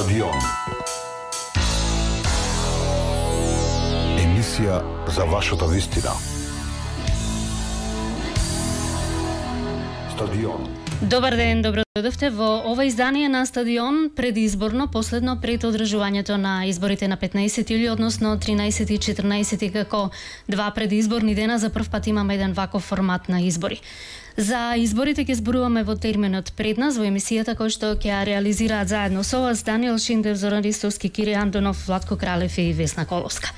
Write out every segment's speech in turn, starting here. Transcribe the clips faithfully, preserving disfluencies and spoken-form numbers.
Стадион. Емисија за вашата вистина. Стадион. Добар ден, добро дојдовте во ова издание на Стадион, предизборно, последно пред одржувањето на изборите на петнаесети јули, односно тринаесети и четрнаесети, како два предизборни дена. За прв пат имаме еден ваков формат на избори. За изборите ќе зборуваме во терминот пред нас во емисијата кој што ќе ја реализираат заедно со вас Даниел Шиндев, Зоран Ристовски, Кири Андонов, Владко Кралев и Весна Коловска.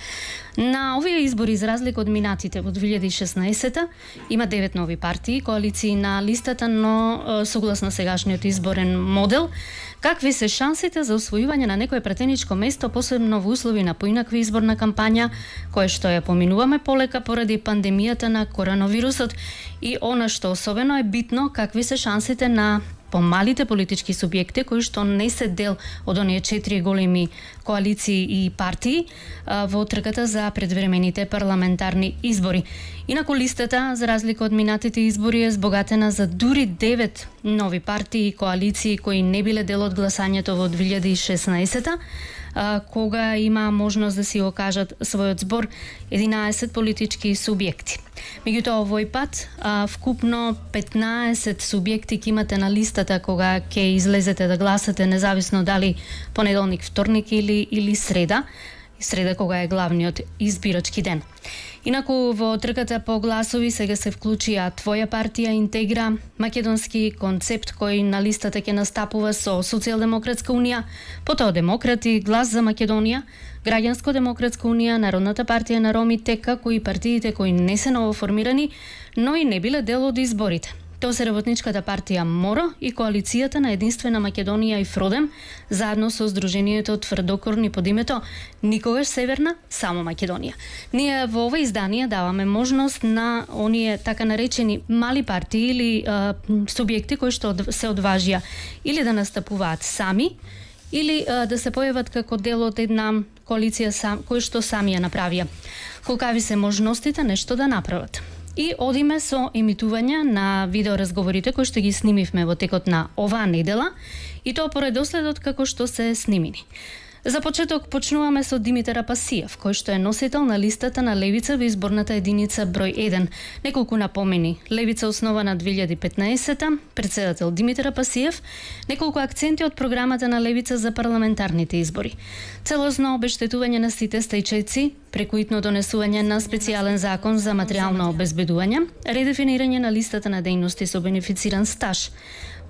На овие избори, за разлика од минатите во две илјади и шеснаесета, има девет нови партии, коалиции на листата, но согласно сегашниот изборен модел, какви се шансите за освојување на некое претеничко место, посебно во услови на поинаква изборна кампања, која што ја поминуваме полека поради пандемијата на коронавирусот, и она што особено е битно, какви се шансите на помалите политички субјекти кои што не се дел од оние четири големи коалиции и партии во трката за предвремените парламентарни избори. Инаку листата, за разлика од минатите избори, е збогатена за дури девет нови партии и коалиции кои не биле дел од гласањето во две илјади и шеснаесета, кога има можност да си окажат својот збор единаесет политички субјекти. Меѓутоа, овој пат вкупно петнаесет субјекти ќе имате на листата кога ќе излезете да гласате, независно дали понеделник, вторник или или среда, среда кога е главниот избирачки ден. Инаку во трката по гласови сега се вклучија Твоја партија, Интегра, македонски концепт кој на листата ќе настапува со Социјалдемократска унија, потоа Демократи, Глас за Македонија, Граѓанско-демократска унија, Народната партија на ромите, како и партиите кои не се новоформирани, но и не биле дел од изборите. Тоа се Работничката партија МОРО и коалицијата на Единствена Македонија и Фродем, заедно со Сдруженијето Тврдокорни под името Никогаш Северна, само Македонија. Ние во ова издание даваме можност на оние така наречени мали партии или а, субјекти кои што се одважија или да настапуваат сами, или а, да се појават како дел од една коалиција сам, кој што сами ја направија. Колкави се можностите нешто да направат. И одиме со емитување на видеоразговорите кои што ги снимивме во текот на оваа недела, и тоа по редоследот како што се снимени. За почеток почнуваме со Димитар Апасиев, кој што е носител на листата на Левица во изборната единица број еден. Неколку напомени: Левица основана две илјади и петнаесета, председател Димитар Апасиев, неколку акценти од програмата на Левица за парламентарните избори. Целосно обештетување на сите стајчајци, преку итно донесување на специјален закон за материјално обезбедување, редефинирање на листата на дејности со бенефициран стаж.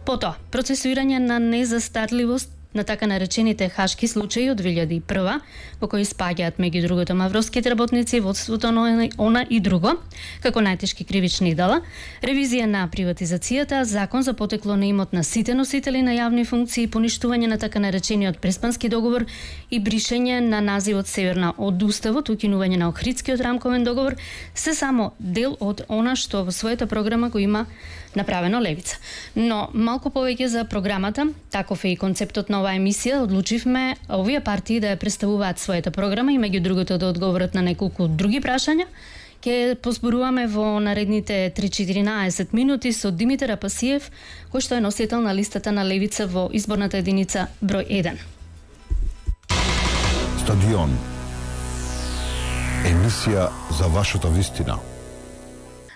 Потоа, процесуирање на незастарливост на така наречените хашки случаи од две илјади и прва, во кои спаѓаат меѓу другото мавровските работници, водството на она и друго, како најтешки кривични дела, ревизија на приватизацијата, закон за потекло на имот на сите носители на јавни функции, поништување на така наречениот Преспански договор и бришење на називот Северна од уставот, укинување на Охридскиот рамковен договор, се само дел од она што во својата програма го има направено Левица. Но малку повеќе за програмата, таков е и концептот на оваа емисија. Одлучивме овие партии да ја представуваат својата програма и меѓу другото да одговорат на неколку други прашања. Ќе позборуваме во наредните три-четирнаесет минути со Димитар Апасиев, кој што е носител на листата на Левица во изборната единица број еден. Стадион. Емисија за вашата вистина.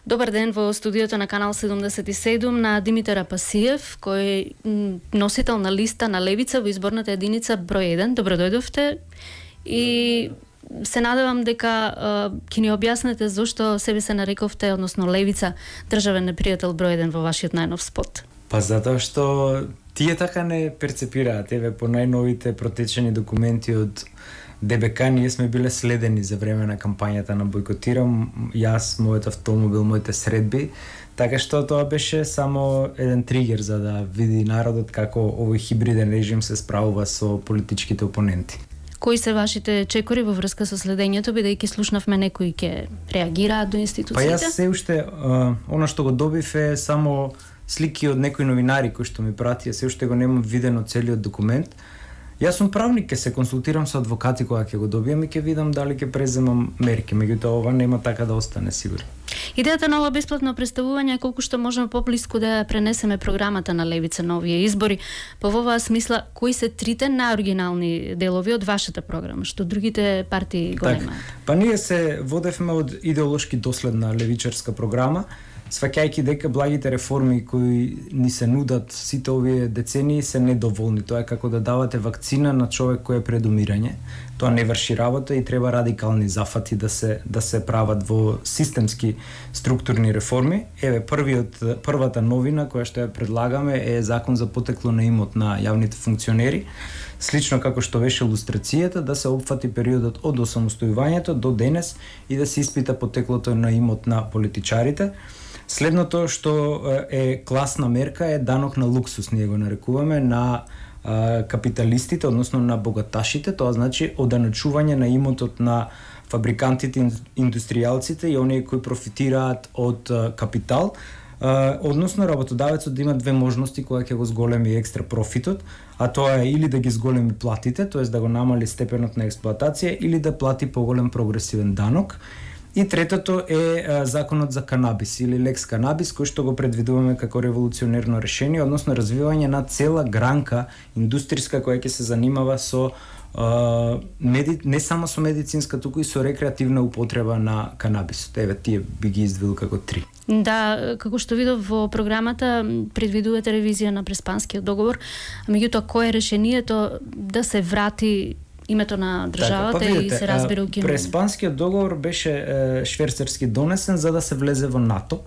Добар ден во студиото на Канал седумдесет и седум на Димитар Апасиев, кој е носител на листа на Левица во изборната единица број еден. Добро дојдовте и се надевам дека ќе ни објаснете зошто себе се нарековте, односно Левица, државен непријател број еден во вашиот најнов спот. Па затоа што тие така не перцепираат. Еве, по најновите протечени документи од Д Б К ние сме биле следени за време на кампањата на Бојкотирам, јас, мојот автомобил, моите средби, така што тоа беше само еден тригер за да види народот како овој хибриден режим се справува со политичките опоненти. Кои се вашите чекори во врска со следењето, бидејќи слушнавме некои ќе реагираат до институциите? Па јас се уште, а, она што го добив е само слики од некои новинари кои што ми пратија, се уште го немам видено целиот документ. Јас сум правник, ќе се консултирам со адвокати кога ќе го добиам и ќе видам дали ќе преземам мерки, меѓутоа ова нема така да остане сигурно. Идејата на ова бесплатно представување е колку што можеме поблиску да ја пренесеме програмата на левица на овие избори. По оваа смисла, кои се трите најоригинални делови од вашата програма, што другите партии го немаат? Па ние се водевме од идеолошки доследна левичарска програма, сваќајќи дека благите реформи кои ни се нудат сите овие децении се недоволни. Тоа е како да давате вакцина на човек кој е пред умирање. Тоа не врши работа и треба радикални зафати да се да се прават во системски структурни реформи. Еве првиот првата новина која што ја предлагаме е закон за потекло на имот на јавните функционери. Слично како што беше лустрацијата, да се опфати периодот од осамостојувањето до денес и да се испита потеклото на имот на политичарите. Следното што е класна мерка е данок на луксус, ние го нарекуваме, на а, капиталистите, односно на богаташите, тоа значи оданачување на имотот на фабрикантите, индустријалците и оние кои профитираат од а, капитал, а, односно работодавецот да има две можности кога ќе го зголеми екстра профитот, а тоа е или да ги зголеми платите, тоест да го намали степенот на експлоатација, или да плати поголем прогресивен данок. И третото е а, законот за канабис или лекс канабис, кој што го предвидуваме како револуционерно решение, односно развивање на цела гранка индустријска која ќе се занимава со а, меди... не само со медицинска, туку и со рекреативна употреба на канабисот. Еве тие би ги издвоил како три. Да, како што видов во програмата, предвидувате ревизија на Преспанскиот договор, а меѓутоа кој е решението да се врати името на државата така, па видите, и се разбира укинување? Преспанскиот договор беше е, шверцерски донесен за да се влезе во НАТО.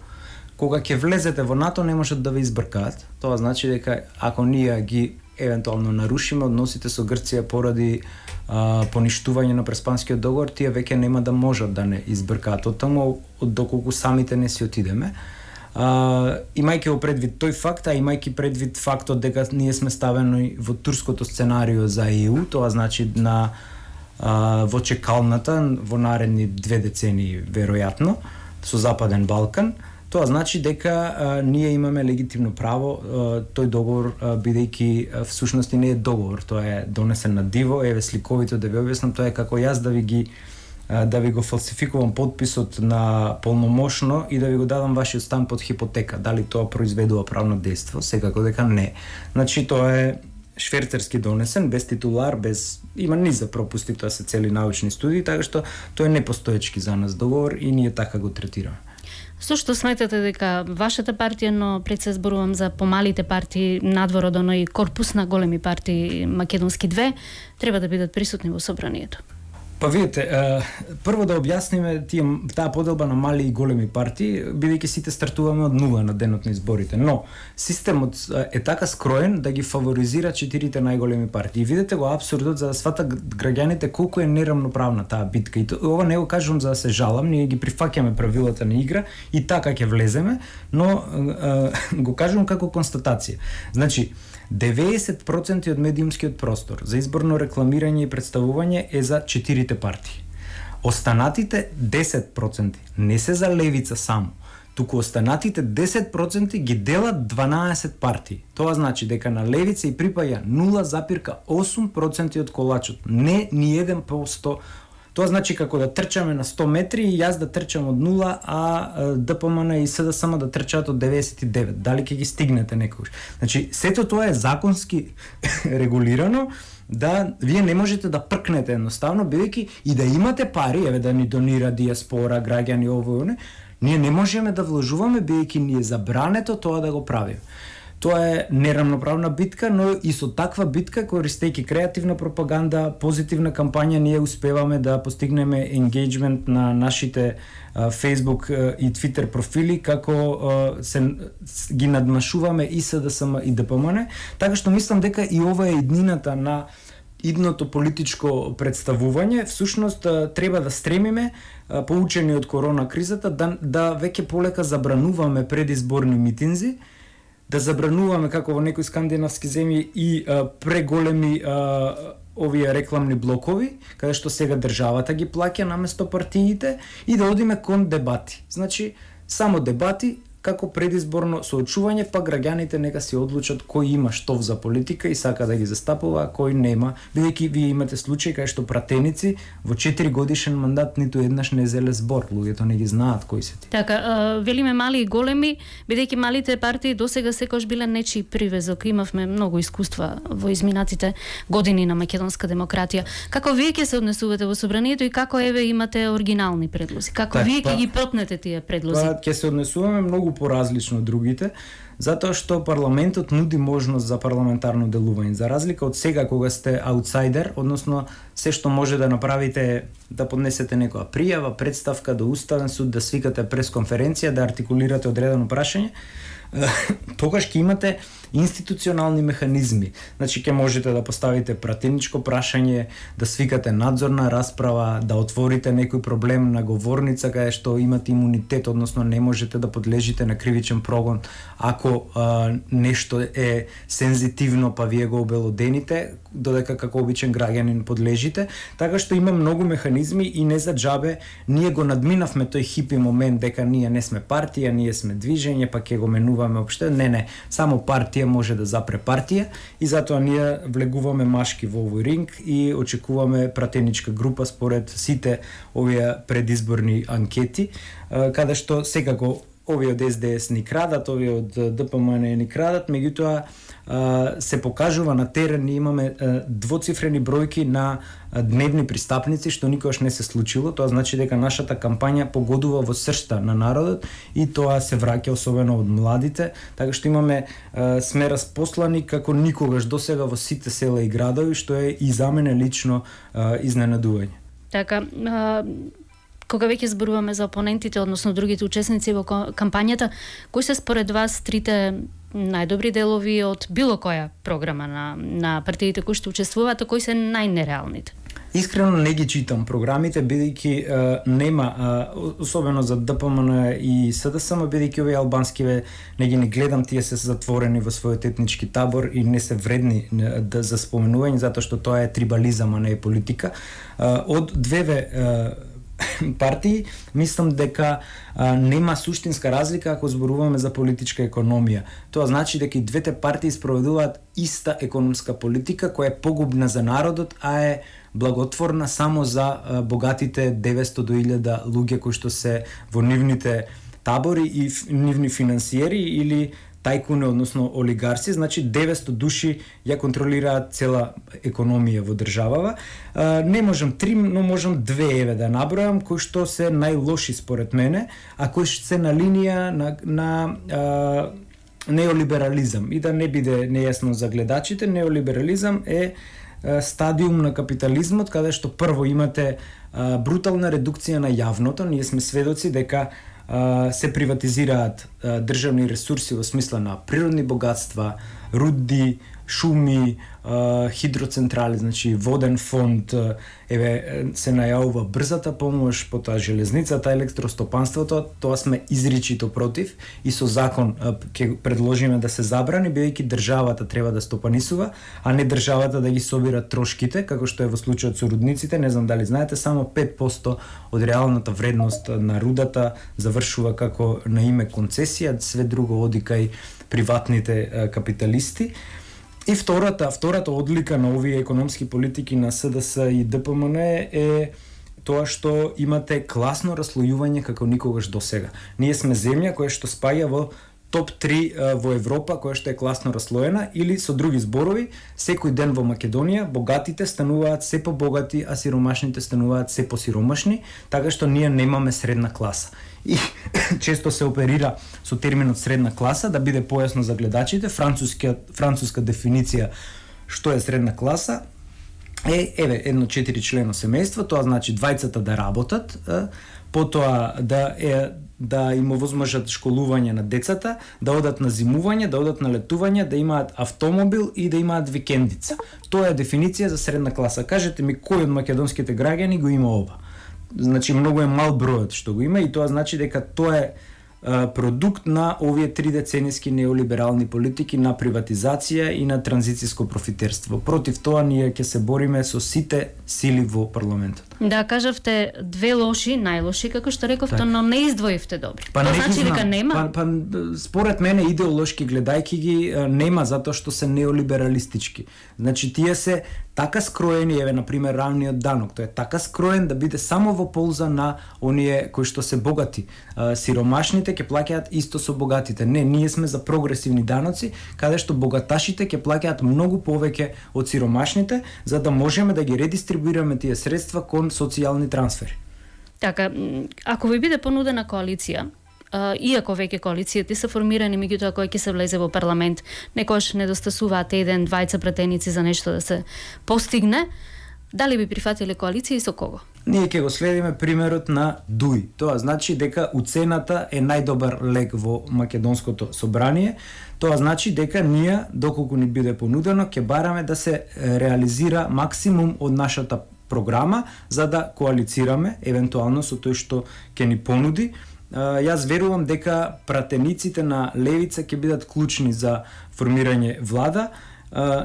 Кога ќе влезете во НАТО не можат да ве избркаат. Тоа значи дека ако ние ги евентуално нарушиме односите со Грција поради а, поништување на Преспанскиот договор, тие веќе нема да можат да не избркаат од таму, од доколку самите не си отидеме. Uh, имајќи го предвид тој факт, а имајќи предвид фактот дека ние сме ставени во турското сценарио за Е У, тоа значи на uh, во чекалната во наредни две децении веројатно со Западен Балкан, тоа значи дека uh, ние имаме легитимно право uh, тој договор uh, бидејќи uh, всушност не е договор, тоа е донесен на диво, еве сликовито да ви објаснам, тоа е како јас да ви ги да ви го фалсификувам подписот на полномошно и да ви го дадам вашиот стан под хипотека. Дали тоа произведува правно дејство? Секако дека не. Значи тоа е шверцерски донесен, без титулар, без има низа пропусти, тоа се цели научни студии, така што тоа е непостоечки за нас договор и ние така го третираме. Со што сметате дека вашата партија, но пред се зборувам за помалите партии надвор од оној корпус на големи партии македонски две, треба да бидат присутни во собранието? Па видите, прво да објасниме тие таа поделба на мали и големи партии, бидејќи сите стартуваме од нула на денот на изборите, но системот е така скроен да ги фаворизира четирите најголеми партии. Видете го апсурдот за да сватат граѓаните колку е нерамноправна таа битка. И ова не го кажувам за да се жалам, ние ги прифаќаме правилата на игра и така ќе влеземе, но го кажувам како констатација. Значи, деветдесет проценти од медиумскиот простор за изборно рекламирање и представување е за четирите партии. Останатите десет проценти не се за левица само, туку останатите десет проценти ги делат дванаесет партии. Тоа значи дека на левица и припаѓа нула запирка осум проценти од колачот, не ни еден по сто. Тоа значи како да трчаме на сто метри и јас да трчам од нула, а Д П М Н и С Д С М да трчаат од деветдесет и девет. Дали ќе ги стигнете некогаш? Значи, сето тоа е законски регулирано, да вие не можете да пркнете едноставно, бидејќи и да имате пари, еве да ни донира диаспора, граѓани, ово и оне, ние не можеме да вложуваме, бидејќи ни е забрането тоа да го правиме. Тоа е нерамноправна битка, но и со таква битка, користејќи креативна пропаганда, позитивна кампања, ние успеваме да постигнеме енгејџмент на нашите а, Facebook а, и Twitter профили, како а, се ги надмашуваме и С Д С М и Д П М Н, така што мислам дека и ова е иднината на идното политичко представување. Всушност треба да стремиме, поучени од корона кризата, да, да веќе полека забрануваме предизборни митинзи, да забрануваме како во некои скандинавски земји и а, преголеми а, овие рекламни блокови, каде што сега државата ги плаќа наместо партиите, и да одиме кон дебати. Значи, само дебати, како предизборно соочување, па граѓаните нека си одлучат кој има штов за политика и сака да ги застапува, а кој нема, бидејќи вие имате случаи кај што пратеници во четири годишен мандат ниту еднаш не зеле збор, луѓето не ги знаат кои се ти. Така, а, велиме мали и големи, бидејќи малите партии досега секогаш биле нечи привезок. Имавме многу искуства во изминатите години на македонска демократија. Како вие ќе се однесувате во собранието и како еве имате оригинални предлози? Како Так, вие ќе па, ги пропнете тие предлози? Па ќе се однесуваме многу поразлично од другите, затоа што парламентот нуди можност за парламентарно делување. За разлика од сега кога сте аутсайдер, односно се што може да направите, да поднесете некоја пријава, представка до Уставен суд, да свикате пресконференција, да артикулирате одредено прашање, тогаш ќе имате институционални механизми. Значи ќе можете да поставите пратеничко прашање, да свикате надзорна расправа, да отворите некој проблем на говорница каде што имате имунитет, односно не можете да подлежите на кривичен прогон ако а, нешто е сензитивно, па вие го обелодените, додека како обичен граѓанин подлежите. Така што има многу механизми и не за џабе ние го надминавме тој хипи момент дека ние не сме партија, ние сме движење, па ќе го менуваме опште. Не, не, само партија може да запре партија и затоа ние влегуваме машки во овој ринг и очекуваме пратеничка група според сите овие предизборни анкети, каде што секако овие од Ес Де Ес ни крадат, овие од Де Пе Ем Ен ни крадат, меѓутоа се покажува на терен, ние имаме двоцифрени бројки на дневни пристапници, што никогаш не се случило. Тоа значи дека нашата кампања погодува во сршта на народот и тоа се враќа особено од младите, така што имаме сме распослани како никогаш досега во сите села и градови, што е и за мене лично изненадување. Така, а, кога веќе зборуваме за опонентите, односно другите учесници во кампањата, кои се според вас трите најдобри делови од било која програма на, на партиите кои што учествуваат, а кои се најнереалните? Искрено не ги читам програмите, бидејќи нема, а, особено за Де Пе Ем Ен и Се Де Ес Ем, бидејќи овие албанскиве не ги не гледам, тие се затворени во својот етнички табор и не се вредни да, за споменување, затоа што тоа е трибализам, а не е политика. А, од двеве а, партии, мислам дека а, нема суштинска разлика ако зборуваме за политичка економија. Тоа значи дека и двете партии спроведуваат иста економска политика која е погубна за народот, а е благотворна само за а, богатите деветсто до илјада луѓе кои што се во нивните табори и нивни финансиери или тајкуни, односно олигарси, значи деветсто души ја контролираат цела економија во државава. А, не можам три, но можам две еве да набројам кои што се најлоши според мене, а кои што се на линија на, на а, неолиберализам. И да не биде нејасно за гледачите, неолиберализам е а, стадиум на капитализмот каде што прво имате а, брутална редукција на јавното. Ние сме сведоци дека се приватизираат државни ресурси во смисла на природни богатства, руди, шуми, хидроцентрали, значи воден фонд, еве се најавува брзата помош, потоа железницата, електростопанството, тоа сме изричито против и со закон ќе предложиме да се забрани, бидејќи државата треба да стопанисува, а не државата да ги собира трошките, како што е во случајот со рудниците. Не знам дали знаете, само пет посто од реалната вредност на рудата завршува како на име концесија, све друго оди кај приватните капиталисти. И втората, втората одлика на овие економски политики на Се Де Ес и Де Пе Ем Ен е тоа што имате класно раслојување како никогаш досега. Ние сме земја која што спаја во топ три во Европа, која што е класно раслоена, или со други зборови, секој ден во Македонија богатите стануваат се побогати, а сиромашните стануваат се посиромашни, така што ние немаме средна класа. И често се оперира со терминот средна класа, да биде појасно за гледачите. Француска, француска дефиниција што е средна класа е, еве, едно четири члено семејство, тоа значи двајцата да работат, потоа да е да им овозможат школување на децата, да одат на зимување, да одат на летување, да имаат автомобил и да имаат викендица. Тоа е дефиниција за средна класа. Кажете ми кој од македонските граѓани го има ова? Значи многу е мал бројот што го има и тоа значи дека тоа е а, продукт на овие три деценијски неолиберални политики на приватизација и на транзицијско профитерство. Против тоа ние ќе се бориме со сите сили во парламентот. Да, кажавте две лоши, најлоши, како што рековте, Так. но не издвоивте добри. Па Тоа не ги значи дека знам. нема? Па, па според мене идеолошки гледајќи ги е, нема затоа што се неолибералистички. Значи тие се така скроени, еве на пример равниот данок, тој е така скроен да биде само во полза на оние кои што се богати. А, сиромашните ќе плаќаат исто со богатите. Не, ние сме за прогресивни даноци, каде што богаташите ќе плаќаат многу повеќе од сиромашните, за да можеме да ги редистрибуираме тие средства кон социјални трансфери. Така, м, ако ви биде понудена коалиција, а, иако веќе коалицијите се формирани, меѓутоа кој ќе се влезе во парламент, некојаш недостасуваат еден, двајца пратеници за нешто да се постигне, дали би прифатиле коалиција и со кого? Ние ќе го следиме примерот на Дуј. Тоа значи дека уцената е најдобар лек во македонското собрание. Тоа значи дека ние, доколку ни биде понудено, ќе бараме да се реализира максимум од нашата програма за да коалицираме евентуално со тој што ќе ни понуди. Јас верувам дека пратениците на левица ќе бидат клучни за формирање влада,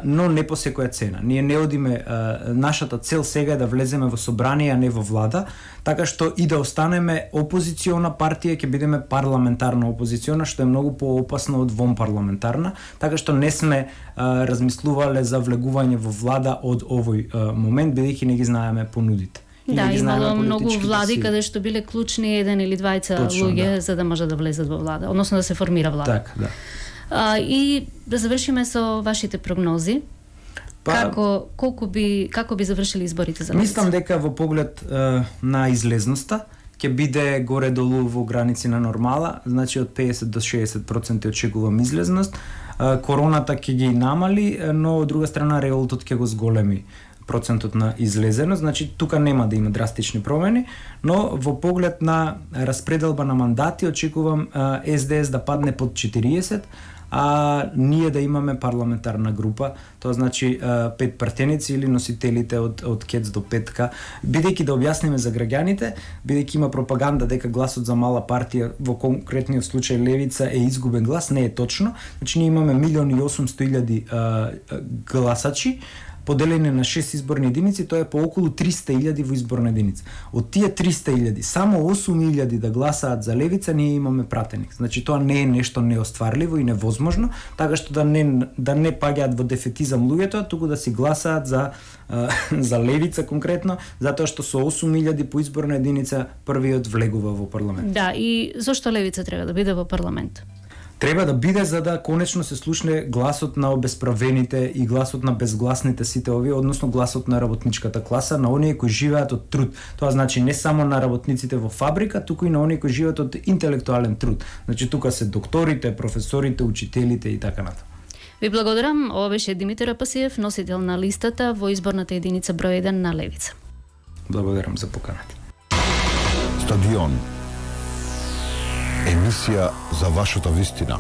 но не по секоја цена. Ние не одиме, нашата цел сега е да влеземе во собрание, а не во влада, така што и да останеме опозициона партија, ќе бидеме парламентарна опозициона, што е многу поопасно од вонпарламентарна, така што не сме а, размислувале за влегување во влада од овој а, момент, бидејќи не ги знаеме понудите. И Да, не ги знаеме имало многу политичките влади сили. каде што биле клучни еден или двајца Точно, луѓе да. за да може да влезат во влада, односно да се формира влада. Така, да. А, и да завршиме со вашите прогнози. Па, Како колку би како би завршили изборите за Мислам левица? дека во поглед е, на излезноста ќе биде горе-долу во граници на нормала, значи од песет до шеесет проценти очекувам излезност. Е, Короната ќе ги намали, е, но од друга страна реvolтот ќе го зголеми процентот на излезеност, значи тука нема да има драстични промени, но во поглед на распределба на мандати очекувам е, Ес Де Ес да падне под четириесет, а ние да имаме парламентарна група, тоа значи пет пратеници или носителите од од КЕЦ до петка, бидејќи да објасниме за граѓаните, бидејќи има пропаганда дека гласот за мала партија, во конкретниот случај левица, е изгубен глас, не е точно. Значи ние имаме милион и осумсто илјади гласачи, поделени на шест изборни единици, тоа е по околу триста илјади во изборна единица. Од тие триста илјади, само осум илјади да гласаат за левица, ние имаме пратеник. Значи тоа не е нешто неостварливо и невозможно, така што да не да не паѓаат во дефетизам луѓето, туку да си гласаат за за левица конкретно, затоа што со осум илјади по изборна единица првиот влегува во парламент. Да, и зошто левица треба да биде во парламент? Треба да биде за да конечно се слушне гласот на обесправените и гласот на безгласните сите овие, односно гласот на работничката класа, на оние кои живеат од труд. Тоа значи не само на работниците во фабрика, туку и на оние кои живеат од интелектуален труд. Значи тука се докторите, професорите, учителите и така натаму. Ви благодарам. Ова беше Димитар Апасиев, носител на листата во изборната единица број еден на левица. Благодарам за поканата. Стадион. Емисија за вашата вистина.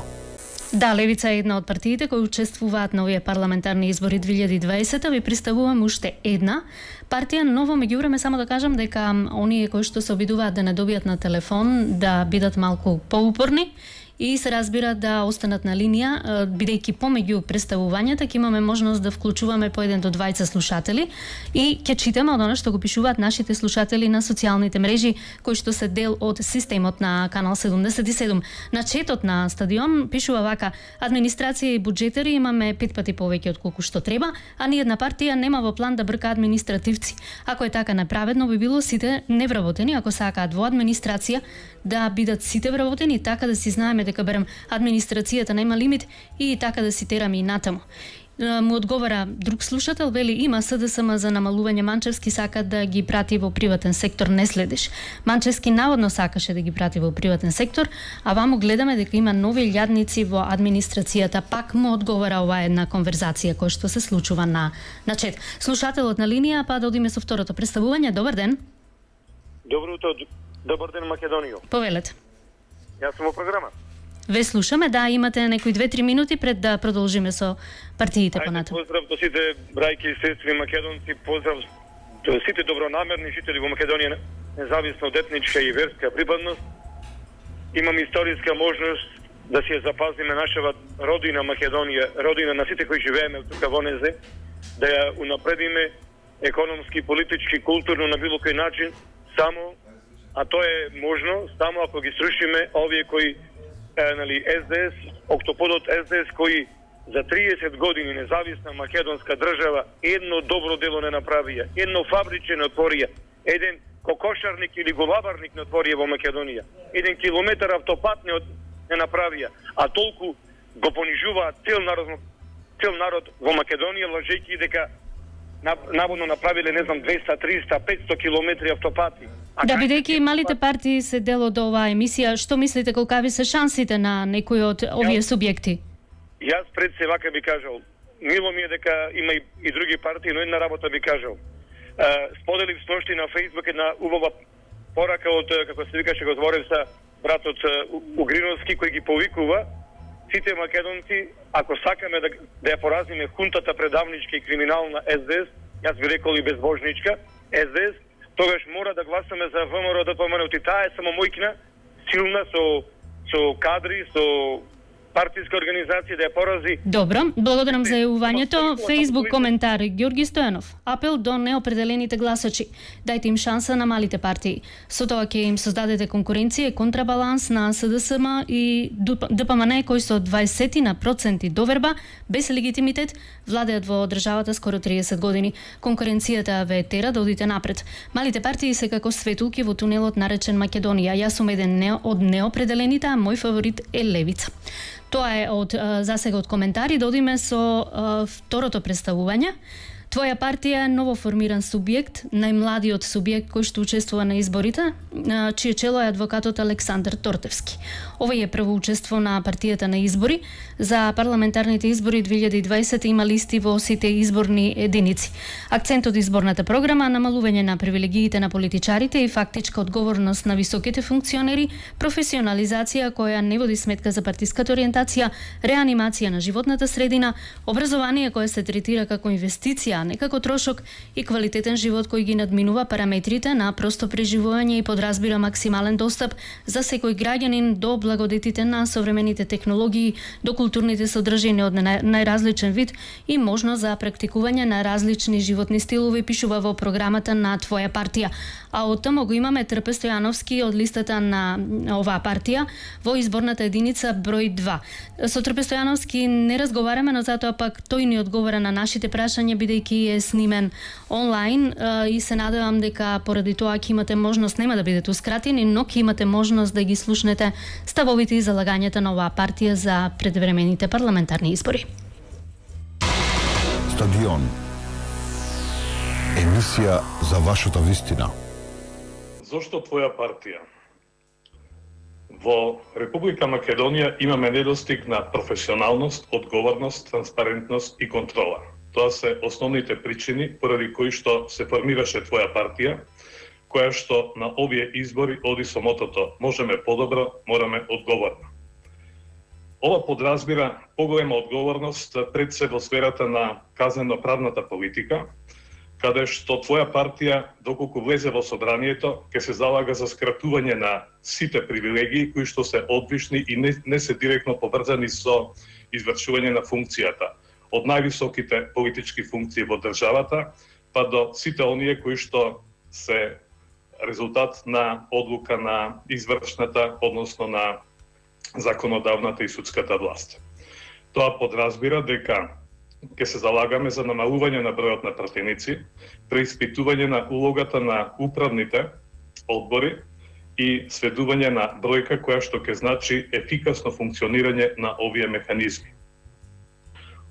Да, левица е една од партиите кои учествуваат на овие парламентарни избори две илјади и дваесета. Ви представувам уште една партија, но во меѓувреме само да кажам дека оние кои што се обидуваат да не добијат на телефон да бидат малку поупорни и се разбира да останат на линија, бидејќи помеѓу представувањата ќе имаме можност да вклучуваме по еден до двајца слушатели и ќе читаме од она што го пишуваат нашите слушатели на социјалните мрежи, кои што се дел од системот на Канал седумдесет и седум. На четот на Стадион пишува вака: администрација и буџетари имаме пет пати повеќе од колку што треба, а ни една партија нема во план да брка административци. Ако е така неправедно, би било сите невработени, ако сакаат во администрација да бидат сите вработени, така да си знаеме дека берем администрацијата нема лимит и така да си тераме и натаму. Му одговара друг слушател, вели: има СДСМ за намалување, Манчевски сака да ги прати во приватен сектор, не следиш. Манчевски наводно сакаше да ги прати во приватен сектор, а вамо гледаме дека има нови лјадници во администрацијата. Пак му одговара оваа една конверзација која што се случува на на чет. Слушателот на линија, па да одиме со второто представување. Добар ден. Добро утро. Добар ден, Македонија. Повелете. Јас сум во програма. Ве слушаме, да, имате некои две-три минути пред да продолжиме со партиите понатаму. Поздрав до сите брајки и сестри македонци, поздрав до сите добронамерни жители во Македонија, независно од етничка и верска припадност. Имам историска можност да си ја запазиме нашава родина Македонија, родина на сите кои живееме тука во незе, да ја унапредиме економски, политички, културно, на било кој начин, само, а тоа е можно, само ако ги срушиме овие кои, е, нали, С Д С, октоподот С Д С, кои за триесет години независна македонска држава едно добро дело не направија, едно фабриче не отворија, еден кокошарник или голабарник не отворија во Македонија, еден километар автопат не, не направија, а толку го понижуваат цел народ, цел народ во Македонија, лажејќи дека наводно направиле, не знам, двеста, триста, петсто километри автопати. А да, бидејќи малите партии се дел од оваа емисија, што мислите колкави се шансите на некои од овие субјекти? Јас пред се вака би кажал, мило ми е дека има и, и други партии, но една работа би кажал. Uh, споделив сношти на Фејсбук една убава порака од, како се викаше, го зборев са братот Угриновски, кој ги повикува сите македонци, ако сакаме да, да ја поразиме хунтата предавничка и криминална С Д С, јас би рекол и безбожничка С Д С, тогаш мора да гласаме за В М Р Д П М Н. Таа е само мојкина, силна, со, со кадри, со партиска организација да ја порази. Добро, благодарам за јавувањето. Фејсбук коментар Ѓорги Стојанов. Апел до неопределените гласачи. Дајте им шанса на малите партии. Со тоа ќе им создадете конкуренција и контрабаланс на С Д С М и Д П М Н кои со дваесет на проценти доверба без легитимитет владеат во државата скоро триесет години. Конкуренцијата ве тера да одите напред. Малите партии се како светулки во тунелот наречен Македонија. Јас сум еден не од неопределените, а мој фаворит е Левица. Тоа е од засега од коментари. Додиме со а, второто представување. Твоја партија е новоформиран субјект, најмладиот субјект кој што учествува на изборите, чие чело е адвокатот Александар Тортевски. Овој е прво учество на партијата на избори. За парламентарните избори две илјади и дваесета има листи во сите изборни единици. Акцентот изборната програма намалување на привилегиите на политичарите и фактичка одговорност на високите функционери, професионализација која не води сметка за партиската ориентација, реанимација на животната средина, образование кое се третира како инвестиција, не како трошок, и квалитетен живот кој ги надминува параметрите на просто преживување и подразбира максимален достап за секој граѓанин до благодетите на современите технологии, до културните содржини од најразличен вид и можност за практикување на различни животни стилови, пишува во програмата на Твоја партија. А од тамо го имаме Трпе Стојановски од листата на оваа партија во изборната единица број два. Со Трпе Стојановски не разговараме, но затоа пак тој ни одговара на нашите прашања, бидејќи е снимен онлайн, и се надевам дека поради тоа ќе имате можност, нема да бидете ускратени, но ќе имате можност да ги слушнете ставовите и залагањата на оваа партија за предвремените парламентарни избори. Стадион. Емисија за вашата вистина. Зошто Твоја партија? Во Република Македонија имаме недостиг на професионалност, одговорност, транспарентност и контрола. Тоа се основните причини поради кои што се формираше Твоја партија, која што на овие избори оди со мотото можеме подобро, мораме одговорно. Ова подразбира поголема одговорност пред се во сферата на казнено-правната политика, каде што Твоја партија, доколку влезе во собранието, ќе се залага за скратување на сите привилегии кои што се одвишни и не, не се директно поврзани со извршување на функцијата, од највисоките политички функции во државата, па до сите оние кои што се резултат на одлука на извршната, односно на законодавната и судската власт. Тоа подразбира дека ќе се залагаме за намалување на бројот на пратеници, преиспитување на улогата на управните одбори и сведување на бројка која што ќе значи ефикасно функционирање на овие механизми.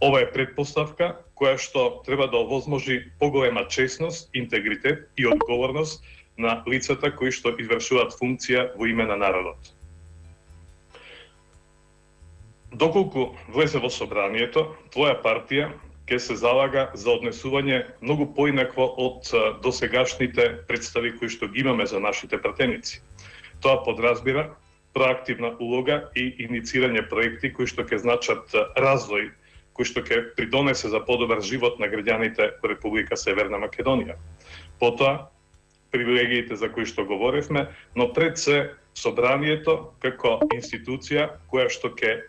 Ова е предпоставка која што треба да овозможи поголема честност, интегритет и одговорност на лицата кои што извршуваат функција во име на народот. Доколку влезе во собранието, Твоја партија ќе се залага за однесување многу поинакво од досегашните представи кои што ги имаме за нашите пратеници. Тоа подразбира проактивна улога и иницирање проекти кои што ќе значат развој, кој што ќе придонесе за подобар живот на граѓаните во Република Северна Македонија. Потоа, привилегиите за кои што говоревме, но пред се собранието како институција која што ќе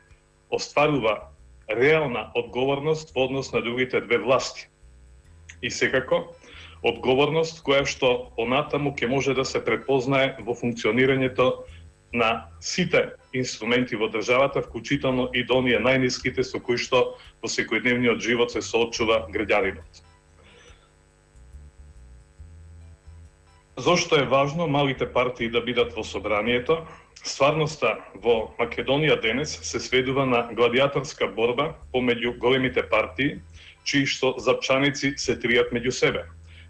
остварува реална одговорност во однос на другите две власти. И секако, Одговорност која што понатаму ќе може да се препознае во функционирањето на сите инструменти во државата, вклучително и до оние најниските со кои што во секојдневниот живот се соочува граѓанинот. Зошто е важно малите партии да бидат во собранието? Стварноста во Македонија денес се сведува на гладиаторска борба помеѓу големите партии, чии што запчаници се тријат меѓу себе.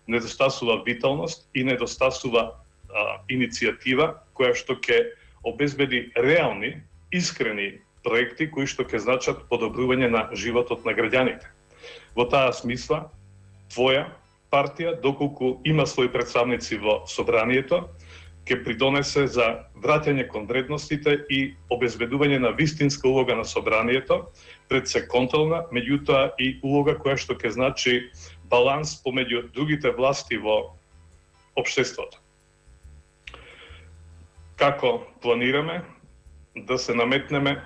Недостасува виталност и недостасува а, иницијатива која што ќе обезбеди реални, искрени проекти кои што ќе значат подобрување на животот на граѓаните. Во таа смисла, твоја партија, доколку има своји представници во собранието, ќе придонесе за враќање кон вредностите и обезбедување на вистинска улога на собранието, пред се контролна, меѓутоа и улога која што ќе значи баланс помеѓу другите власти во општеството. Како планираме да се наметнеме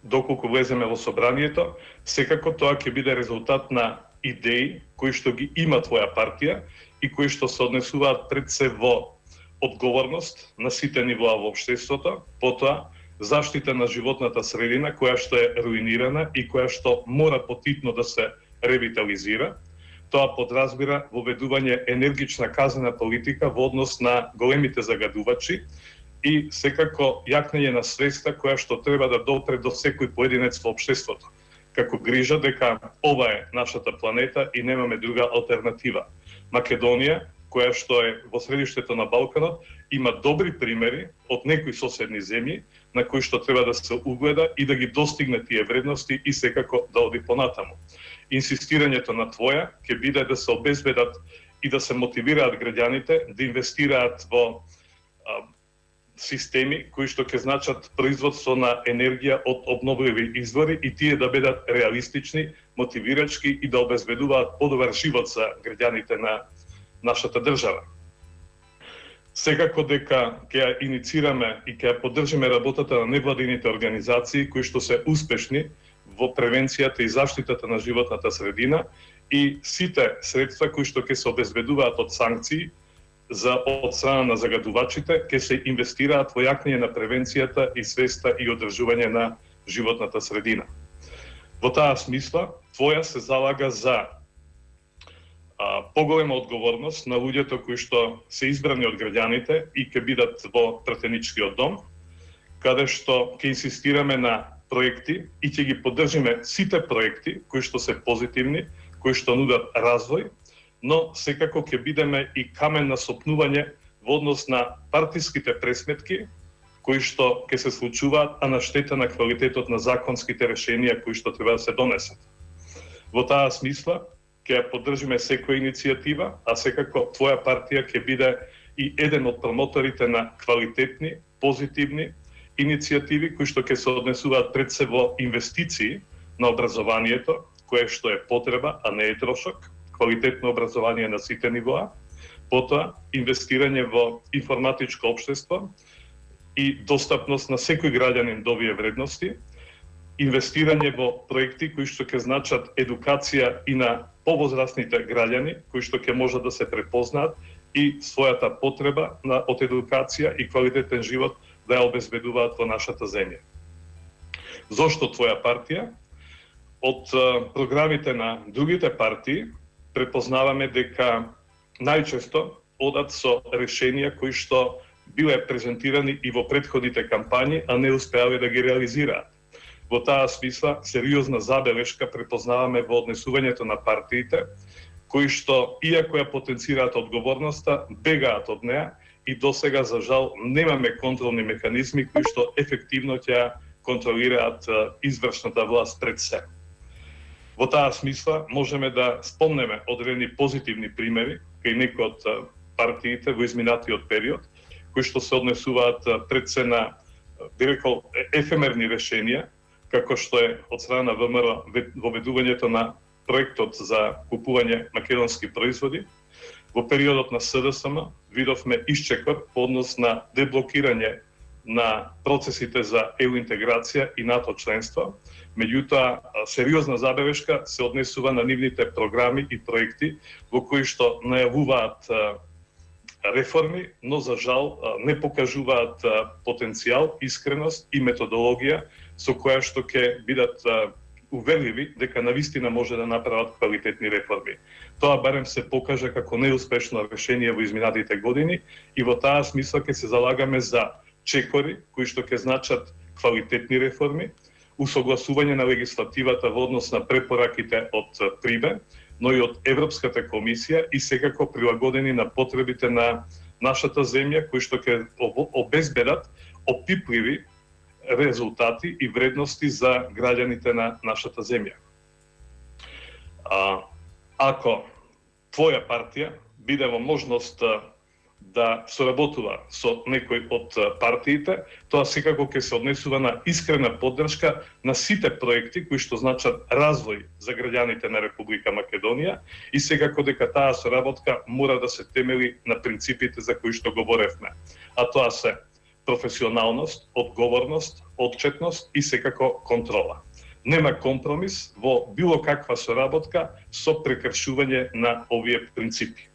доколку влеземе во собранието? Секако тоа ќе биде резултат на идеи кои што ги има твоја партија и кои што се однесуваат пред се во одговорност на сите нивоа во општеството, потоа заштита на животната средина која што е руинирана и која што мора потитно да се ревитализира. Тоа подразбира воведување енергична казнена политика во однос на големите загадувачи и секако јакнење на свеста која што треба да допре до секој поединец во општеството, како грижа дека ова е нашата планета и немаме друга алтернатива. Македонија, која што е во средиштето на Балканот, има добри примери од некои соседни земји на кои што треба да се угледа и да ги достигне тие вредности и секако да оди понатаму. Инсистирањето на твоја ќе биде да се обезбедат и да се мотивираат граѓаните да инвестираат во а, системи кои што ќе значат производство на енергија од обновливи извори и тие да бидат реалистични, мотивирачки и да обезбедуваат подобар живот за граѓаните на нашата држава. Секако дека ќе ја иницираме и ќе ја поддржиме работата на невладините организации кои што се успешни во превенцијата и заштитата на животната средина и сите средства кои што ќе се обезбедуваат од санкции за од страна на загадувачите ќе се инвестираат во јакнење на превенцијата и свеста и одржување на животната средина. Во таа смисла, твоја се залага за а, поголема одговорност на луѓето кои што се избрани од граѓаните и ќе бидат во пратеничкиот дом, каде што ќе инсистираме на проекти и ќе ги поддржиме сите проекти кои што се позитивни, кои што нудат развој, но секако ќе бидеме и камен на сопнување во однос на партиските пресметки кои што ќе се случуваат, а на штета на квалитетот на законските решенија кои што треба да се донесат. Во таа смисла ќе ја поддржиме секоја иницијатива, а секако твоја партија ќе биде и еден од промоторите на квалитетни, позитивни иницијативи кои што ќе се однесуваат пред се во инвестиции на образованието, кое што е потреба, а не е трошок, квалитетно образование на сите нивоа, потоа инвестирање во информатичко општество и достапност на секој граѓанин до овие вредности, инвестирање во проекти кои што ќе значат едукација и на повозрастните граѓани, кои што ќе можат да се препознаат и својата потреба на од едукација и квалитетен живот да ја обезбедуваат во нашата земја. Зошто твоја партија? Од програмите на другите партии препознаваме дека најчесто одат со решенија кои што биле презентирани и во претходните кампањи, а не успеале да ги реализираат. Во таа смисла, сериозна забелешка препознаваме во однесувањето на партиите, кои што, иако ја потенцираат одговорноста, бегаат од неа и досега, за жал, немаме контролни механизми кои што ефективно ќе контролираат извршната власт пред се. Во таа смисла можеме да спомнеме одредени позитивни примери кај некои од партиите во изминатиот период, кои што се однесуваат пред се на, би рекол, ефемерни решенија, како што е од страна на ВМРО воведувањето на проектот за купување македонски производи. Во периодот на СДСМ видовме исчекор по однос на деблокирање на процесите за ЕУ интеграција и НАТО членство. Меѓутоа, сериозна забелешка се однесува на нивните програми и проекти во кои што најавуваат реформи, но за жал не покажуваат потенцијал, искреност и методологија со која што ќе бидат уверливи дека навистина може да направат квалитетни реформи. Тоа барем се покажа како неуспешно решение во изминатите години и во таа смисла ќе се залагаме за чекори кои што ќе значат квалитетни реформи, усогласување на легислативата во однос на препораките од ПРИБЕ, но и од Европската комисија и секако прилагодени на потребите на нашата земја, кои што ќе обезбедат опипливи резултати и вредности за граѓаните на нашата земја. А, ако твоја партија биде во можност да соработува со некој од партиите, тоа секако ќе се однесува на искрена поддршка на сите проекти кои што значат развој за граѓаните на Република Македонија и секако дека таа соработка мора да се темели на принципите за кои што говоревме. А тоа се професионалност, одговорност, отчетност и секако контрола. Нема компромис во било каква соработка со прекршување на овие принципи.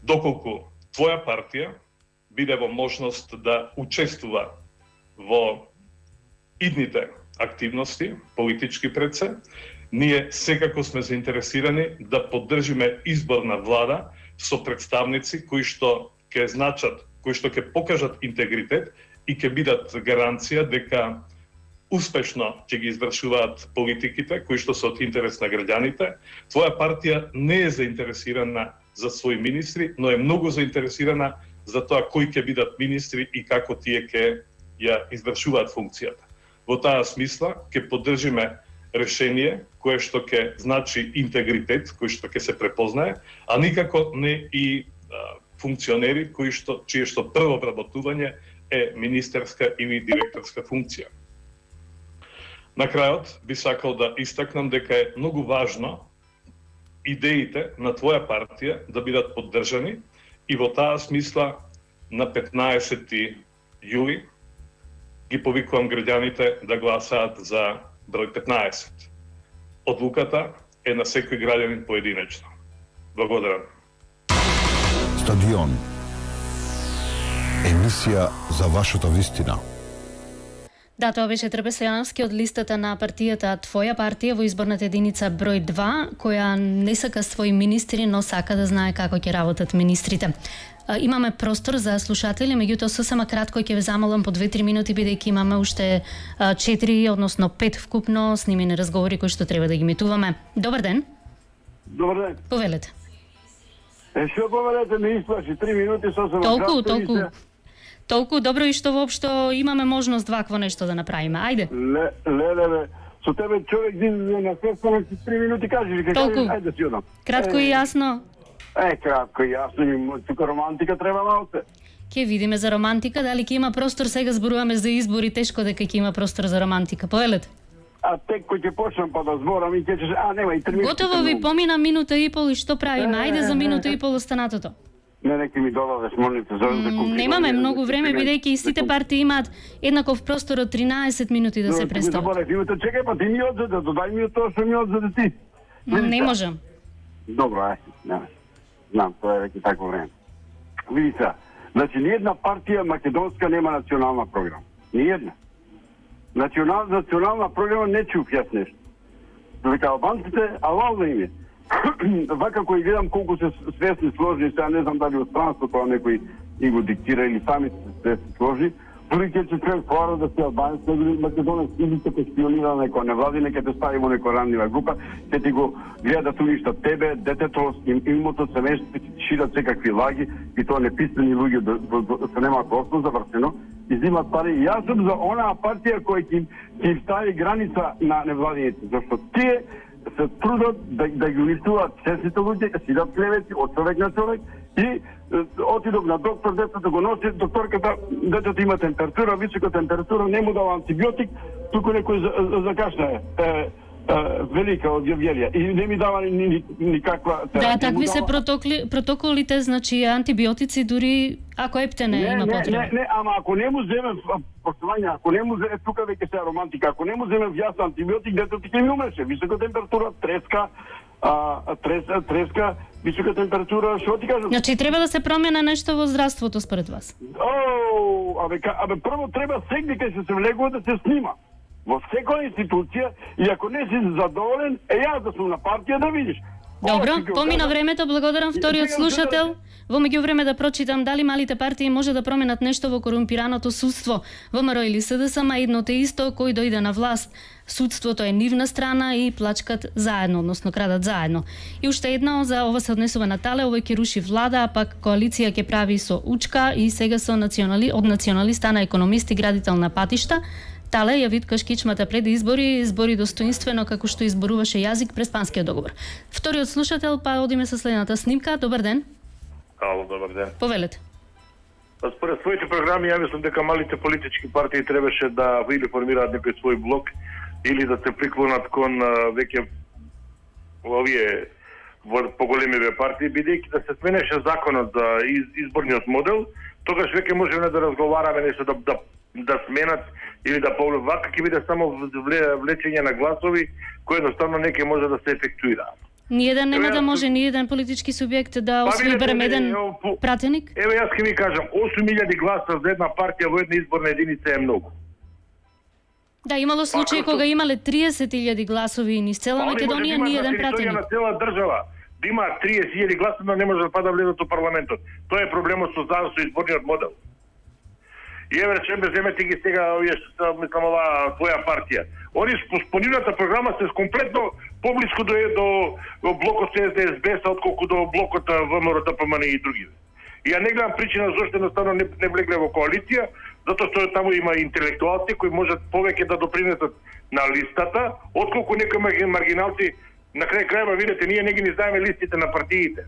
Доколку твоја партија биде во можност да учествува во идните активности, политички пред се, ние секако сме заинтересирани да поддржиме избор на влада со представници кои што ќе значат, кои што ќе покажат интегритет и ќе бидат гаранција дека успешно ќе ги извршуваат политиките кои што се од интерес на граѓаните. Твоја партија не е заинтересирана за своји министри, но е многу заинтересирана за тоа кои ќе бидат министри и како тие ќе ја извршуваат функцијата. Во таа смисла ќе поддржиме решение кое што ќе значи интегритет, кој што ќе се препознае, а никако не и а, функционери кои што чие што прво вработување е министерска или директорска функција. На крајот би сакал да истакнам дека е многу важно идеите на твоја партија да бидат поддржани и во таа смисла на петнаесети јули ги повикувам граѓаните да гласаат за број петнаесет. Одлуката е на секој граѓанин поединечно. Благодарам. Стадион. Емисија за вашата вистина. Да, тоа беше Трбе Стојановски од листата на партијата Твоја партија во изборната единица број два, која не сака своји министри, но сака да знае како ќе работат министрите. Имаме простор за слушатели, меѓутоа сосема кратко ќе ве замолам по две-три минути, бидејќи имаме уште четири, односно пет вкупно снимени разговори кои што треба да ги емитуваме. Добар ден. Добар ден. Повелете. Е, што повелете, ме исплаши три минути сосема толку, кратко. Толку, толку. Толку добро и што воопшто имаме можност вакво нешто да направиме. Ајде. Ле, ле, ле, ле. Со тебе човек излезе на сестанок три минути кажеш, ке кажеш, ајде си одам. Кратко и јасно. Е, кратко и јасно, тука романтика треба малце. Ке видиме за романтика, дали ќе има простор, сега зборуваме за избори, тешко дека ќе има простор за романтика. Повелете. А тек кој ќе почнам па да зборам и ќе чеш, а нема и три минути. Готово ви помина минута и пол и што правиме? Ајде за минута и пол останатото. Не, неки ми додадеш, молите, за да комплекувам. Немаме многу време, бидејќи и сите партии имаат еднаков простор од тринаесет минути да се представат. Добре, имате, чекај, па ти ми одзеде, додај ми од тоа што ми одзеде ти. Не можам. Добро, ај, не. Знам, тоа е веќе такво време. Види се, значи, ниједна партија македонска нема национална програма. Ниједна. Национал, национална програма не чув јас нешто. Дека албанците, алал да им е. Вака кој гледам колку се свесни сложни, сега не знам дали од странство тоа некој и го диктира или сами се сложи, дори ќе се човек хора да се албанец, или македонец, или ќе те шпионира на некоја невладина, ќе те стави во некоја ранлива група, ќе ти го гледа да уништа тебе, детето, имото, семејството, ќе ти шират секакви лаги, и тоа неписмени луѓе се немаат основ завршено, изимат пари. Јас сум за онаа партија која ќе им стави граница на невладините, зашто тие се трудат да, да ги уништуваат честните луѓе, сидат клевети од човек на човек и отидов на доктор, детето го носи, докторката, детето има температура, висока температура, не му дава антибиотик, туку некој закашна е. велика од Јавјелија и не ми дава ни, ни, никаква терапија. Да, такви се дава... протоколи, протоколите, значи антибиотици дури ако ептене не, има не, потреба. Не, не, ама ако не му земе поштување, ако не му земе тука веќе се романтика, ако не му земе јас антибиотик, дето ти ќе ми умреше, висока температура, треска, а, треска, треска, висока температура, што ти кажам? Значи треба да се промена нешто во здравството според вас. О, абе, абе прво треба секој кај се се влегува да се снима. Во секоја институција и ако не си задоволен, е јас да сум на партија да видиш. Добро, помина времето, благодарам вториот слушател. Во меѓувреме да прочитам дали малите партии може да променат нешто во корумпираното судство. ВМРО или СДС, ма едното е исто, кој дојде на власт. Судството е нивна страна и плачкат заедно, односно крадат заедно. И уште едно, за ова се однесува на Тале, ова ќе руши влада, а пак коалиција ќе прави со Учка и сега со национали, од националиста на економист и градител на патишта. Тале ја виткаш кичмата пред избори, избори достоинствено како што изборуваше јазик през Панскиот договор. Вториот слушател, па одиме со следната снимка. Добар ден. Ало, добар ден. Повелете. Па според своите програми, ја мислам дека малите политички партии требаше да или формираат некој свој блок или да се приклонат кон веќе овие поголемиве партии, бидејќи да се сменеше законот за изборниот модел, тогаш веќе можеме да разговараме нешто да, да, да сменат или да повле вака ќе биде само влечење на гласови кои едноставно не ќе може да се ефектуираат. Ниеден нема да може, ниеден политички субјект да освои барем еден пратеник? Еве јас ќе ви кажам, осум илјади гласа за една партија во една изборна единица е многу. Да, имало случаи кога имале триесет илјади гласови и низ цела Македонија ниеден пратеник. На цела држава да има триесет илјади гласа, но не може да пада влезат во парламентот. Тоа е проблемот со со изборниот модел. И еве речеме земете ги сега овие што мислам оваа твоја партија. Они по нивната програма се комплетно поблиску до до блокот С Д С Б отколку до блокот ВМРО Д П М Н и други. И ја не гледам причина зашто едноставно не, не влегле во коалиција, затоа што таму има интелектуалци кои можат повеќе да допринесат на листата, отколку некои маргиналци. На крај крајва видите, ние не ги не знаеме листите на партиите.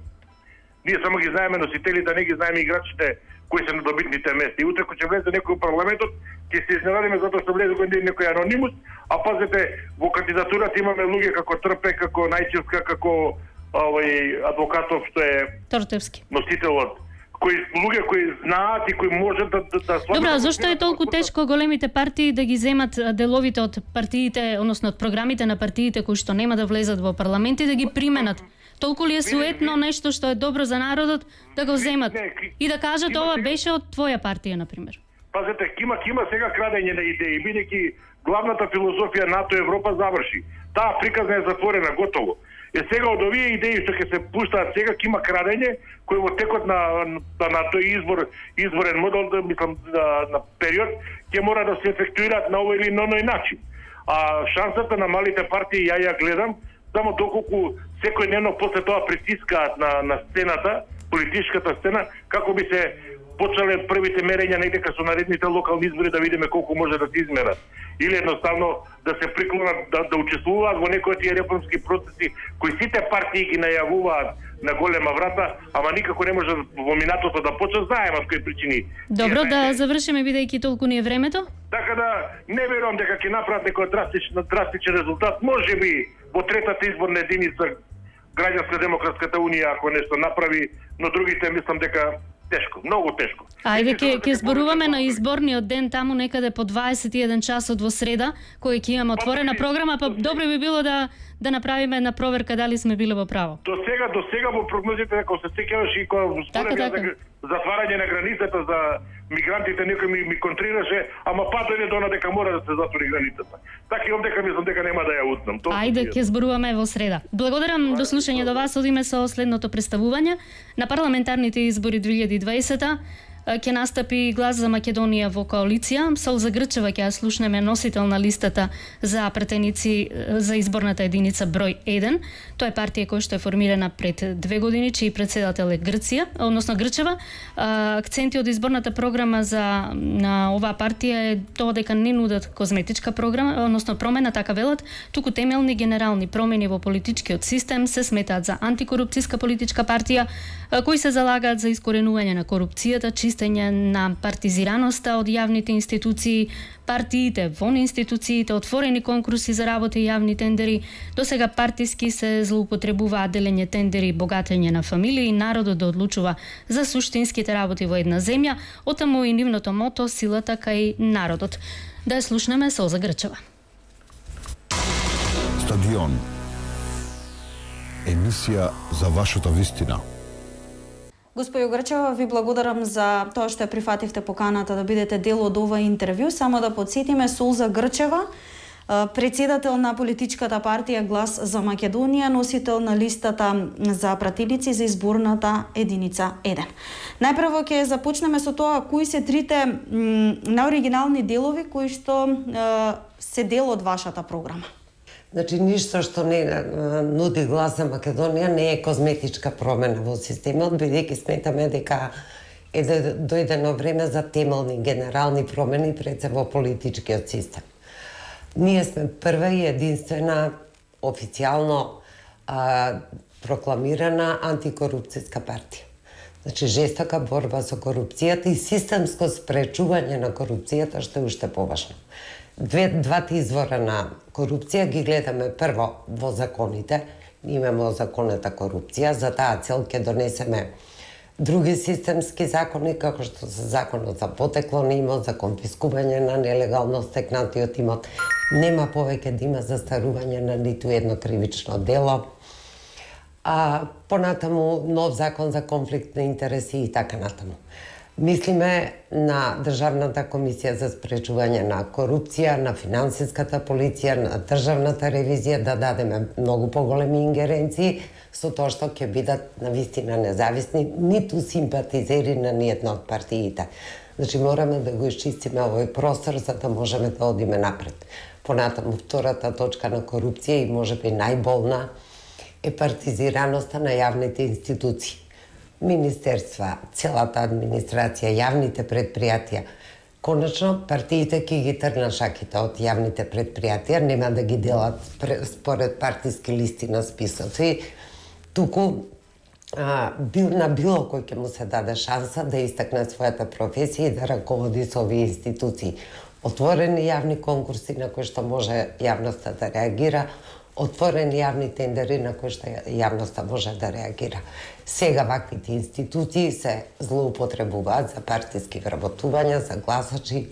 Ние само ги знаеме носителите, не ги знаеме играчите кои се на добитните места. И утре кога ќе влезе некој во парламентот, ќе се изненадиме затоа што влезе некој анонимус, а пазете, во кандидатурата имаме луѓе како Трпе, како Најчевска, како овој адвокатов што е Тортевски. Носителот, кои луѓе кои знаат и кои можат да да, да Добро, а зошто е толку тешко големите партии да ги земат деловите од партиите, односно од програмите на партиите кои што нема да влезат во парламент и да ги применат? Толку ли е суетно нешто што е добро за народот да го земат и да кажат ова беше од твоја партија, например? Пазете, кима кима сега крадење на идеи, бидејќи главната филозофија НАТО Европа заврши. Таа приказна е затворена, готово. Е сега од овие идеи што ќе се пуштаат сега кима крадење кој во текот на на, на тој избор изборен модел, да мислам на, на период ќе мора да се ефектуираат на овој или на оној начин. А шансата на малите партии ја ја гледам само доколку секојдневно после тоа притискаат на на сцената, политичката сцена, како би се почнале првите мерења некако со наредните локални избори да видиме колку може да се измерат. Или едноставно да се приклонат да, да учествуваат во некои тие реформски процеси кои сите партии ги најавуваат на голема врата, ама никако не може во минатото да почнат, знаеме од кои причини. Добро, да завршиме бидејќи толку ни е времето. Така да не верувам дека ќе направат некој драстичен драстичен резултат. Можеби во третата изборна единица Граѓанска демократската унија ако нешто направи, но другите мислам дека тешко, многу тешко. Ајде ќе ќе зборуваме на изборниот ден таму некаде по дваесет и еден часот во среда, кој ќе имаме отворена програма, па добро би било да да направиме една проверка дали сме биле во право. До сега, до сега во прогнозите ако се сеќаваш и кога според за затварање на границата за мигрантите некој ми, ми контрираше, ама па дојде до на дека мора да се затвори границата. Така и овдека мислам дека нема да ја утнам. Ајде ќе зборуваме во среда. Благодарам до слушање до вас, одиме со следното представување на парламентарните избори две илјади и дваесета. Ќе настапи Глас за Македонија во коалиција. Солза Грчева ќе ја слушнеме, носител на листата за претеници за изборната единица број еден. Тоа е партија која што е формирана пред две години, чиј председател е Грција, односно Грчева. Акценти од изборната програма за на оваа партија е тоа дека не нудат козметичка програма, односно промена, така велат, туку темелни генерални промени во политичкиот систем, се сметаат за антикорупцијска политичка партија, кои се залагаат за искоренување на корупцијата, чист користење на партизираноста од јавните институции, партиите вон институциите, отворени конкурси за работа и јавни тендери. Досега партиски се злоупотребуваат делење тендери, богатење на фамилии и народот да одлучува за суштинските работи во една земја, отаму и нивното мото силата кај народот. Да ја слушнеме Солза Грчева. Стадион. Емисија за вашата вистина. Господјо Грчева, ви благодарам за тоа што ја прифативте поканата да бидете дел од ова интервју. Само да подсетиме, Солза Грчева, председател на политичката партија Глас за Македонија, носител на листата за пратеници за изборната единица еден. Најпрво ќе започнеме со тоа кои се трите наоригинални делови кои што се дел од вашата програма. Значи, ништо што не нуди Глас за Македонија не е козметичка промена во системот, бидејќи сметаме дека е дојдено време за темелни генерални промени пред се во политичкиот систем. Ние сме прва и единствена официјално а, прокламирана антикорупцијска партија. Значи, жестока борба со корупцијата и системско спречување на корупцијата, што е уште поважно. Две, двата извора на корупција ги гледаме прво во законите. Имаме озаконета корупција, за таа цел ќе донесеме други системски закони, како што се законот за потекло на имот, за конфискување на нелегално стекнатиот имот. Нема повеќе да има застарување на ниту едно кривично дело. А понатаму нов закон за конфликт на интереси и така натаму. Мислиме на Државната комисија за спречување на корупција, на финансиската полиција, на државната ревизија да дадеме многу поголеми ингеренции со тоа што ќе бидат навистина независни, ниту симпатизери на ниедна од партиите. Значи мораме да го исчистиме овој простор за да можеме да одиме напред. Понатаму втората точка на корупција и можеби најболна е партизираноста на јавните институции. Министерства, целата администрација, јавните предпријатија. Конечно, партиите ќе ги тргнат шаките од јавните предпријатија, нема да ги делат според партиски листи на списоци, туку а, бил, на било кој ќе му се даде шанса да истакне својата професија и да раководи со овие институции. Отворени јавни конкурси на кои што може јавноста да реагира, отворени јавни тендери на кои што јавноста може да реагира. Сега ваквите институции се злоупотребуваат за партиски вработувања, за гласачи,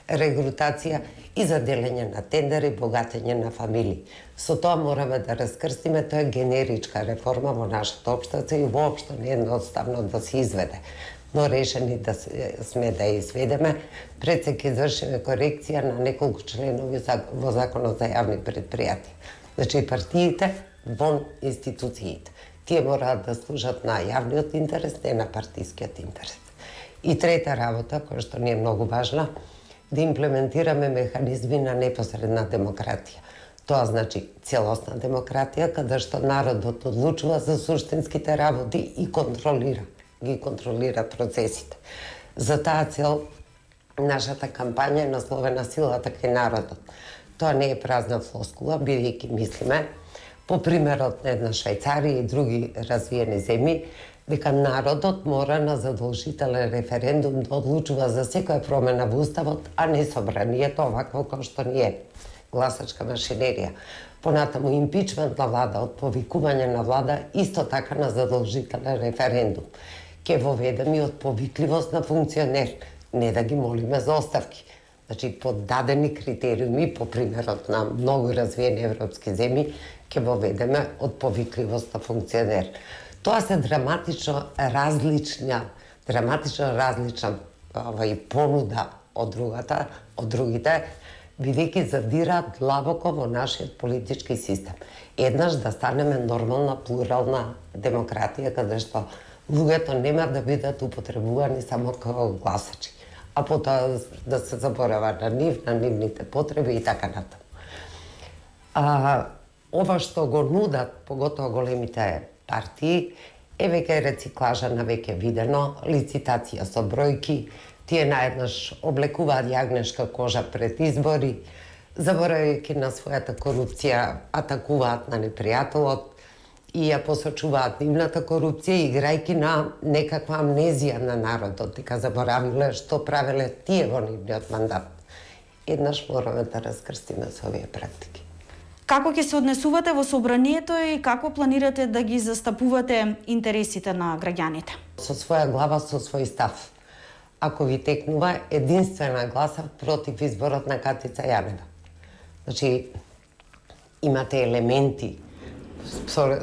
регрутација и за делење на тендери, богатење на фамилии. Со тоа мораме да раскрстиме, тоа е генеричка реформа во нашата општество и воопшто не е едноставно да се изведе. Но решени да сме да ја изведеме, пред се ќе извршиме корекција на неколку членови во Законот за јавни предпријатија. Значи партиите вон институциите. Тие мораат да служат на јавниот интерес, не на партискиот интерес. И трета работа, која што ни е многу важна, да имплементираме механизми на непосредна демократија. Тоа значи целосна демократија, каде што народот одлучува за суштинските работи и контролира, ги контролира процесите. За таа цел нашата кампања е насловена Силата кај народот. Тоа не е празна флоскула, бидејќи мислиме, по примерот на една Швајцарија и други развиени земји, дека народот мора на задолжителен референдум да одлучува за секоја промена во уставот, а не собранието овакво како што ни е гласачка машинерија. Понатаму импичмент на влада, од повикување на влада, исто така на задолжителен референдум. Ке воведеме и од повикливост на функционер, не да ги молиме за оставки. Значи, по дадени критериуми, по примерот на многу развиени европски земји, ќе воведеме од повикливост на функционер. Тоа се драматично различна, драматично различна овај понуда од другата, од другите, бидејќи задираат длабоко во нашиот политички систем. Еднаш да станеме нормална, плурална демократија, каде што луѓето нема да бидат употребувани само како гласачи, а потоа да се заборава на нив, на нивните потреби и така натаму. А, ова што го нудат, поготоа големите партии, е веќе рециклажа на веќе видено, лицитација со бројки, тие наеднаш облекуваат јагнешка кожа пред избори, заборавајќи на својата корупција, атакуваат на непријателот, и ја посочуваат нивната корупција, играјки на некаква амнезија на народот, дека заборавиле што правеле тие во нивниот мандат. Еднаш мораме да раскрстиме со овие практики. Како ќе се однесувате во собранието и како планирате да ги застапувате интересите на граѓаните? Со своја глава, со свој став. Ако ви текнува, единствена гласа против изборот на Катица Јанева. Значи, имате елементи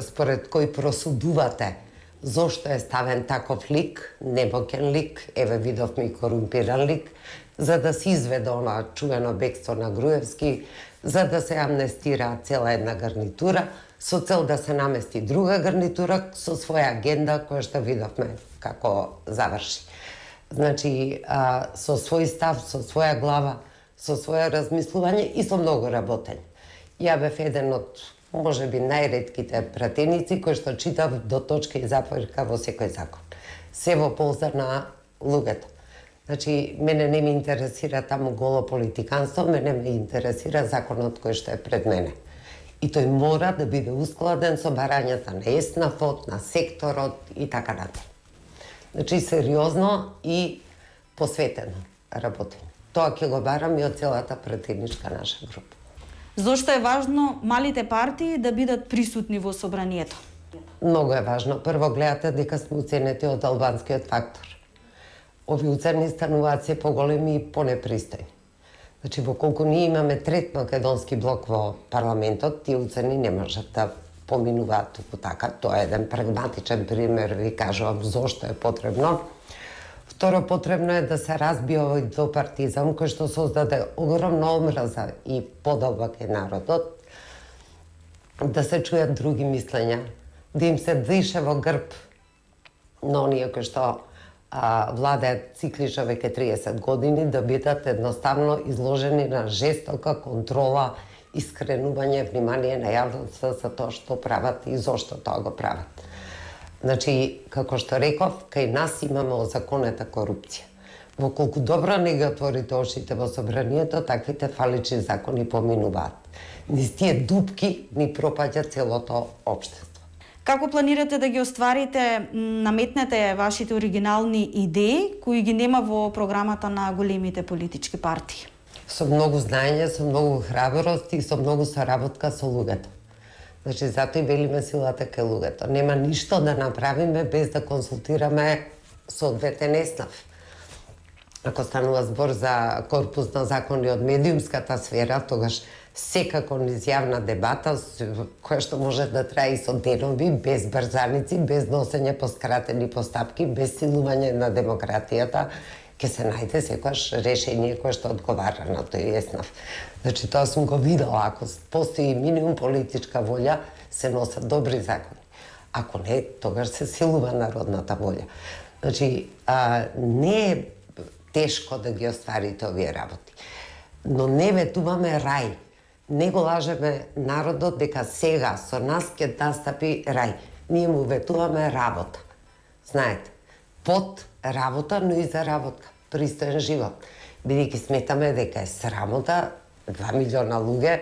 според кои просудувате зошто е ставен таков лик, небокен лик, еве видовме и корумпиран лик, за да се изведе она чувено бегство на Груевски, за да се амнестира цела една гарнитура, со цел да се намести друга гарнитура со своја агенда која што видовме како заврши. Значи, а, со свој став, со своја глава, со своја размислување и со многу работење. Ја бев еден од, може би, најретките пратеници кои што читав до точка и запојка во секој закон. Се во полза на луѓето. Значи, мене не ме интересира таму голо политиканство, мене ме интересира законот кој што е пред мене. И тој мора да биде ускладен со барањата на ЕСНАФ-от, на секторот и така натаму. Значи, сериозно и посветено работење. Тоа ќе го барам и од целата пратеничка наша група. Зошто е важно малите партии да бидат присутни во собранието? Многу е важно. Прво гледате дека сме уценети од албанскиот фактор. Ови уцени стануваат се поголеми и понепристојни. Значи, во колку ние имаме трет македонски блок во парламентот, тие уцени не можат да поминуваат туку така. Тоа е еден прагматичен пример, ви кажувам зошто е потребно. Второ, потребно е да се разбие овој двопартизам кој што создаде огромна омраза и подолбак е народот, да се чујат други мислења, да им се дише во грб на оние кои што а, владеат циклично веќе триесет години, да бидат едноставно изложени на жестока контрола и скренување внимание на јавноста за тоа што прават и зошто тоа го прават. Значи, како што реков, кај нас имаме озаконета корупција. Во колку добро не ги отворите очите во собранието, таквите фалични закони поминуваат. Низ тие дупки ни пропаѓа целото општество. Како планирате да ги остварите, наметнете вашите оригинални идеи кои ги нема во програмата на големите политички партии? Со многу знаење, со многу храброст и со многу соработка со луѓето. Значи, затоа и велиме силата кај луѓето. Нема ништо да направиме без да консултираме соодветен ЕСНАФ. Ако станува збор за корпус на закони од медиумската сфера, тогаш секако низ јавна дебата, која што може да трае и со денови, без брзаници, без носење по скратени постапки, без силување на демократијата, ќе се најде секојаш решение кое што одговара на тој ЕСНАФ. Значи, тоа сум го видела. Ако постои минимум политичка волја, се носат добри закони. Ако не, тогаш се силува народната волја. Значи, а, не е тешко да ги остварите овие работи. Но не ветуваме рај. Не го лажеме народот дека сега со нас ќе настапи рај. Ние му ветуваме работа. Знаете, под работа, но и за работа. Пристоен живот. Бидејќи сметаме дека е срамота, два милиона луѓе,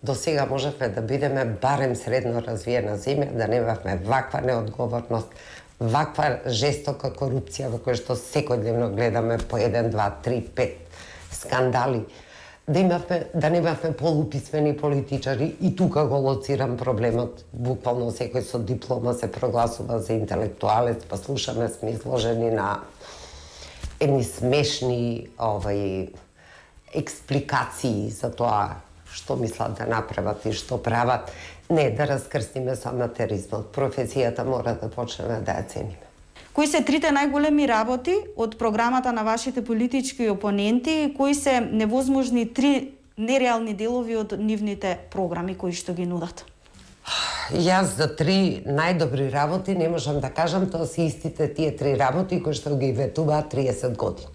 до сега можевме да бидеме барем средно развиена земја, да немавме ваква неодговорност, ваква жестока корупција во која што секојдневно гледаме по еден, два, три, пет скандали, да имавме, да немавме полуписмени политичари и тука го лоцирам проблемот. Буквално секој со диплома се прогласува за интелектуалец, па слушаме сме изложени на едни смешни овај експликации за тоа што мислат да направат и што прават. Не, да раскрстиме со аматеризмот. Професијата мора да почнеме да ја цениме. Кои се трите најголеми работи од програмата на вашите политички опоненти и кои се невозможни три нереални делови од нивните програми кои што ги нудат? Јас за три најдобри работи не можам да кажам, тоа се истите тие три работи кои што ги ветуваат триесет години.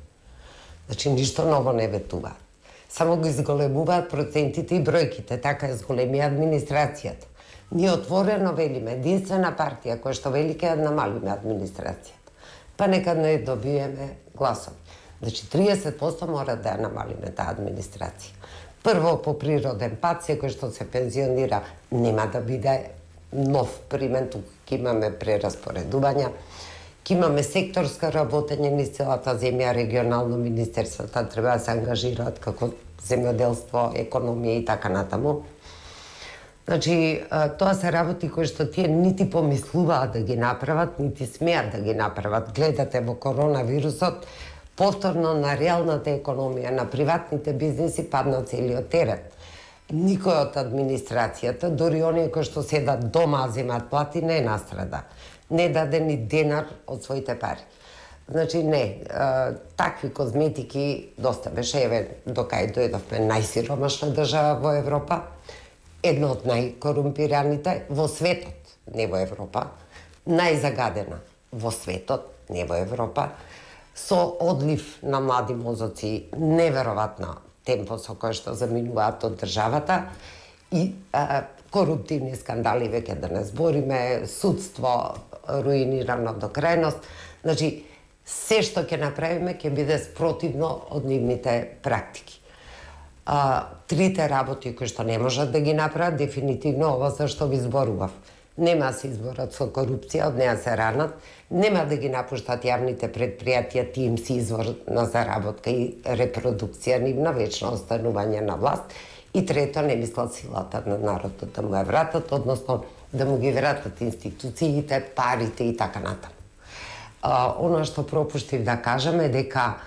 Значи, ништо ново не ветуваат. Само го изголемуваат процентите и бројките, така е зголемија администрацијата. Ние отворено велиме, единствена партија која што вели ќе намалиме администрацијата. Па нека не добиеме гласови. Значи, триесет проценти мора да ја намалиме таа администрација. Прво, по природен пат, секој што се пензионира нема да биде нов примен, тука ќе имаме прераспоредувања, ќе имаме секторска работење низ целата земја, регионално министерствата треба да се ангажираат како земјоделство, економија и така натаму. Значи, тоа се работи кои што тие нити помислуваат да ги направат, нити смеат да ги направат. Гледате во коронавирусот, повторно на реалната економија, на приватните бизнеси падна целиот терет. Никој од администрацијата, дори оние кои што седат дома а земат плати, не настрада. Не даде ни денар од своите пари. Значи, не, такви козметики доста беше, еве, докај дојдовме најсиромашна држава во Европа, една од најкорумпираните во светот, не во Европа, најзагадена во светот, не во Европа, со одлив на млади мозоци, неверојатно темпо со кој што заминуваат од државата и а, коруптивни скандали, веќе да не збориме, судство руинирано до крајност. Значи, се што ќе направиме ќе биде спротивно од нивните практики. А, трите работи кои што не можат да ги направат, дефинитивно ова за што ви зборував. Нема да се изборат со корупција, од неа се ранат, нема да ги напуштат јавните предпријатија, ти им си извор на заработка и репродукција нивна, вечно останување на власт. И трето, не мислат силата на народот да му ја вратат, односно да му ги вратат институциите, парите и така натаму. А, оно што пропуштив да кажам е дека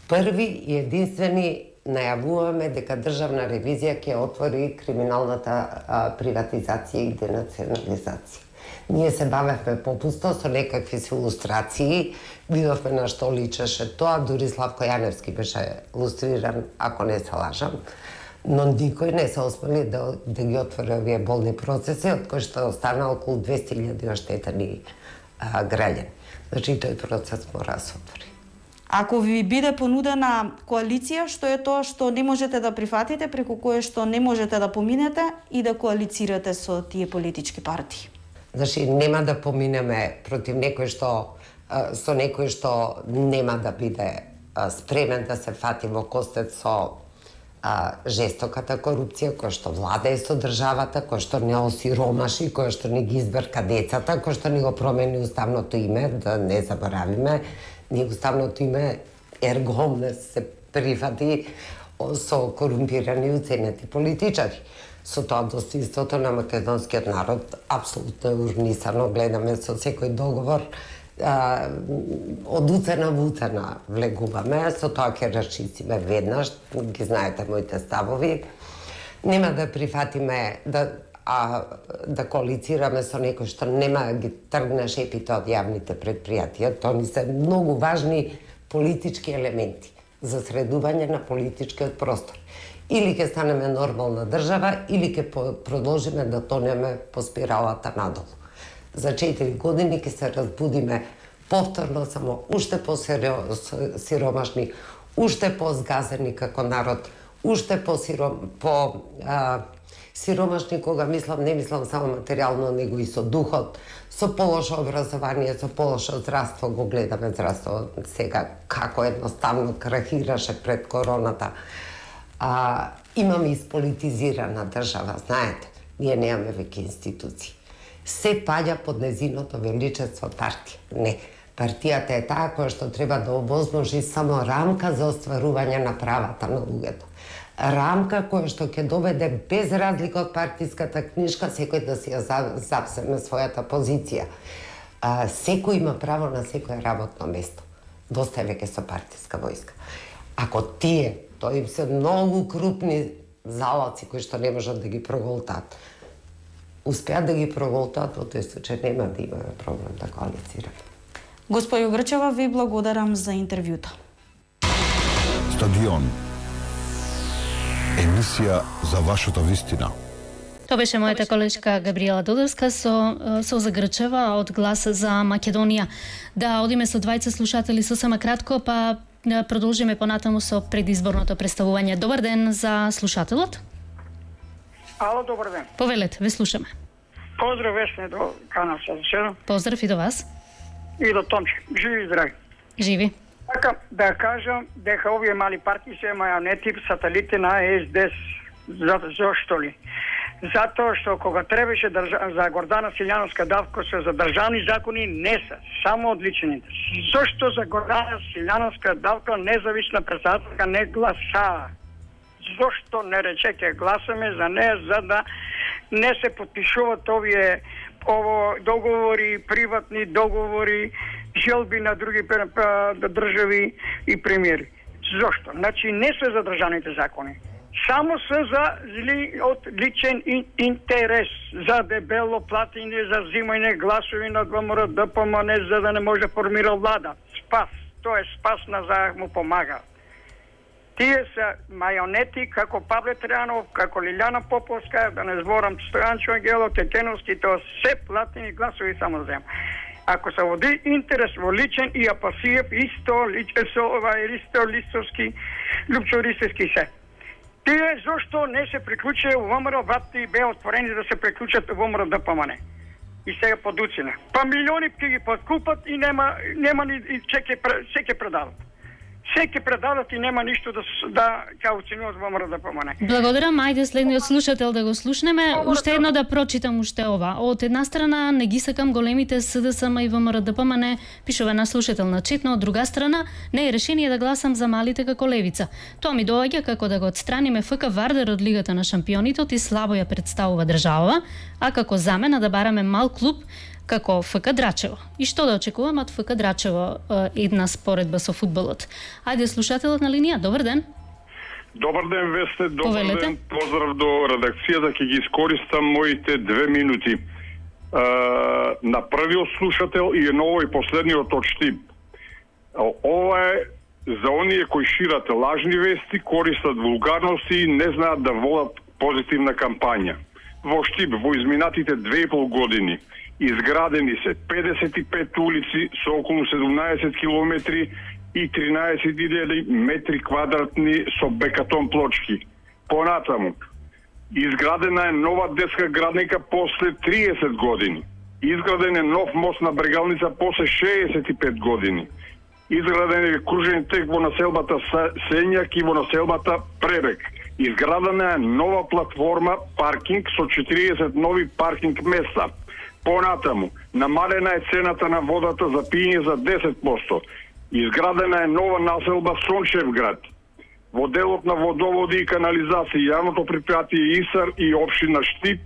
први и единствени најавуваме дека државна ревизија ќе отвори криминалната а, приватизација и денационализација. Ние се бавевме попусто со некакви илустрации, видовме на што личеше тоа, дури Славко Јаневски беше илустриран, ако не се лажам, но никој не се осмели да, да ги отвори овие болни процеси, од кои што остана околу двесте илјади оштетени а, граѓани. Значи, тој процес мора да се отвори. Ако ви биде понудена коалиција, што е тоа што не можете да прифатите, преку кое што не можете да поминете и да коалицирате со тие политички партии? Значи, нема да поминеме против некој што, со некој што нема да биде спремен да се фати во костет со а, жестоката корупција, која што владее со државата, која што не осиромаши, која што не ги избрка децата, која што не го промени уставното име, да не заборавиме, ние уставното име ерго омнес се прифати со корумпирани и уценети политичари. Со тоа достоинството на македонскиот народ апсолутно е урнисано, гледаме со секој договор а, од уцена во уцена влегуваме, со тоа ќе расчистиме веднаш, ги знаете моите ставови. Нема да прифатиме да а да коалицираме со некој што нема да ги тргне шепите од јавните предпријатија. Тоа ни се многу важни политички елементи за средување на политичкиот простор. Или ќе станеме нормална држава, или ќе продолжиме да тонеме по спиралата надолу. За четири години ќе се разбудиме повторно само уште по-сиромашни, уште по-згазени како народ, уште по-сиром, по а, сиромашни, кога мислам, не мислам само материјално, него и со духот, со полошо образование, со полошо здравство, го гледаме здравство сега како едноставно крахираше пред короната. А, имаме исполитизирана држава, знаете, ние немаме веќе институции. Се паѓа под незиното величество партија. Не, партијата е таа која што треба да обозможи само рамка за остварување на правата на луѓето. Рамка која што ќе доведе без разлика од партиската книжка секој да си ја запсеме својата позиција. А, секој има право на секое работно место. Доста е веќе со партиска војска. Ако тие, тоа им се многу крупни залаци кои што не можат да ги проголтаат, успеат да ги проголтаат, во тој случај нема да имаме проблем да коалицираме. Господјо Грчева, ви благодарам за интервјуто. Стадион. Емисија за вашата вистина. Тоа беше мојата колешка Габриела Додовска со Сулза Грчева од Глас за Македонија. Да одиме со двајца слушатели сосема кратко, па да продолжиме понатаму со предизборното представување. Добар ден за слушателот. Ало, добар ден. Повелете, ве слушаме. Поздрав Весне до канал седум. Поздрав и до вас. И до Томче. Живи и здрави. Живи. Така, да кажам дека овие мали партии се мајонети сателити на ес де ес. За, зошто ли? Затоа што кога требаше држа... за Гордана Силјановска давка се за државни закони не се, само одличените. Зошто за Гордана Силјановска давка независна председателка не гласа? Зошто не рече ке гласаме за неја, за да не се подпишуваат овие ово договори, приватни договори, желби на други држави и премиери. Зошто? Значи не се за државните закони. Само се за ли, од личен ин, интерес, за дебело платење, за взимање гласови на ВМРО Д П М Н, за да не може да формира влада. Спас. Тоа е спас на за му помага. Тие се мајонети како Павле Тријанов, како Лилјана Поповска, да не зборам Стојанчо Ангелов, Тетеновски, тоа се платени гласови само зема. Ако се води интерес во личен и Апасиев, исто, личен со ова, Ристо, Листовски, Лупчо Ристовски се. Тие зошто не се приклучија у ВМРО, врати беа отворени да се приклучат у ВМРО Д П М Н. И сега подуцина. Па милиони ќе ги подкупат и нема нема ни ќе ќе предават. Се ќе предадат и нема ништо да да ќе оценуваат во ВМРО Д П М Н. Благодарам, ајде следниот слушател да го слушнеме. Уште едно да прочитам уште ова. Од една страна не ги сакам големите С Д С М и ВМРО Д П М Н, пишува на слушател на четно, од друга страна не е решение да гласам за малите како левица. Тоа ми доаѓа како да го отстраниме Ф К Вардер од Лигата на шампионите и слабо ја представува држава, а како замена да бараме мал клуб како Ф К Драчево. И што да очекувам од Ф К Драчево една споредба со фудбалот? Ајде слушателот на линија, добар ден. Добар ден, Весте, добар Повелете. ден. Поздрав до редакцијата, ќе ги искористам моите две минути. Uh, на првиот слушател и на овој последниот очтип. Ова е за оние кои шират лажни вести, користат вулгарности и не знаат да водат позитивна кампања. Во Штип, во изминатите две и пол години, изградени се педесет и пет улици со околу седумнаесет километри и тринаесет илјади метри квадратни со бекатон плочки. Понатаму, изградена е нова детска градника после триесет години. Изграден е нов мост на Брегалница после шеесет и пет години. Изграден е кружен тек во населбата Сењак и во населбата Пребег. Изградена е нова платформа паркинг со четириесет нови паркинг места. Понатаму, намалена е цената на водата за пиење за десет проценти. Изградена е нова населба Сончевград. Во делот на водоводи и канализација, јавното предпријатие ИСАР и општина Штип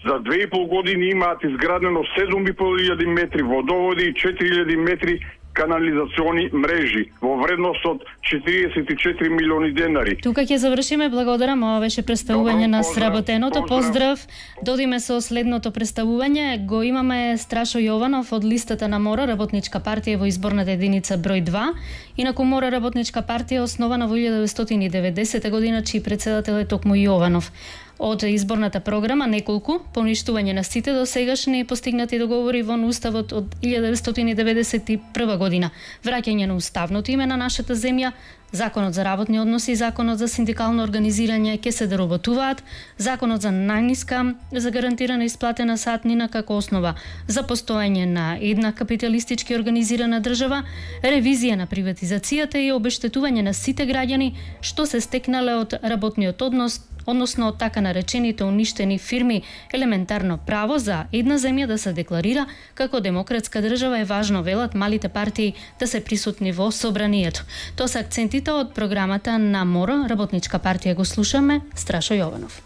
за две и пол години имаат изградено седум и пол илјади метри водоводи и четири илјади метри канализациони мрежи во вредност од четириесет и четири милиони денари. Тука ќе завршиме, благодарам, ова беше представување на сработеното. Поздрав. Додиме со следното представување. Го имаме Страшо Јованов од листата на МОРА, Работничка партија во изборната единица број два. Инаку МОРА, Работничка партија основана во илјада деветстотини и деветдесета година, чиј председател е токму Јованов. Од изборната програма неколку поништување на сите досегашни постигнати договори во Уставот од илјада деветстотини деветдесет и прва година, враќање на уставното име на нашата земја, Законот за работни односи и Законот за синдикално организирање ќе се доработуваат, Законот за најниска за гарантирана исплатена сатнина како основа за постоење на една капиталистички организирана држава, ревизија на приватизацијата и обештетување на сите граѓани што се стекнале од работниот однос, односно од така наречените уништени фирми. Елементарно право за една земја да се декларира како демократска држава е важно, велат малите партии, да се присутни во собранието. Тоа се акцентите од програмата на МОРА, Работничка партија. Го слушаме, Страшо Јованов.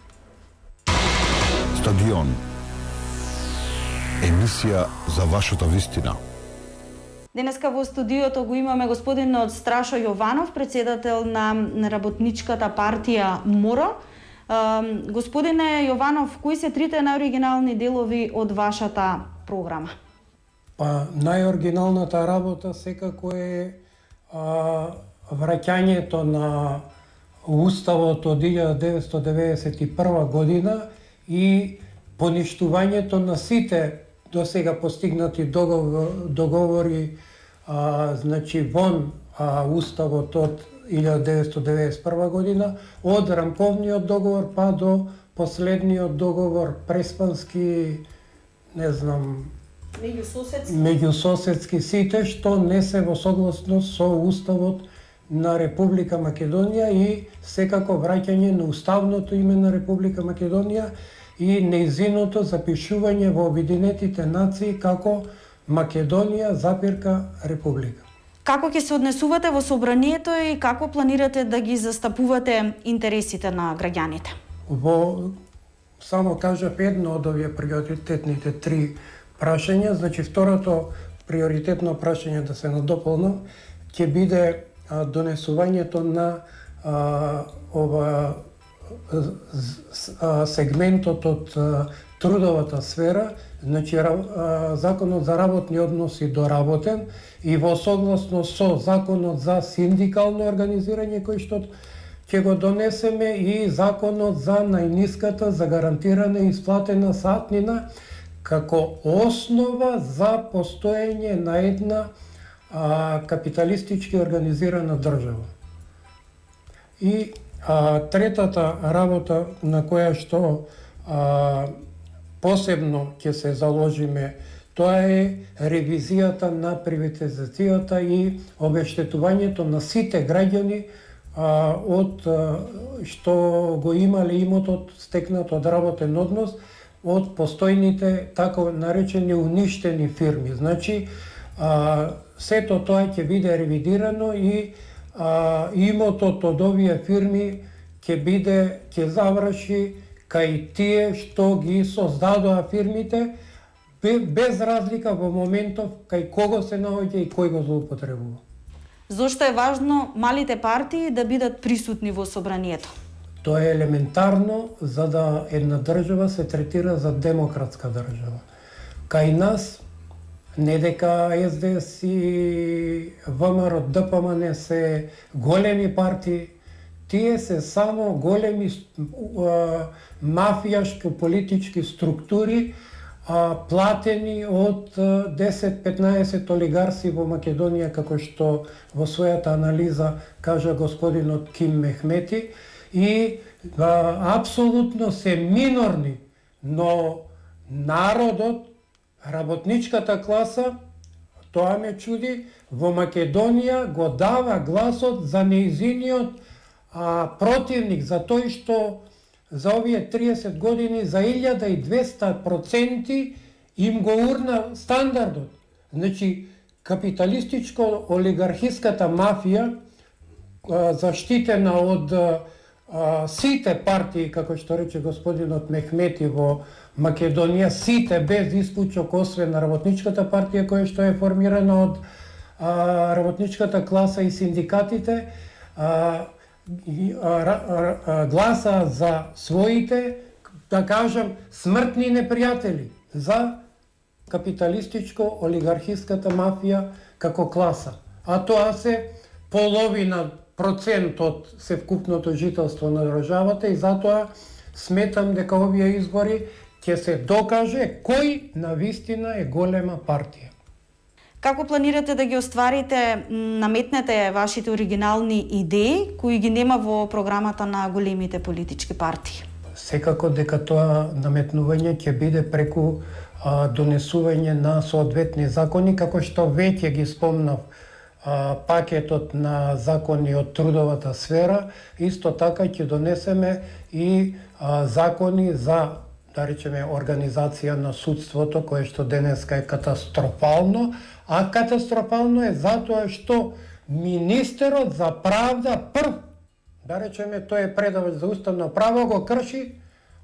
Стадион. Емисија за вашата вистина. Денеска во студиото го имаме господинот Страшо Јованов, председател на Работничката партија МОРА. Господине Јованов, кои се трите најоригинални делови од вашата програма? Па, најоригиналната работа секако е а, враќањето на Уставот од илјада деветстотини деветдесет и прва година и поништувањето на сите досега постигнати договор, договори, а, значи вон а, Уставот од илјада деветстотини деветдесет и прва година, од рамковниот договор па до последниот договор преспански, не знам, меѓусоседски, меѓусоседски сите што не се во согласност со Уставот на Република Македонија и секако враќање на уставното име на Република Македонија и нејзиното запишување во Обединетите нации како Македонија запирка република. Како ќе се однесувате во собранието и како планирате да ги застапувате интересите на граѓаните? Во само кажав едно од овие приоритетните три прашања, значи второто приоритетно прашање да се надополнам ќе биде а, донесувањето на а, ова а, сегментот од а, трудовата сфера, значи а, законот за работни односи доработен и во согласно со законот за синдикално организирање кој што ќе го донесеме и законот за најниската за гарантирана и исплатена сатнина како основа за постоење на една а, капиталистички организирана држава. И а, третата работа на која што а, посебно ќе се заложиме, тоа е ревизијата на приватизацијата и обештетувањето на сите граѓани а, од а, што го имале имотот стекнат од работен однос од постојните така наречени уништени фирми. Значи, а, сето тоа ќе биде ревидирано и а, имотот од овие фирми ќе биде, ќе заврши кај тие што ги создадоа фирмите, без разлика во моментов кај кого се наоѓа и кој го злоупотребува. Зошто е важно малите партии да бидат присутни во собранието? Тоа е елементарно за да една држава се третира за демократска држава. Кај нас, не дека Ес Де Ес и ВМРО Д П М Н се големи партии, тие се само големи мафијашки политички структури, а, платени од десет-петнаесет олигарси во Македонија, како што во својата анализа кажа господинот Ким Мехмети, и а, апсолутно се минорни, но народот, работничката класа, тоа ме чуди, во Македонија го дава гласот за нејзиниот а, противник, за тој што за овие триесет години за илјада и двесте проценти им го урна стандардот. Значи, капиталистичко-олигархиската мафија, а, заштитена од а, сите партии, како што рече господинот Мехмети во Македонија, сите без исклучок освен работничката партија која што е формирана од а, работничката класа и синдикатите, а, и, а, а, а, гласа за своите, да кажам, смртни непријатели за капиталистичко-олигархиската мафија како класа. А тоа се половина процент од севкупното жителство на државата и затоа сметам дека овие избори ќе се докаже кој навистина е голема партија. Како планирате да ги остварите, наметнете вашите оригинални идеи кои ги нема во програмата на големите политички партии? Секако дека тоа наметнување ќе биде преку а, донесување на соодветни закони, како што веќе ги спомнав, а, пакетот на закони од трудовата сфера, исто така ќе донесеме и а, закони за, да речеме, организација на судството, кое што денеска е катастрофално, а катастрофално е затоа што министерот за правда прв, да речеме, тој е предавач за уставно право, го крши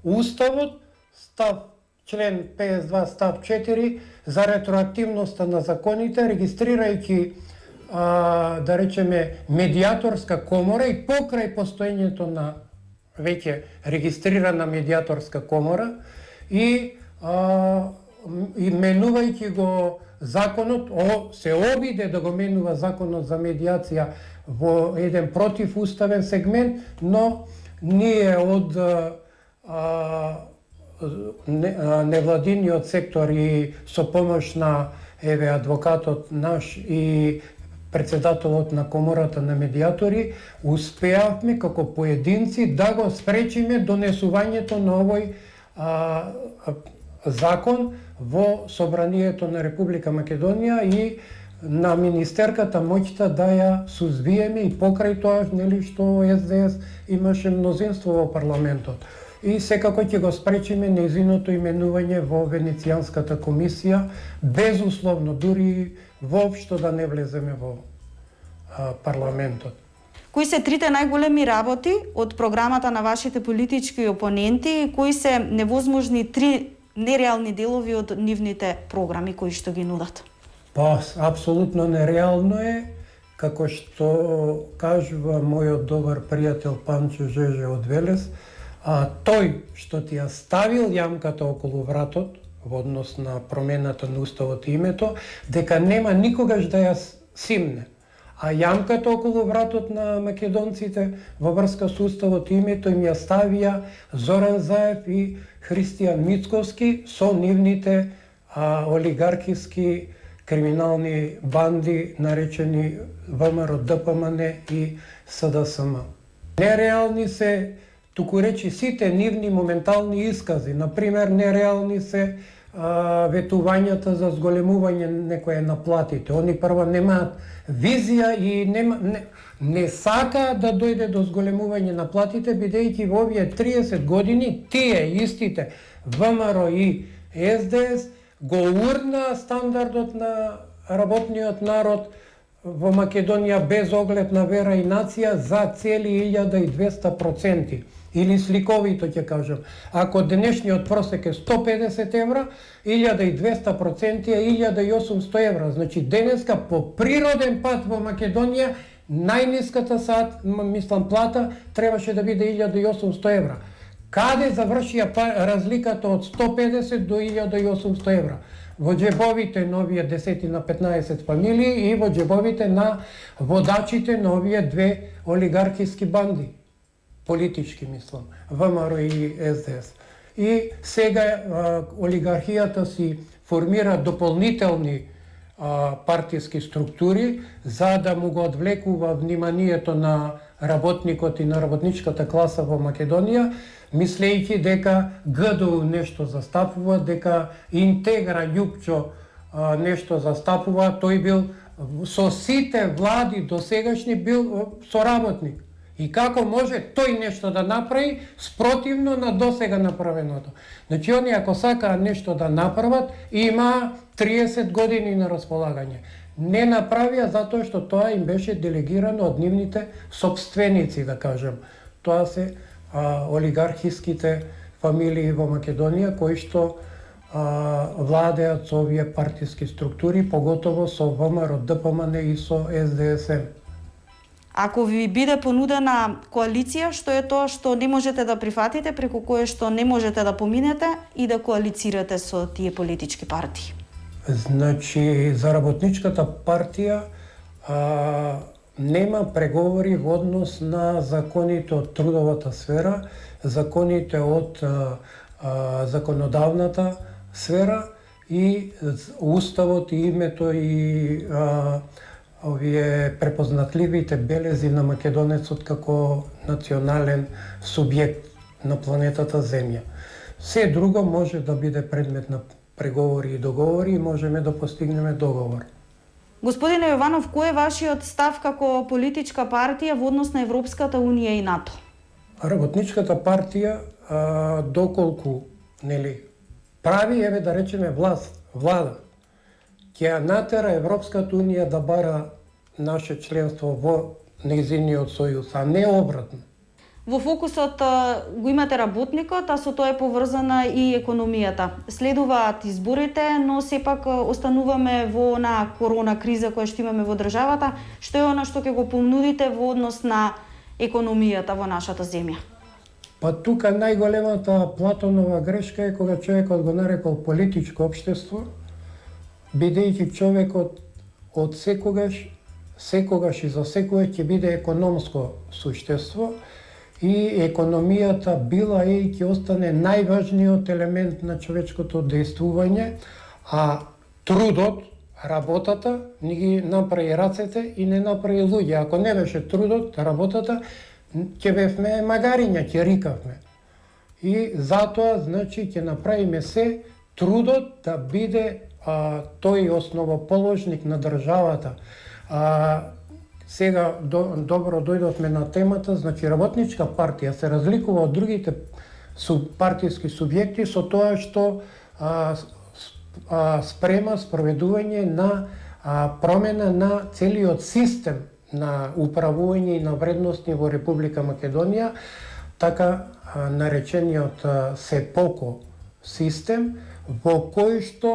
уставот, став член петдесет и два став четири за ретроактивноста на законите, регистрирајќи а, да речеме медиаторска комора и покрај постоењето на веќе регистрирана медиаторска комора и а, менувајќи го законот, о, се обиде да го менува законот за медиација во еден противуставен сегмент, но ние од а, не, а, невладиниот сектор и со помош на еве адвокатот наш и председателот на комората на медиатори, успеавме како поединци да го спречиме донесувањето на овој а, а, закон во собранието на Република Македонија и на министерката моќта да ја сузбиеме и покрај тоа, нели, што Ес Де Ес имаше мнозинство во парламентот. и секако ќе го спречиме нејзиното именување во Венецијанската комисија, безусловно, дури воопшто да не влеземе во а, парламентот. Кои се трите најголеми работи од програмата на вашите политички опоненти и кои се невозможни три нереални делови од нивните програми кои што ги нудат? Па, апсолутно нереално е, како што кажува мојот добар пријател Панчо Жеже од Велес, а тој што ти ја ставил јамката околу вратот во однос на промената на уставот и името, дека нема никогаш да ја симне. А јамката околу вратот на македонците во врска со уставот и името им ја ставија Зоран Заев и Христијан Мицковски со нивните а, олигархиски криминални банди наречени ВМРО Д П М Н и С Д С М. Нереални се, туку речи, сите нивни моментални искази. Например, нереални се а, ветувањата за зголемување некоја на платите. Они прво немаат визија и нема, не, не сака да дојде до зголемување на платите, бидејќи во овие триесет години тие истите ВМРО и С Д С го урна стандардот на работниот народ во Македонија без оглед на вера и нација за цели илјада и двесте проценти. Или сликовито ќе кажам, ако денешниот просек е сто педесет евра, илјада и двесте проценти е илјада и осумсто евра. Значи денеска по природен пат во Македонија најниската саат, мислам, плата требаше да биде илјада и осумсто евра. Каде завршија разликата од сто педесет до илјада и осумсто евра? Во џебовите на овие десетина петнаесет фамилии и во џебовите на водачите на овие две олигархиски банди. Политички, мислам, ВМРО и С Д С. И сега а, олигархијата си формира дополнителни а, партиски структури за да му го одвлекува вниманието на работникот и на работничката класа во Македонија, мислејќи дека Г Д У нешто застапува, дека Интегра Љупчо а, нешто застапува. Тој бил со сите влади досегашни бил соработник. И како може тој нешто да направи спротивно на досега направеното? Значи, они ако сакаат нешто да направат, има триесет години на располагање. Не направија затоа што тоа им беше делегирано од нивните собственици, да кажем. Тоа се а, олигархиските фамилии во Македонија кои што а, владеат со овие партиски структури, поготово со ВМРО Д П М Н и со С Д С М. Ако ви биде понудена коалиција, што е тоа што не можете да прифатите, преку кое што не можете да поминете и да коалицирате со тие политички партии? Значи, за работничката партија а, нема преговори во однос на законите од трудовата сфера, законите од а, а, законодавната сфера и уставот и името и а, овие препознатливите белези на македонецот како национален субјект на планетата Земја. Се друго може да биде предмет на преговори и договори и можеме да постигнеме договор. Господине Јованов, кој е вашиот став како политичка партија во однос на Европската Унија и НАТО? Работничката партија, а, доколку нели прави, еве да речеме, власт, влада, ќе ја натера Европската Унија да бара наше членство во нејзиниот сојуз, а не обратно. Во фокусот го имате работникот, а со тоа е поврзана и економијата. Следуваат изборите, но сепак остануваме во на корона криза која што имаме во државата. Што е она што ќе го понудите во однос на економијата во нашата земја? Па тука најголемата Платонова грешка е кога човекот го нарекол политичко општество, бидејќи човекот од секогаш, секогаш и за секогаш ќе биде економско суштество и економијата била е и ќе остане најважниот елемент на човечкото дејствување, а трудот, работата, ни ги направи рацете и не направи луѓе. Ако не беше трудот, работата, ќе бевме магариња, ќе рикавме. И затоа, значи, ќе направиме се трудот да биде а, тој основоположник на државата. А, сега до, добро дојдовме на темата, значи работничка партија се разликува од другите субпартиски субјекти со тоа што а, а, спрема спроведување на а, промена на целиот систем на управување и на вредности во Република Македонија, така а, наречениот а, СЕПОКО систем, во кој што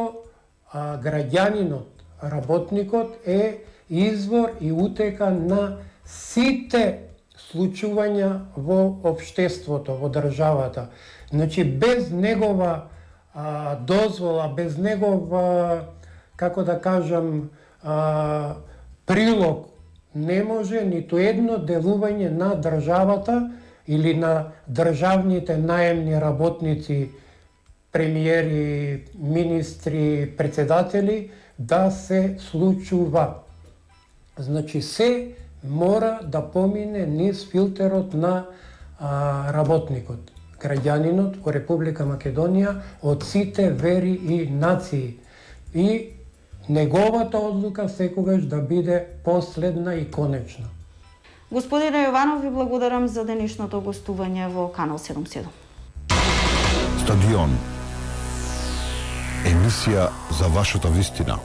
а, граѓанинот, работникот е извор и утека на сите случувања во општеството, во државата. Значи, без негова а, дозвола, без негова, како да кажам, а, прилог, не може ниту едно делување на државата или на државните наемни работници, премиери, министри, председатели, да се случува. Значи, се мора да помине низ филтерот на а, работникот, граѓанинот во Република Македонија од сите вери и нации. И неговата одлука секогаш да биде последна и конечна. Господине Јованов, ви благодарам за денешното гостување во Канал седумдесет и седум. Стадион. Емисија за вашата вистина.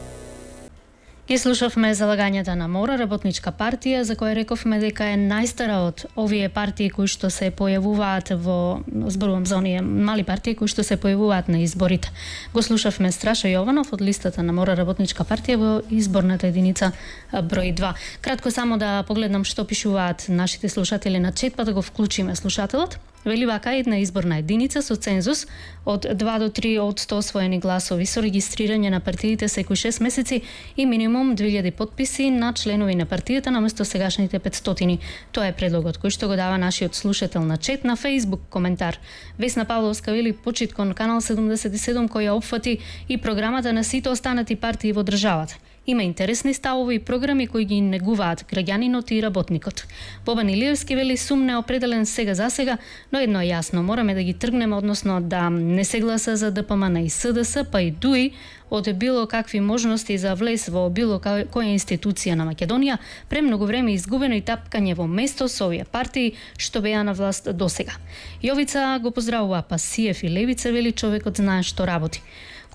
Ги слушавме залагањата на Мора, работничка партија, за која рековме дека е најстара од овие партии кои што се појавуваат во, зборувам за оние мали партии кои што се појавуваат на изборите. Го слушавме Страшо Јованов од листата на Мора, работничка партија во изборната единица број два. Кратко само да погледнам што пишуваат нашите слушатели на чет, па да го вклучиме слушателот. Вели вака: една изборна единица со цензус од два до три од сто освоени гласови со регистрирање на партиите секој шест месеци и минимум две илјади потписи на членови на партијата наместо сегашните петстотини. Тоа е предлогот кој што го дава нашиот слушател на чет. На Facebook коментар Весна Павловска вели: почит кон Канал седумдесет и седум која опфати и програмата на сите останати партии во државата. Има интересни ставови и програми кои ги негуваат граѓанинот и работникот. Бобан Илиевски вели: сум неопределен сега за сега, но едно е јасно, мораме да ги тргнеме, односно да не се гласа за ДПМН и СДС, па и ДУИ од било какви можности за влез во било која институција на Македонија, премногу време изгубено и тапкање во место со овие партии што беа на власт досега. Јовица го поздравува Пасиев и Левица, вели: човекот знае што работи.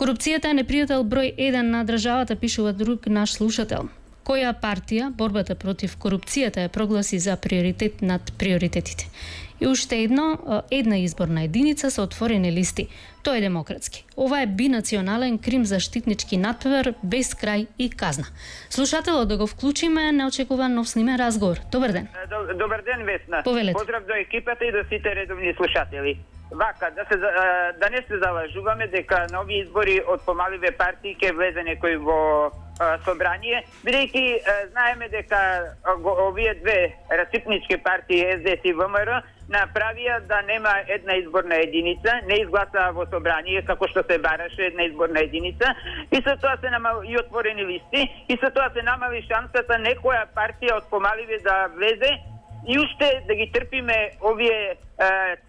Корупцијата е непријател број еден на државата, пишува друг наш слушател. Која партија борбата против корупцијата ја прогласи за приоритет над приоритетите? И уште едно, една изборна единица со отворени листи. Тоа е демократски. Ова е бинационален крим заштитнички надпревар без крај и казна. Слушателот да го вклучиме, неочекуван нов снимен разговор. Добар ден. Добар ден, Весна. Повелете. Поздрав до екипата и до сите редовни слушатели. Вака, да, се, да не се залажуваме дека на овие избори од помаливе партии ќе влезе некој во а, собрание, бидејќи знаеме дека а, овие две расипнички партии Ес Де Ес и Вэ Ем Ер направија да нема една изборна единица, не изгласаа во собрание како што се бараше една изборна единица, и со тоа се намали и отворени листи, и со тоа се намали шансата некоја партија од помаливе да влезе и уште да ги трпиме овие е,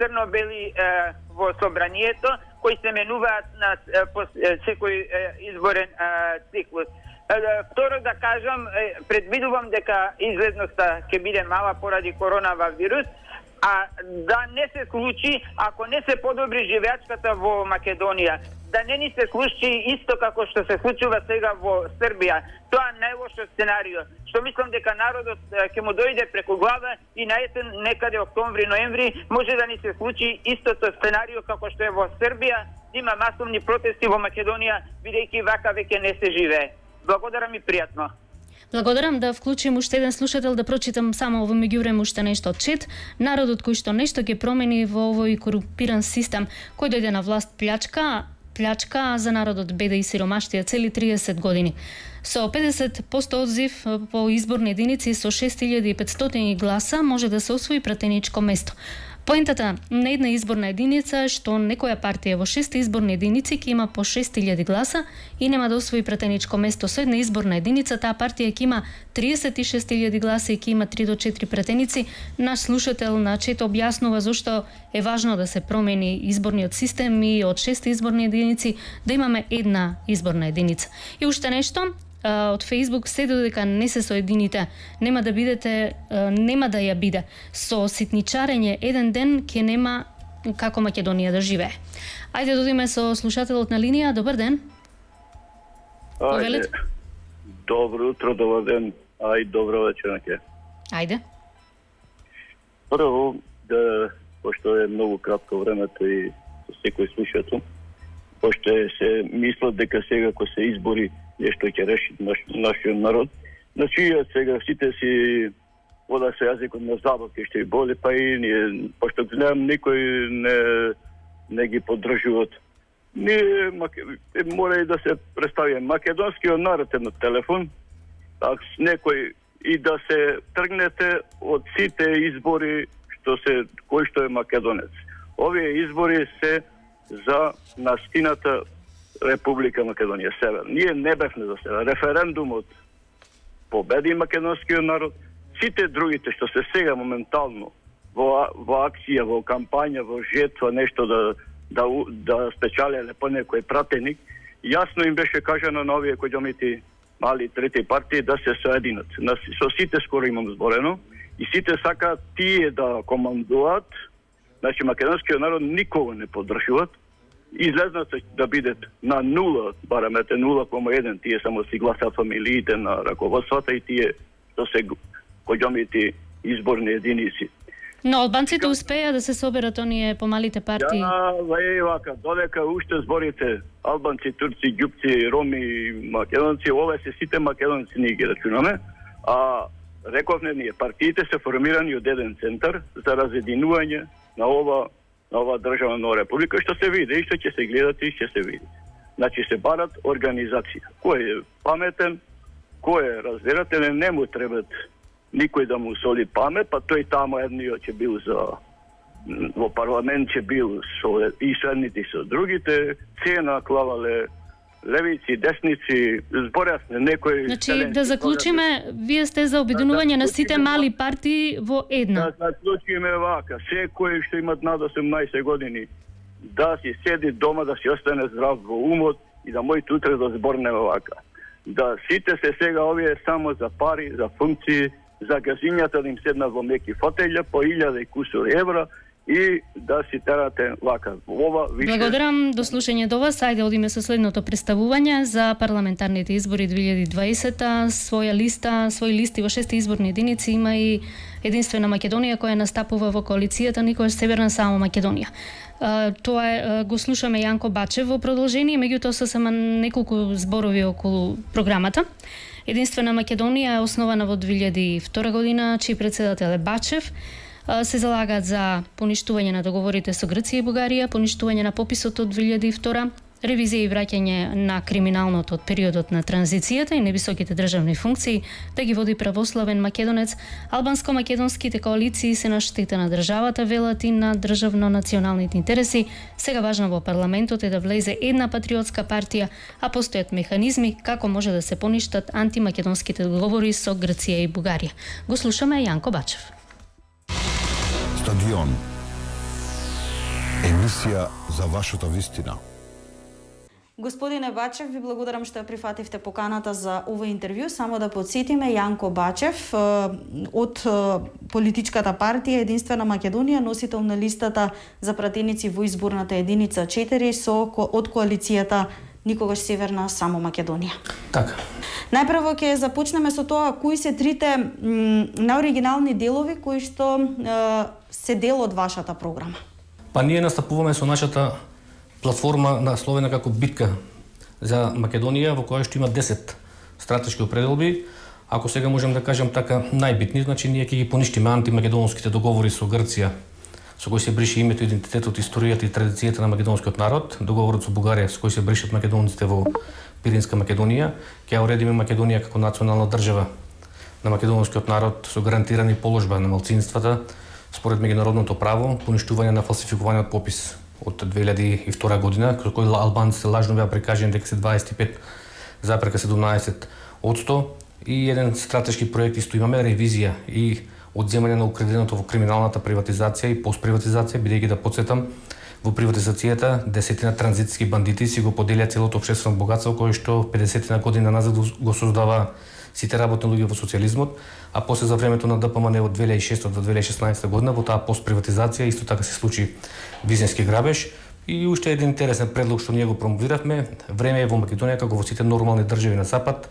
црно-бели е, во собранието, кои се менуваат на е, по, е, секој е, изборен е, циклус. Е, второ да кажам, е, предвидувам дека излезноста ќе биде мала поради коронава вирус, а да не се случи ако не се подобри живеачката во Македонија. Да не ни се случи исто како што се случува сега во Србија. Тоа е најлошо сценарио. Што мислам дека народот ќе му дојде преку глава и на есен, некаде октомври-ноември, може да ни се случи истото сценарио како што е во Србија. Има масовни протести во Македонија, бидејќи вака веќе не се живее. Благодарам и пријатно. Благодарам, да вклучим уште еден слушател, да прочитам само во меѓувреме уште нешто од чет. Народот кој што нешто ќе промени во овој корумпиран систем, кој дојде на власт плячка, плячка за народот беда и сиромаштија цели триесет години. Со педесет проценти одзив по изборни единици со шест илјади и петстотини гласа може да се освои пратеничко место. Поентата на една изборна единица е што некоја партија во шест изборни единици ќе има по шест илјади гласа и нема да освои пратеничко место. Со една изборна единица таа партија ќе има триесет и шест илјади гласа и ќе има три до четири пратеници. Наш слушател на чет објаснува зошто е важно да се промени изборниот систем и од шест изборни единици да имаме една изборна единица. И уште нешто, од Facebook, се додека не се соедините, нема да бидете, нема да ја биде. Со ситничарење еден ден ќе нема како Македонија да живее. Ајде да одиме со слушателот на линија. Добар ден. Ајде. Добро утро, добар ден. Ај, добро вечер. Ајде. Прво, да, пошто е многу кратко времето и со секој слушател, пошто се мислат дека сега кога се избори нешто ќе реши наш, нашиот народ, значи сега сите си вода се јазикот на забавки што и боли, па и ние, пошто знаем никој не, не ги поддржуваат. Ние мора и да се представи македонскиот народ е на телефон, так с некој и да се тргнете од сите избори што се кој што е македонец. Овие избори се за настината Република Македонија, Север. Ние не бевме за Север. Референдумот победи македонскиот народ. Сите другите што се сега моментално во, во акција, во кампања, во жетва, нешто да да да спечалеле по некој пратеник, јасно им беше кажано на овие којдомити мали трети партии да се соединат. Со сите скоро имам зборено и сите сакаат тие да командуваат. Значи македонскиот народ никого не поддржуваат. Излезнат да бидат на нула, барем ете нула кома еден, тие само си гласаат фамилиите на раководствата и тие што се којдомити изборни единици. Но албанците успеа да се соберат оние помалите партии. Да, вај вака, додека уште зборите албанци, турци, ѓупци, роми, македонци, ове се сите македонци ние ги рачунаме, а рековме ние, партиите се формирани од еден центар за разединување на ова на ова држава на република, што се види и што ќе се гледате и ќе се види. Значи се барат организација. Кој е паметен, кој е разбирателен, не му требат никој да му соли памет, па тој тамо едниот ќе бил за во парламент ќе бил со и со едните и со другите, цена клавале левици, десници, зборјасне некој. Значи да заклучиме, вие сте за обединување на сите мали партии во една. Да заклучиме вака, секој што имат над осемнаесет години да си седи дома, да си остане здрав во умот и да мојте утре да зборнеме вака. Да сите се сега овие само за пари, за функции, за газињата да им седнат во меки фотелја по илјада и кусур евра и да си терате вака. Ова више... Благодарам, до слушање до вас. Ајде одиме со следното представување за парламентарните избори две илјади и дваесета. Своја листа, своји листи во шести изборни единици има и Единствена Македонија која настапува во коалицијата Никогаш Северна само Македонија. Тоа е, го слушаме Јанко Бачев во продолжение, меѓутоа со само неколку зборови околу програмата. Единствена Македонија е основана во две илјади и втора година, чиј председател е Бачев. Се залагаат за поништување на договорите со Грција и Бугарија, поништување на пописот од две илјади и втора, ревизија и враќање на криминалното од периодот на транзицијата и невисоките државни функции, да ги води православен македонец. Албанско-македонските коалиции се на штета на државата, велат и на државно-националните интереси. Сега важно во парламентот е да влезе една патриотска партија, а постојат механизми како може да се поништат антимакедонските договори со Грција и Бугарија. Го слушаме Јанко Бачев. Стадион. Емисија за вашата вистина. Господине Бачев, ви благодарам што ја прифативте поканата за ова интервју. Само да подсетиме, Јанко Бачев од политичката партија Единствена Македонија, носител на листата за пратеници во изборната единица четири со од коалицијата Никогаш Северна само Македонија. Така. Најпрво ќе започнеме со тоа кои се трите наоригинални делови кои што е, се дел од вашата програма. Па ние настапуваме со нашата платформа насловена како битка за Македонија, во која што има десет стратешки определби. Ако сега можем да кажем така најбитни, значи ние ќе ги поништиме антимакедонските договори со Грција, со кој се брише името, идентитетот, историјата и традицијата на македонскиот народ, договорот со Бугарија со кој се бришат македонците во Пиринска Македонија, ќе уредиме Македонија како национална држава на македонскиот народ со гарантирани положба на малцинствата според меѓународното право, поништување на фалсификуваниот попис од две илјади и втора година, кој кој албанците лажно беа прикажани дека се дваесет и пет запрека седумнаесет одсто и еден стратешки проект исто имаме ревизија и одземање на украденото во криминалната приватизација и постприватизација, бидејќи да потсетам, во приватизацијата десетина транзитски бандити си го поделија целото општествено богатство кое што педесетина година назад го создава сите работни луѓе во социјализмот, а после за времето на ДПМН од две илјади и шеста до две илјади и шеснаесета година во таа постприватизација исто така се случи визински грабеж. И уште еден интересен предлог што ние го промовиравме, време е во Македонија како во сите нормални држави на запад,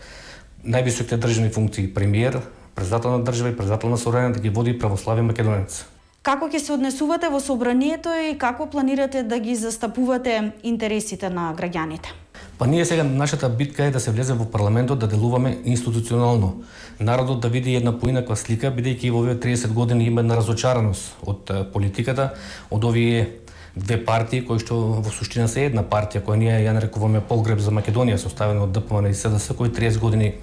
највисоките државни функции премиер, председател на држава и председател на собрание да ги води православен македонец. Како ќе се однесувате во собранието и како планирате да ги застапувате интересите на граѓаните? Па ние сега нашата битка е да се влезе во парламентот, да делуваме институционално. Народот да види една поинаква слика, бидејќи во овие триесет години има една разочараност од политиката, од овие две партии кои што во суштина се една партија која ние ја нарекуваме Погреб за Македонија, составена од ДПМН и СДС, кои триесет години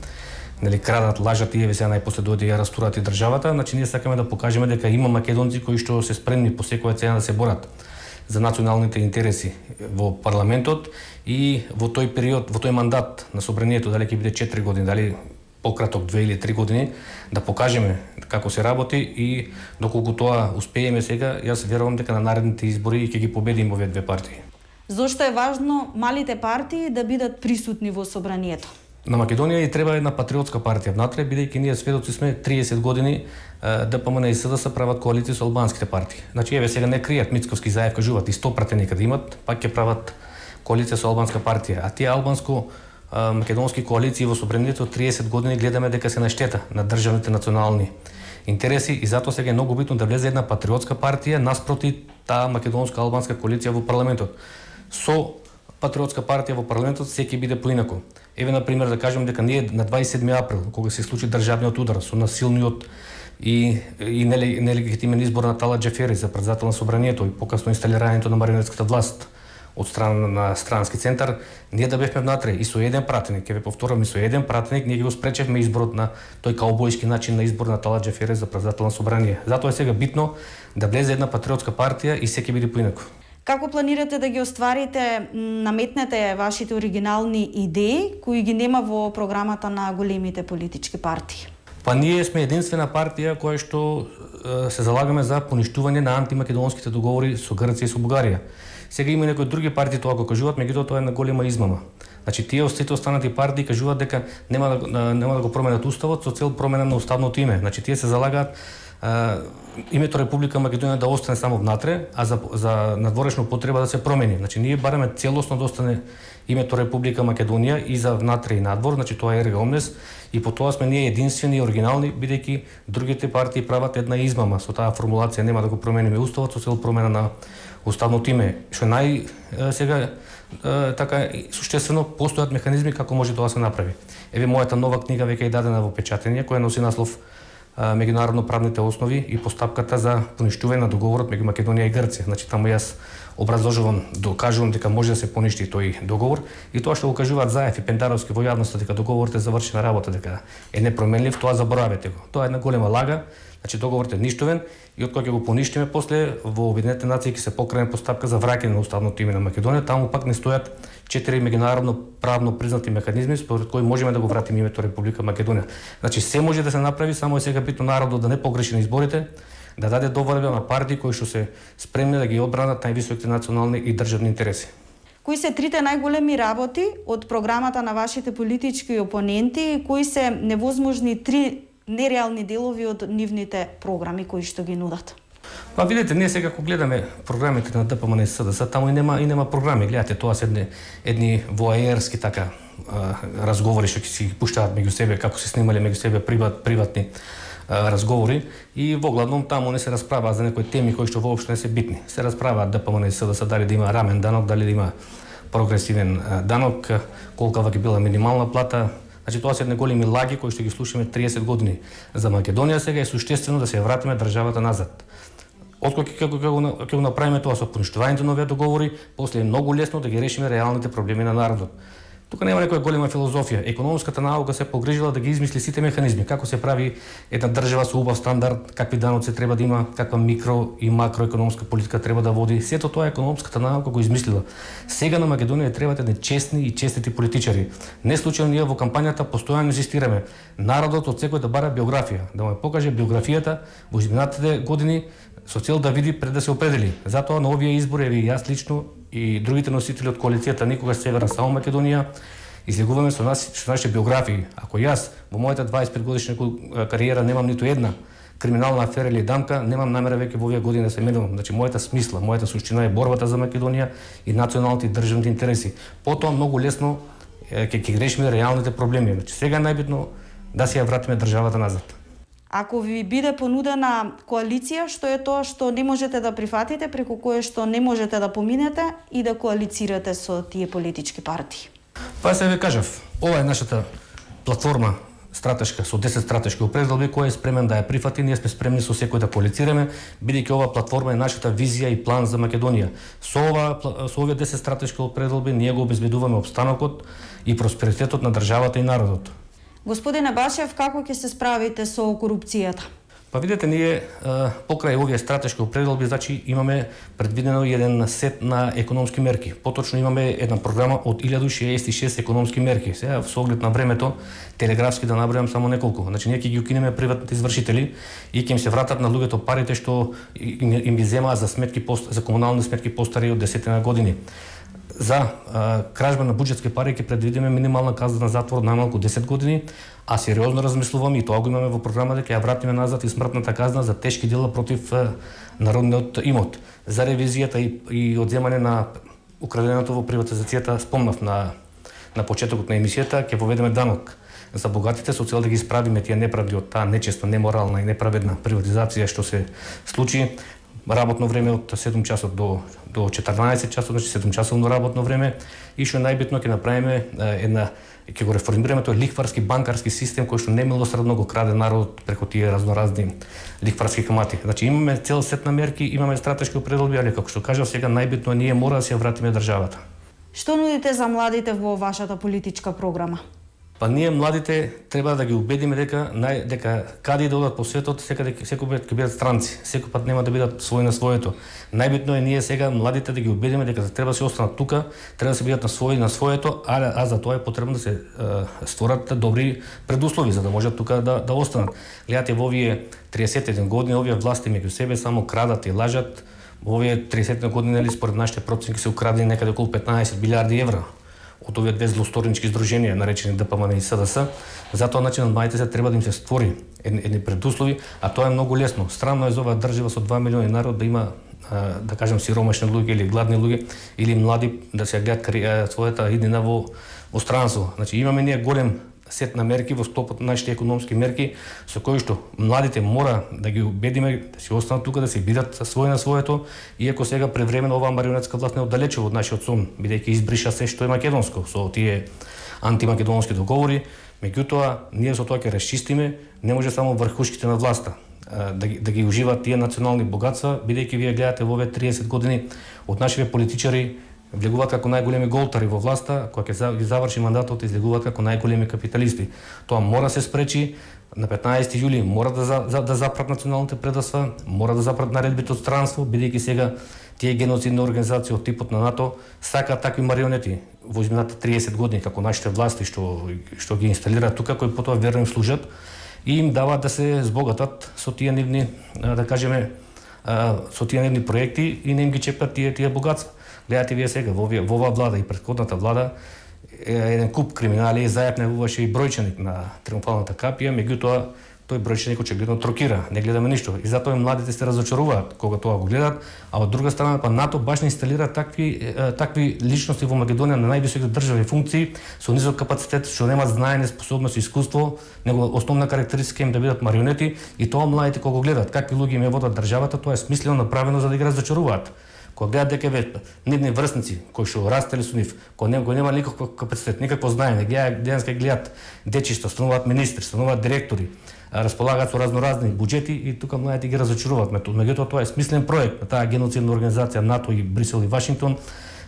нели крадат, лажат и еве сега најпосле дојде ја растурат и државата. Значи ние сакаме да покажеме дека има македонци кои што се спремни по секоја цена да се борат за националните интереси во парламентот и во тој период, во тој мандат на собранието, дали ќе биде четири години, дали пократок две или три години, да покажеме како се работи и доколку тоа успееме сега, јас верувам дека на наредните избори ќе ги победиме овие две партии. Зошто е важно малите партии да бидат присутни во собранието? На Македонија и треба една патриотска партија внатре, бидејќи ние сведоци сме триесет години ДПМН и СДС прават коалиција со албанските партии. Значи еве сега не кријат, Мицковски и Заев кажуваат и сто пратеника да имат, пак ќе прават коалиција со албанска партија, а тие албанско македонски коалиции во собранието триесет години гледаме дека се на штета на државните национални интереси и затоа сега е многу битно да влезе една патриотска партија наспроти таа македонска албанска коалиција во парламентот. Со патриотска партија во парламентот секи биде поинако. Еве на пример да кажем дека ние на дваесет и седми април, кога се случи државниот удар со насилниот и и нелегитимен избор на Тала Џафери за председател на собранието и покасно инсталирањето на марионетската власт од страна на странски центар, ние да бевме внатре и со еден пратеник, ќе ве повторам, и со еден пратеник ние ги го спречевме изборот на тој каубојски начин на избор на Тала Џафери за председател на собрание. Затоа е сега битно да влезе една патриотска партија и секи биде поинако. Како планирате да ги остварите, наметнете вашите оригинални идеи кои ги нема во програмата на големите политички партии? Па ние сме единствена партија која што се залагаме за поништување на антимакедонските договори со Грција и со Бугарија. Сега има и некои други партии тоа го кажуваат, меѓутоа тоа е една голема измама. Значи тие сите останати партии кажуваат дека нема да нема да го променат уставот со цел промена на уставното име. Значи тие се залагаат а, името Република Македонија да остане само внатре, а за за надворешна потреба да се промени. Значи ние бараме целосно да остане името Република Македонија и за внатре и надвор, значи тоа е Ерга Омнес и по тоа сме ние единствени и оригинални, бидејќи другите партии прават една измама со таа формулација нема да го промениме уставот со цел промена на уставното име. Што нај сега така суштествено постојат механизми како може тоа се направи. Еве мојата нова книга веќе е дадена во печатење која носи наслов меѓународно правните основи и постапката за поништување на договорот меѓу Македонија и Грција. Значи таму јас образложувам, докажувам дека може да се поништи тој договор и тоа што го кажуваат Заев и Пендаровски во јавноста дека договорот е завршена работа, дека е непроменлив, тоа заборавете го. Тоа е една голема лага. Значи договорот е ништовен и од кога ќе го поништиме после во Обединетите нации ќе се покране постапка за враќање на уставното име на Македонија. Таму пак не стојат четири меѓународно правно признати механизми според кои можеме да го вратиме името Република Македонија. Значи се може да се направи, само е сега битно народот да не погреши на изборите, да даде доверба на партии кои што се спремни да ги одбранат највисоките национални и државни интереси. Кои се трите најголеми работи од програмата на вашите политички опоненти и кои се невозможни три нереални делови од нивните програми кои што ги нудат? Па видите, ние сега кога гледаме програмите на ДПМН и СДС, таму и нема и нема програми. Гледате, тоа се едни едни воаерски така а, разговори што ќе си ги пуштаат меѓу себе, како се снимале меѓу себе приват, приватни а, разговори и во главном таму не се расправаат за некои теми кои што воопшто не се битни. Се расправаат ДПМН и СДС дали да има рамен данок, дали да има прогресивен а, данок, колкава ќе била минимална плата. Значи тоа се едни големи лаги кои што ги слушаме триесет години. За Македонија сега е суштествено да се вратиме државата назад. Откога ќе ќе го направиме тоа со поништувањето на овие договори, после е многу лесно да ги решиме реалните проблеми на народот. Тука нема некоја голема филозофија. Економската наука се погрижила да ги измисли сите механизми, како се прави една држава со убав стандард, какви даноци треба да има, каква микро и макроекономска политика треба да води. Сето тоа економската наука го измислила. Сега на Македонија требаат едни честни и честити политичари. Не случајно ние во кампањата постојано инсистираме народот од секој да бара биографија, да му покаже биографијата во изминатите години со цел да види пред да се определи. Затоа на овие избори и јас лично и другите носители од коалицијата Никогаш Северна само Македонија излегуваме со нас со нашите биографии. Ако јас во мојата дваесет и пет годишна кариера немам ниту една криминална афера или дамка, немам намера веќе во овие години да се менувам. Значи мојата смисла, мојата суштина е борбата за Македонија и националните и државните интереси. Потоа многу лесно ќе ќе решиме реалните проблеми. Значи сега е најбитно да си ја вратиме државата назад. Ако ви биде понудена коалиција, што е тоа што не можете да прифатите, преку кое што не можете да поминете и да коалицирате со тие политички партии? Па се ве кажав, ова е нашата платформа стратешка со десет стратешки определби кој е спремен да ја прифати, ние сме спремни со секој да коалицираме, бидејќи ова платформа е нашата визија и план за Македонија. Со ова со овие десет стратешки определби ние го обезбедуваме опстанокот и просперитетот на државата и народот. Господине Башев, како ќе се справите со корупцијата? Па видете, ние покрај овие стратешки определби, значи имаме предвидено еден сет на економски мерки. Поточно имаме една програма од илјаду шеесет и шест економски мерки. Сега со оглед на времето, телеграфски да набројам само неколку. Значи ние ќе ги укинеме приватните извршители и ќе им се вратат на луѓето парите што им ги земаа за сметки за комунални сметки постари од десетина години. За а, кражба на буџетски пари ќе предвидиме минимална казна на затвор најмалку десет години, а сериозно размислуваме и тоа го имаме во програмата, ќе ја вратиме назад и смртната казна за тешки дела против а, народниот имот. За ревизијата и, и одземање на украденото во приватизацијата, спомнав на на почетокот на емисијата, ќе поведеме данок за богатите со цел да ги исправиме тие неправди од таа нечеста, неморална и неправедна приватизација што се случи. Работно време од седум часот до до четрнаесет часот, значи седум часовно работно време, и што најбитно ќе направиме една ќе го реформираме тој лихварски банкарски систем кој што немилосредно го краде народот преку тие разноразни лихварски камати. Значи имаме цел сет на мерки, имаме стратешки определби, али како што кажав сега најбитно ние мора да се вратиме државата. Што нудите за младите во вашата политичка програма? Па ние младите треба да ги убедиме дека нај дека каде да одат по светот, секаде секој ќе бидат странци, секој пат нема да бидат свој на своето. Најбитно е ние сега младите да ги убедиме дека треба да се останат тука, треба да се бидат на свој на своето, а, а за тоа е потребно да се е, створат добри предуслови за да можат тука да да останат. Гледате во овие триесет и еден години овие власти меѓу себе само крадат и лажат. Во овие триесет години нели според нашите проценки се украдени некаде околу петнаесет билиарди евра од овие две злосторнички здруженија наречени Д П М Н и С Д С. Затоа начин на младите се треба да им се створи едни предуслови, а тоа е многу лесно. Странно е за оваа држава со два милиони народ да има да кажем сиромашни луѓе или гладни луѓе или млади да се гледат својата иднина во во странство. Значи имаме ние голем сет на мерки во склопот на нашите економски мерки со кои што младите мора да ги убедиме да си останат тука, да се бидат свој на своето, иако сега превремено оваа марионетска власт не оддалечува од нашиот сон, бидејќи избриша се што е македонско со тие антимакедонски договори. Меѓутоа ние со тоа ќе расчистиме, не може само врхушките на власта да ги, да ги уживаат тие национални богатства, бидејќи вие гледате во овие триесет години од нашите политичари влегуваат како најголеми голтари во власта, кога ќе ги заврши мандатот, излегуваат како најголеми капиталисти. Тоа мора да се спречи. На петнаесети јули мора да за, за, да запрат националните предавства, мора да запрат наредбите од странство, бидејќи сега тие геноцидни организации од типот на НАТО сакаат такви марионети во изминалите триесет години како нашите власти што што ги инсталираат тука, кои потоа верно им служат и им даваат да се збогатат со тие нивни, да кажеме, со тие нивни проекти и не им ги чепат тие тие богатства. Гледате вие сега во во оваа влада и претходната влада еден куп криминали зајапневуваше и бројченик на Триумфалната капија, меѓутоа тој бројченик очигледно трокира, не гледаме ништо. И затоа младите се разочаруваат кога тоа го гледат, а од друга страна па НАТО баш не инсталира такви такви личности во Македонија на највисоките државни функции со низок капацитет, што немаат знаење, способност и искуство, него основна карактеристика им да бидат марионети и тоа младите кога го гледат какви луѓе им ја водат државата, тоа е смислено направено за да ги разочаруваат. Кога гледат дека ве нивни врсници кои што растели со нив, кои нема, нема никаков капацитет, никакво знаење, гледаат денеска гледаат дечишта, стануваат министри, стануваат директори, располагаат со разноразни буџети и тука младите ги разочаруваат. Меѓутоа тоа е смислен проект на таа геноцидна организација НАТО и Брисел и Вашингтон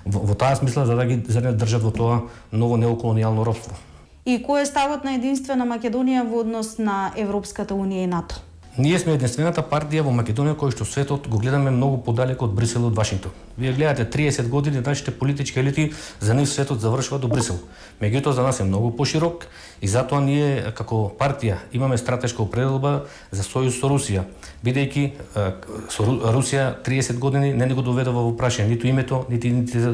во, во таа смисла за да ги за да држат во тоа ново неоколонијално робство. И кој е ставот на единствена Македонија во однос на Европската унија и НАТО? Ние сме единствената партија во Македонија која што светот го гледаме многу подалеку од Брисел и од Вашингтон. Вие гледате триесет години нашите политички елити, за нив светот завршува до Брисел. Меѓутоа за нас е многу поширок и затоа ние како партија имаме стратешка определба за сојуз со Русија, бидејќи со Русија триесет години не ни го доведува во прашање ниту името, нити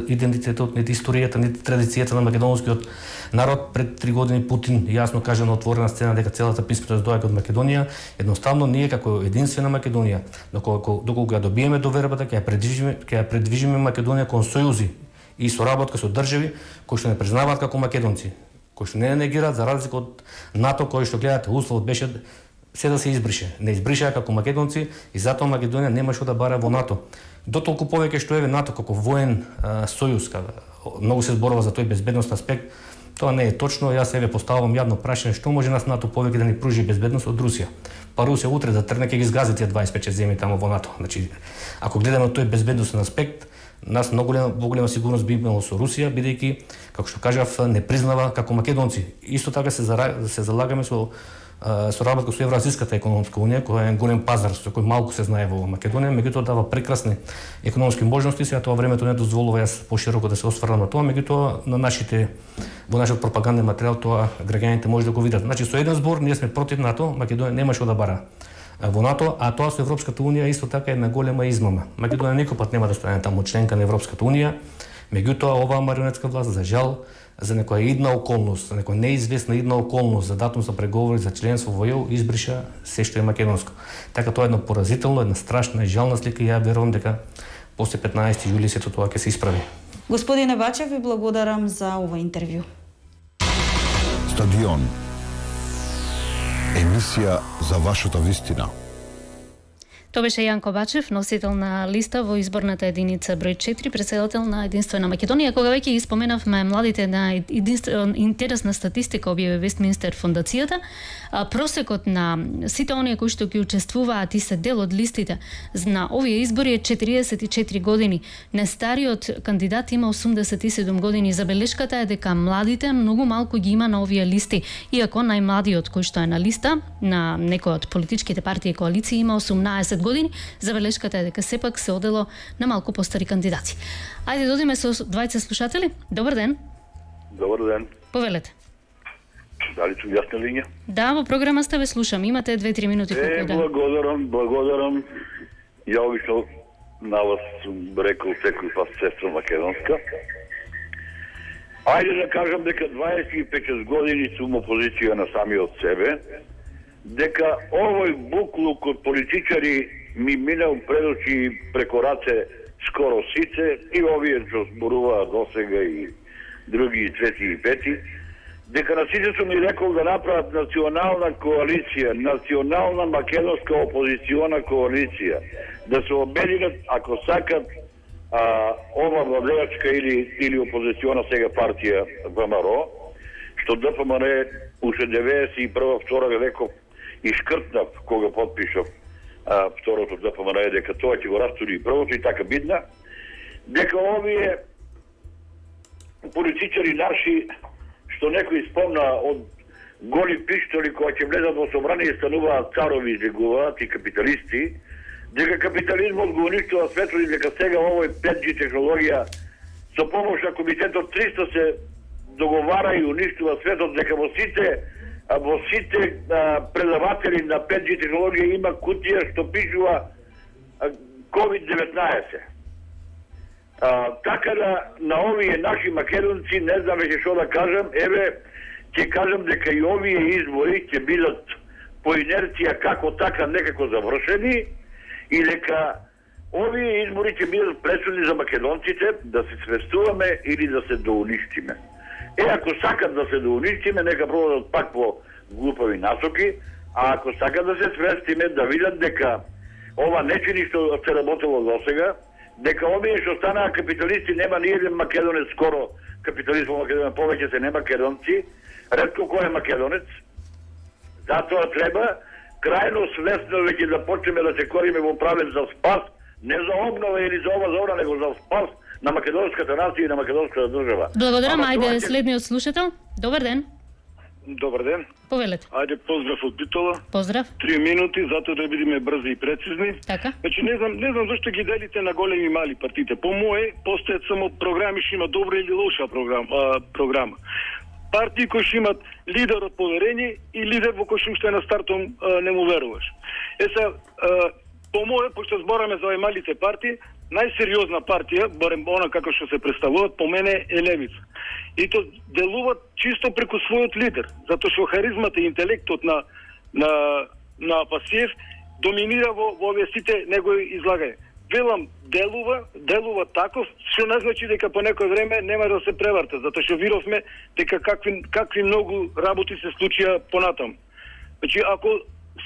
идентитетот, нити историјата, нити традицијата на македонскиот народ. Пред три години Путин јасно кажа на отворена сцена дека целата писменост доаѓа од Македонија. Едноставно ние како единствена Македонија, доколку доколку ја добиеме довербата, ќе ја предвижиме, ќе ја предвижиме Македонија кон сојузи и соработка со држави кои што не признаваат како македонци, кои што не негираат, за разлика од НАТО, кој што гледате условот беше се да се избрише. Не избришаа како македонци и затоа Македонија нема што да бара во НАТО. Дотолку повеќе што еве НАТО како воен а, сојуз, кога многу се зборува за тој безбедност аспект, тоа не е точно. Јас еве поставам јавно прашање што може нас НАТО повеќе да ни пружи безбедност од Русија. Па Русија утре да тргне ќе ги згази тие дваесет и пет земји таму во НАТО. Значи, ако гледаме тој безбедносен аспект, нас многу голема, голема сигурност би имало со Русија, бидејќи, како што кажав, не признава како македонци. Исто така се, зара, се залагаме со со работа со Евразиската економска унија, која е голем пазар со кој малку се знае во Македонија, меѓутоа дава прекрасни економски можности. Сега тоа времето не дозволува јас пошироко да се осврнам на тоа, меѓутоа на нашите во нашиот пропаганден материјал тоа граѓаните може да го видат. Значи со еден збор ние сме против НАТО, Македонија нема што да бара во НАТО, а тоа со Европската унија исто така е една голема измама. Македонија никој пат нема да стане таму членка на Европската унија, меѓутоа оваа марионетска власт за жал за некоја идна околност, за некоја неизвестна идна околност, за датум за преговори за членство во ЕУ избриша се што е македонско. Така тоа е едно поразително, една страшна и жална слика и ја верувам дека после петнаесети јули сето тоа ќе се исправи. Господине Бачев, ви благодарам за ова интервју. Стадион. Емисија за вашата вистина. Тоа беше Јанко Бачев, носител на листа во изборната единица број четири, претседател на Единствена Македонија. Кога веќе ги споменавме младите на единствена интересна статистика објави Вестминстер фондацијата, просекот на сите оние кои што ги учествуваат и се дел од листите на овие избори е четириесет и четири години. Нестариот кандидат има осумдесет и седум години. Забелешката е дека младите многу малку ги има на овие листи, иако најмладиот кој што е на листа на некој од политичките партии и коалиции има осумнаесет години. Забелешката е дека сепак се одело на малку постари кандидати. Ајде додиме со двајца слушатели. Добар ден. Добар ден. Повелете. Дали сум јас на линија? Да, во програма сте, ве слушам. Имате две-три минути колку е, да. Благодарам, благодарам. Ја обично на вас сум рекол секој пат сестра македонска. Ајде да кажам дека дваесет и пет години сум опозиција на самиот себе, дека овој буклук од политичари ми минал пред очи преко раце скоро сите, и овие што зборуваат досега и други трети и пети, дека на сите сум ми рекол да направат национална коалиција, национална македонска опозициона коалиција, да се обединат ако сакат а, ова владеачка или, или опозициона сега партија ВМРО, што ДПМН уште деветдесет и прва втора реков и шкртнав кога подпишав а, второто ДПМН дека тоа ќе го растури првото и така бидна, дека овие политичари наши, што некој спомна од голи пиштоли кои ќе влезат во собрание и стануваат царови, излегуваат и капиталисти, дека капитализмот го уништува светот и дека сега овој пет джи технологија со помош на комитетот триста се договара и уништува светот, дека во сите во сите а, предаватели на пет джи технологија има кутија што пишува ковид деветнаесет. А, така да на овие наши македонци не знам веќе што да кажам, еве ќе кажам дека и овие избори ќе бидат по инерција како така некако завршени и дека овие избори ќе бидат пресудни за македонците да се свестуваме или да се доуништиме. Е, ако сакат да се доуништиме, нека продадат пак по глупави насоки, а ако сакат да се свестиме, да видат дека ова нечини што се работело до сега, дека овие што станаа капиталисти, нема ни еден македонец скоро капиталист во Македонија, повеќе се не македонци, ретко кој е македонец. Затоа треба крајно свесно веќе да почнеме да се кориме во правец за спас, не за обнова или за ова за она, него за спас на македонската нација и на македонската држава. Благодарам, Ама ајде ќе... следниот слушател. Добар ден. Добар ден. Повелете. Ајде поздрав од Битола. Поздрав. Три минути затоа да бидеме брзи и прецизни. Така. Значи не знам, не знам зашто ги делите на големи и мали партиите. По мое постојат само програми што има добра или лоша програма, а, програма. Партии кои што имат лидер од поверење и лидер во кој што уште на стартом а, не му веруваш. Е се, по мое, пошто збораме за овие малите партии, најсериозна партија, барем она како што се представуваат, по мене е Левица. И то делуваат чисто преку својот лидер, затоа што харизмата и интелектот на на на Пасиев доминира во, во овие сите негови излагања. Велам, делува, делува таков, што не значи дека по некој време нема да се преварта, затоа што видовме дека какви какви многу работи се случија понатаму. Значи, ако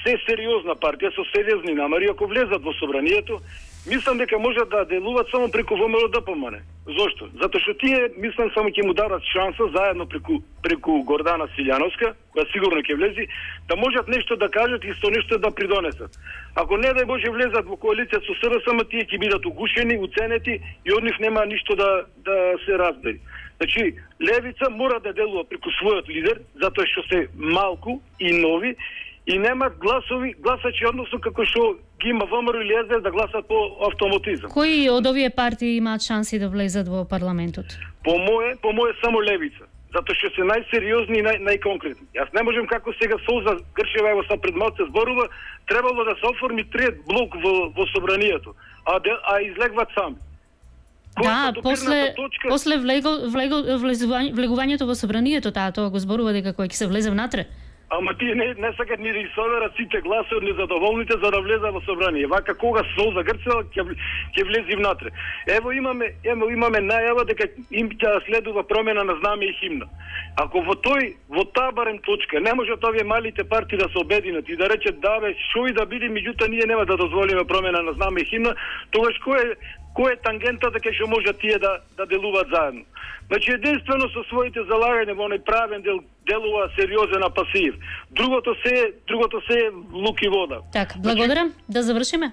се сериозна партија со сериозни намери, ако влезат во собранието, мислам дека можат да делуваат само преку ВМРО Д П М Н. Зошто? Затоа што тие, мислам, само ќе му дадат шанса заедно преку преку Гордана Силјановска, која сигурно ќе влези, да можат нешто да кажат и со нешто да придонесат. Ако не дај Боже влезат во коалиција со С Д С М, тие ќе бидат угушени, уценети и од нив нема ништо да да се разбери. Значи, Левица мора да делува преку својот лидер, затоа што се малку и нови и немат гласови, гласачи, односно како што ги има ВМРО или С D С да гласат по автоматизам. Кои од овие партии имаат шанси да влезат во парламентот? По мое, по мое само Левица, затоа што се најсериозни и нај, најконкретни. Јас не можем како сега Солза Грчева ево са пред малце зборува, требало да се оформи трет блок во, во собранието, а, де, а излегват сами. Да, после точка... после влего, влего, влезување, влегувањето во собранието, таа тоа го зборува дека кој ќе се влезе внатре. Ама тие не, не сакат ни да изсоверат сите гласи од незадоволните за да влезат во собрание. Вака кога Солза Грчева ќе ќе влези внатре. Ево имаме, ево имаме најава дека им ќе следува промена на знаме и химна. Ако во тој, во таа барем точка не можат овие малите партии да се обединат и да речат да бе, шо и да биде, меѓутоа ние нема да дозволиме промена на знаме и химна, тогаш кој е кој е тангентата дека што можат тие да да делуваат заедно. Значи единствено со своите залагања во оној правен дел делува сериозен Пасиев. Другото се другото се е лук и вода. Така, благодарам. Значи... Да завршиме?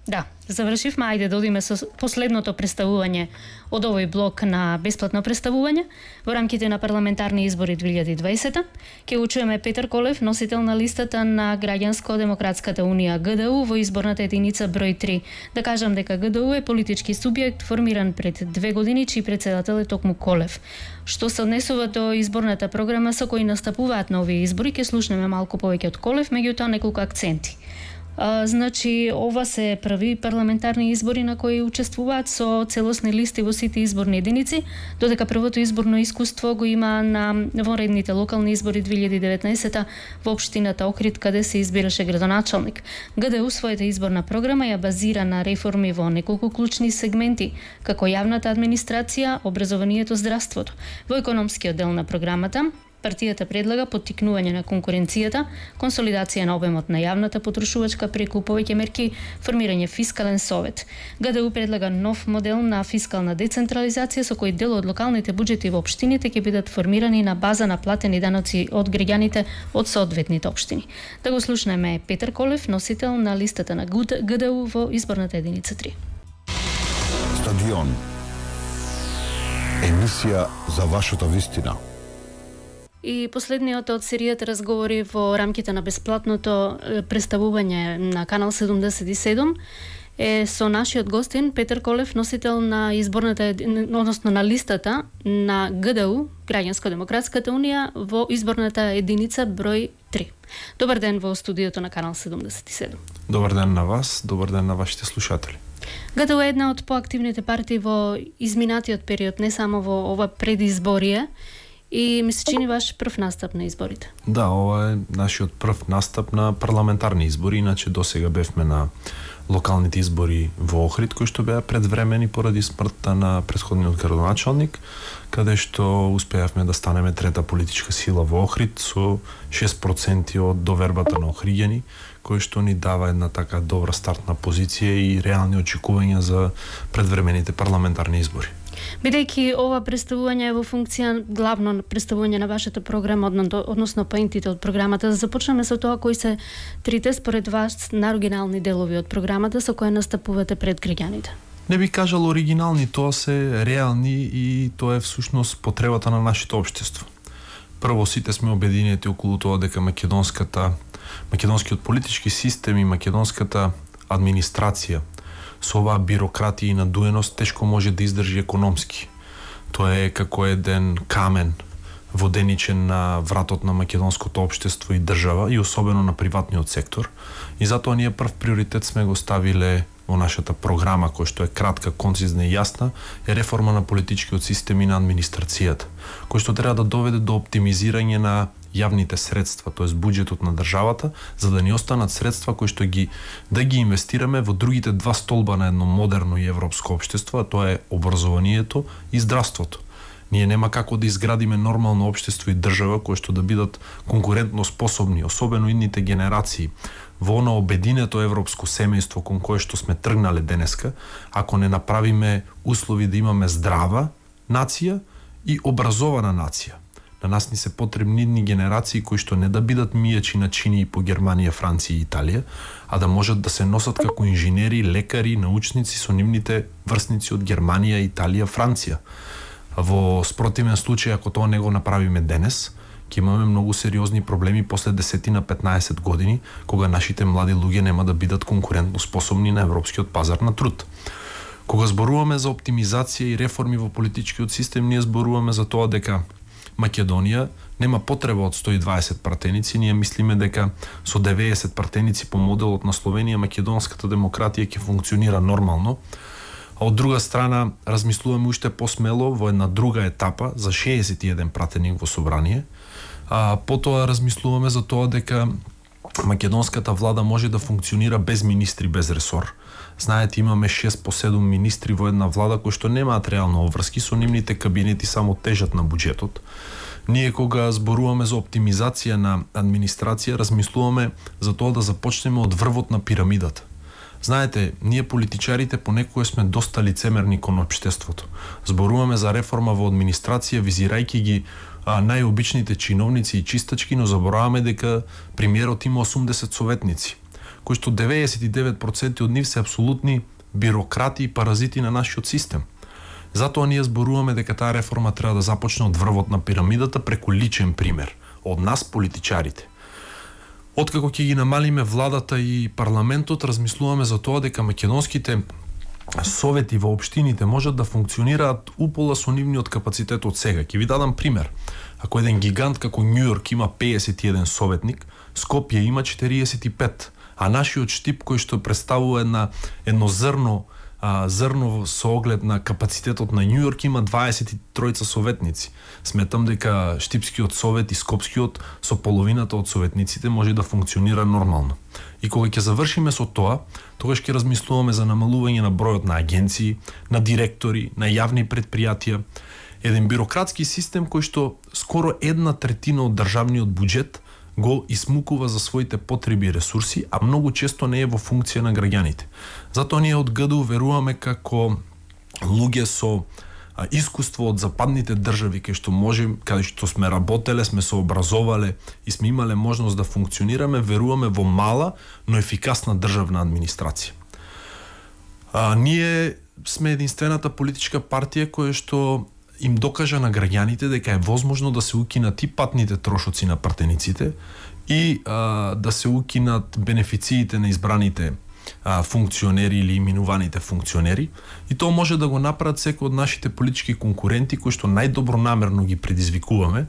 Да, завршивме. Ајде да одиме со последното представување од овој блок на бесплатно представување во рамките на парламентарни избори две илјади и дваесета. Ке го чуеме Петар Колев, носител на листата на Граѓанско-демократската унија Г Д У во изборната единица број три. Да кажам дека Г Д У е политички субјект формиран пред две години, чиј председател е токму Колев. Што се однесува до изборната програма со кои настапуваат на овие избори, ке слушнеме малку повеќе од Колев, меѓутоа неколку акценти. А, значи, ова се први парламентарни избори на кои учествуваат со целосни листи во сите изборни единици, додека првото изборно искуство го има на вонредните локални избори две илјади и деветнаесета во општината Охрид, каде се избираше градоначалник. Г Д У својата изборна програма ја базира на реформи во неколку клучни сегменти, како јавната администрација, образованието, здравството. Во економскиот дел на програмата, партијата предлага поттикнување на конкуренцијата, консолидација на обемот на јавната потрошувачка преку повеќе мерки, формирање фискален совет. Г Д У предлага нов модел на фискална децентрализација со кој дел од локалните буџети во општините ќе бидат формирани на база на платени даноци од граѓаните од соодветните општини. Да го слушнеме Петар Колев, носител на листата на Г Д У во изборната единица три. Стадион. Емисија за вашата вистина. И последниот од серијата разговори во рамките на бесплатното представување на Канал седумдесет и седум е со нашиот гостин Петар Колев, носител на изборната, односно на листата на Г Д У, Граѓанско-демократската унија, во изборната единица број три. Добар ден во студиото на Канал седумдесет и седум. Добар ден на вас, добар ден на вашите слушатели. Г Д У е една од поактивните партии во изминатиот период, не само во ова предизборие, и ми се чини ваш прв настап на изборите. Да, ова е нашиот прв настап на парламентарни избори, иначе досега бевме на локалните избори во Охрид, кои што беа предвремени поради смртта на претходниот градоначалник, каде што успеавме да станеме трета политичка сила во Охрид со шест проценти од довербата на охриѓани, кој што ни дава една така добра стартна позиција и реални очекувања за предвремените парламентарни избори. Бидејќи ова представување е во функција главно на представување на вашата програма, односно поентите од програмата, да започнеме со тоа кои се трите според вас наоригинални делови од програмата со кои настапувате пред граѓаните. Не би кажал оригинални, тоа се реални и тоа е всушност потребата на нашето општество. Прво, сите сме обединети околу тоа дека македонската македонскиот политички систем и македонската администрација со оваа бирократија и надуеност тешко може да издржи економски. Тоа е како еден камен воденичен на вратот на македонското општество и држава и особено на приватниот сектор. И затоа ние прв приоритет сме го ставиле во нашата програма, која што е кратка, концизна и јасна, е реформа на политичкиот систем и на администрацијата, кој што треба да доведе до оптимизирање на јавните средства, тоест буџетот на државата, за да ни останат средства кои што ги да ги инвестираме во другите два столба на едно модерно и европско општество, а тоа е образованието и здравството. Ние нема како да изградиме нормално општество и држава кои што да бидат конкурентно способни, особено идните генерации, во оно обединето европско семејство кон кое што сме тргнале денеска, ако не направиме услови да имаме здрава нација и образована нација. На нас ни се потребни идни генерации кои што не да бидат мијачи на чинии по Германија, Франција и Италија, а да можат да се носат како инженери, лекари, научници со нивните врсници од Германија, Италија, Франција. Во спротивен случај, ако тоа не го направиме денес, ќе имаме многу сериозни проблеми после десет на петнаесет години, кога нашите млади луѓе нема да бидат конкурентно способни на европскиот пазар на труд. Кога зборуваме за оптимизација и реформи во политичкиот систем, ние зборуваме за тоа дека Македонија нема потреба од сто и дваесет пратеници, ние мислиме дека со деветдесет пратеници по моделот на Словенија македонската демократија ќе функционира нормално. А од друга страна, размислуваме уште посмело во една друга етапа за шеесет и еден пратеник во собрание. А потоа размислуваме за тоа дека македонската влада може да функционира без министри, без ресор. Знаете, имаме шест по седум министри во една влада кои што немаат реално обврски, со нивните кабинети само тежат на буџетот. Ние кога зборуваме за оптимизација на администрација, размислуваме за тоа да започнеме од врвот на пирамидата. Знаете, ние политичарите понекогаш сме доста лицемерни кон општеството. Зборуваме за реформа во администрација, визирајќи ги а, најобичните чиновници и чистачки, но забораваме дека премиерот има осумдесет советници, кои што деветдесет и девет проценти од нив се апсолутни бирократи и паразити на нашиот систем. Затоа ние зборуваме дека таа реформа треба да започне од врвот на пирамидата преку личен пример, од нас политичарите. Откако ќе ги намалиме владата и парламентот, размислуваме за тоа дека македонските совети во општините можат да функционираат упола со нивниот капацитет од сега. Ќе ви дадам пример. Ако еден гигант како Њујорк има пеесет и еден советник, Скопје има четириесет и пет, а нашиот Штип кој што представува една едно зрно а, зрно со оглед на капацитетот на Њујорк има дваесет и три советници. Сметам дека Штипскиот совет и Скопскиот со половината од советниците може да функционира нормално. И кога ќе завршиме со тоа, тогаш ќе размислуваме за намалување на бројот на агенции, на директори, на јавни предпријатија, еден бирократски систем кој што скоро една третина од државниот буџет го исмукува за своите потреби и ресурси, а многу често не е во функција на граѓаните. Затоа ние од ГДУ веруваме како луѓе со а, искуство од западните држави, кај што можем, каде што сме работеле, сме се образовале и сме имале можност да функционираме, веруваме во мала, но ефикасна државна администрација. А, ние сме единствената политичка партија која што им докажа на граѓаните дека е возможно да се укинат и патните трошоци на пратениците и а, да се укинат бенефициите на избраните а, функционери или именуваните функционери, и тоа може да го направат секој од нашите политички конкуренти кои што најдобронамерно ги предизвикуваме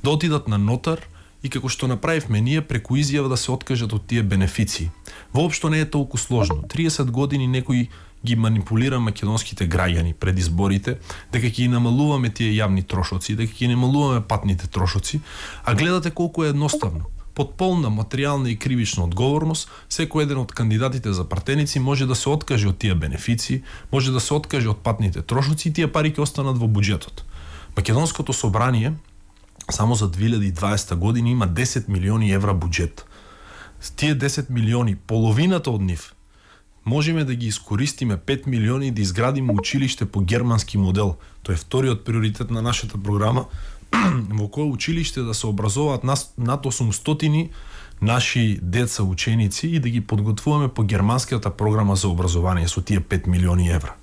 да отидат на нотар и како што направивме ние преку изјава да се откажат од тие бенефиции. Воопшто не е толку сложно. триесет години некој ги манипулира македонските граѓани пред изборите, дека ќе ги намалуваме тие јавни трошоци, дека ќе намалуваме патните трошоци, а гледате колку е едноставно. Под полна материјална и кривична одговорност, секој еден од кандидатите за пратеници може да се откаже од тие бенефиции, може да се откаже од патните трошоци и тие пари ќе останат во буџетот. Македонското собрание само за две илјади и дваесета година има десет милиони евра буџет. Тие десет милиони, половината од нив можеме да ги искористиме пет милиони и да изградиме училиште по германски модел. Тоа е вториот приоритет на нашата програма, во кое училиште да се образуваат над осумстотини наши деца ученици и да ги подготвуваме по германската програма за образование со тие пет милиони евра.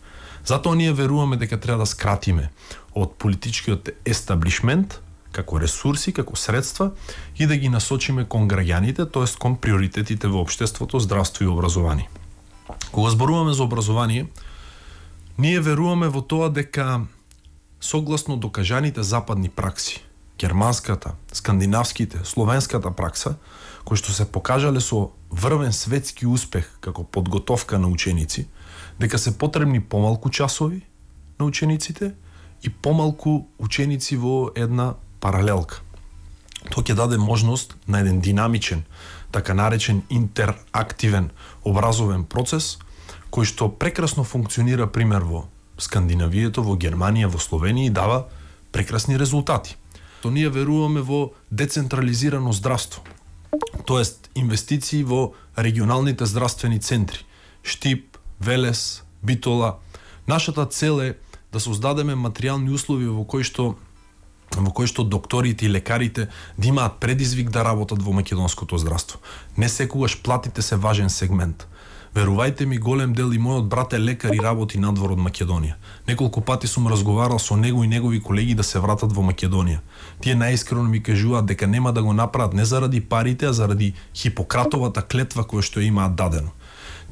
Затоа ние веруваме дека треба да скратиме од политичкиот естаблишмент како ресурси, како средства и да ги насочиме кон граѓаните, тоест кон приоритетите во општеството, здравство и образование. Кога зборуваме за образование, ние веруваме во тоа дека согласно докажаните западни пракси, германската, скандинавските, словенската пракса, кои што се покажале со врвен светски успех како подготовка на ученици, дека се потребни помалку часови на учениците и помалку ученици во една паралелка. Тоа ќе даде можност на еден динамичен, така наречен интерактивен образовен процес, кој што прекрасно функционира пример во Скандинавието, во Германија, во Словенија и дава прекрасни резултати. То ние веруваме во децентрализирано здравство, тоест инвестиции во регионалните здравствени центри, Штип, Велес, Битола. Нашата цел е да создадеме материјални услови во кои што во кои што докторите и лекарите да имаат предизвик да работат во македонското здравство. Не секогаш платите се важен сегмент. Верувајте ми, голем дел и мојот брат е лекар и работи надвор од Македонија. Неколку пати сум разговарал со него и негови колеги да се вратат во Македонија. Тие најискрено ми кажуваат дека нема да го направат не заради парите, а заради Хипократовата клетва која што имаат дадено.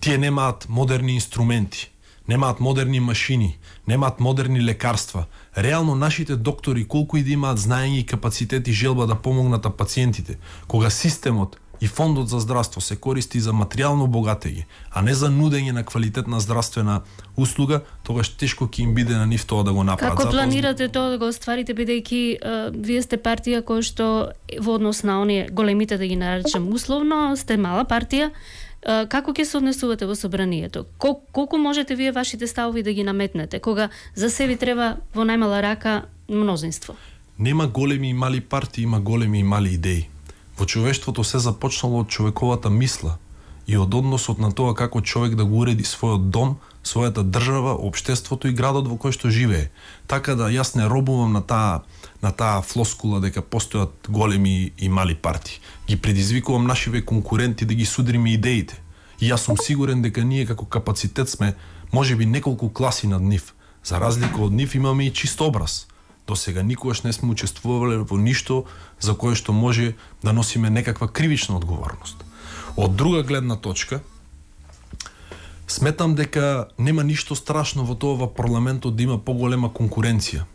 Тие немаат модерни инструменти, немаат модерни машини, немаат модерни лекарства. Реално нашите доктори, колку и да имаат знаење и капацитет и желба да помогнат на пациентите, кога системот и фондот за здравство се користи за материјално богатење, а не за нудење на квалитетна здравствена услуга, тогаш тешко ќе им биде на нив тоа да го направат. Како планирате тоа да го остварите, бидејќи вие сте партија која што во однос на оние големите, да ги наречам условно, сте мала партија. Како ќе се однесувате во собранието? Кол, колку можете вие вашите ставови да ги наметнете, кога за себе треба во најмала рака мнозинство? Нема големи и мали партии, има големи и мали идеи. Во човештвото се започнало од човековата мисла и од односот на тоа како човек да го уреди својот дом, својата држава, општеството и градот во кој што живее. Така да јас не робувам на таа на таа флоскула дека постојат големи и мали партии. Ги предизвикувам нашиве конкуренти да ги судриме идеите. И јас сум сигурен дека ние како капацитет сме можеби неколку класи над нив. За разлика од нив имаме и чист образ. До сега никогаш не сме учествувале во ништо за кое што може да носиме некаква кривична одговорност. Од друга гледна точка, сметам дека нема ништо страшно во тоа во парламентот да има поголема конкуренција.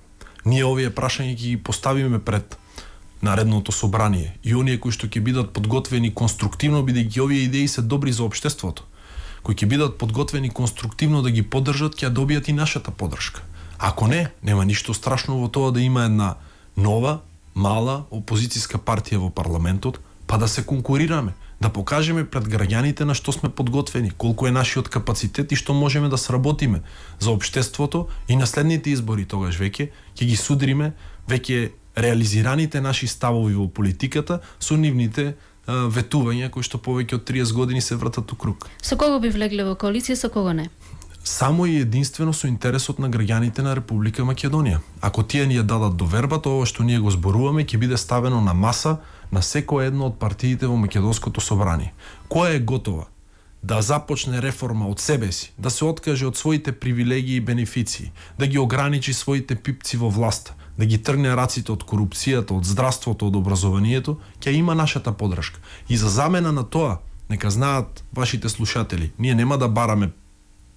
Ние овие прашања ги поставиме пред наредното собрание и оние кои што ќе бидат подготвени конструктивно, бидејќи овие идеи се добри за општеството, кои ќе бидат подготвени конструктивно да ги поддржат, ќе добијат и нашата поддршка. Ако не, нема ништо страшно во тоа да има една нова, мала опозицијска партија во парламентот, па да се конкурираме, да покажеме пред граѓаните на што сме подготвени, колку е нашиот капацитет и што можеме да сработиме за општеството и на следните избори тогаш веќе ќе ги судриме веќе реализираните наши ставови во политиката со нивните а, ветувања кои што повеќе од триесет години се вртат у круг. Со кого би влегле во коалиција, со кого не? Само и единствено со интересот на граѓаните на Република Македонија. Ако тие ни ја дадат доверба, тоа што ние го зборуваме ќе биде ставено на маса на секоја едно од партиите во Македонското собрание. Која е готова да започне реформа од себе си, да се откаже од своите привилегии и бенефиции, да ги ограничи своите пипци во власта, да ги тргне раците од корупцијата, од здравството, од образованието, ќе има нашата поддршка. И за замена на тоа, нека знаат вашите слушатели, ние нема да бараме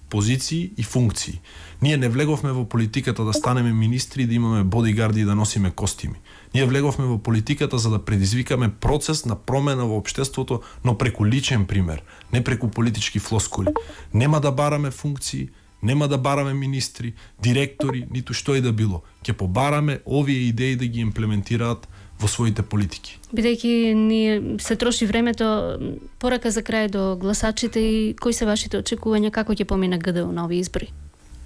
позиции и функции. Ние не влеговме во политиката да станеме министри, да имаме бодигарди и да носиме костими. Ние влеговме во политиката за да предизвикаме процес на промена во општеството, но преку личен пример, не преку политички флоскули. Нема да бараме функции, нема да бараме министри, директори, ниту што и да било. Ќе побараме овие идеи да ги имплементираат во своите политики. Бидејќи ни се троши времето, порака за крај до гласачите и кои се вашите очекувања, како ќе помине ГДУ на овие избори?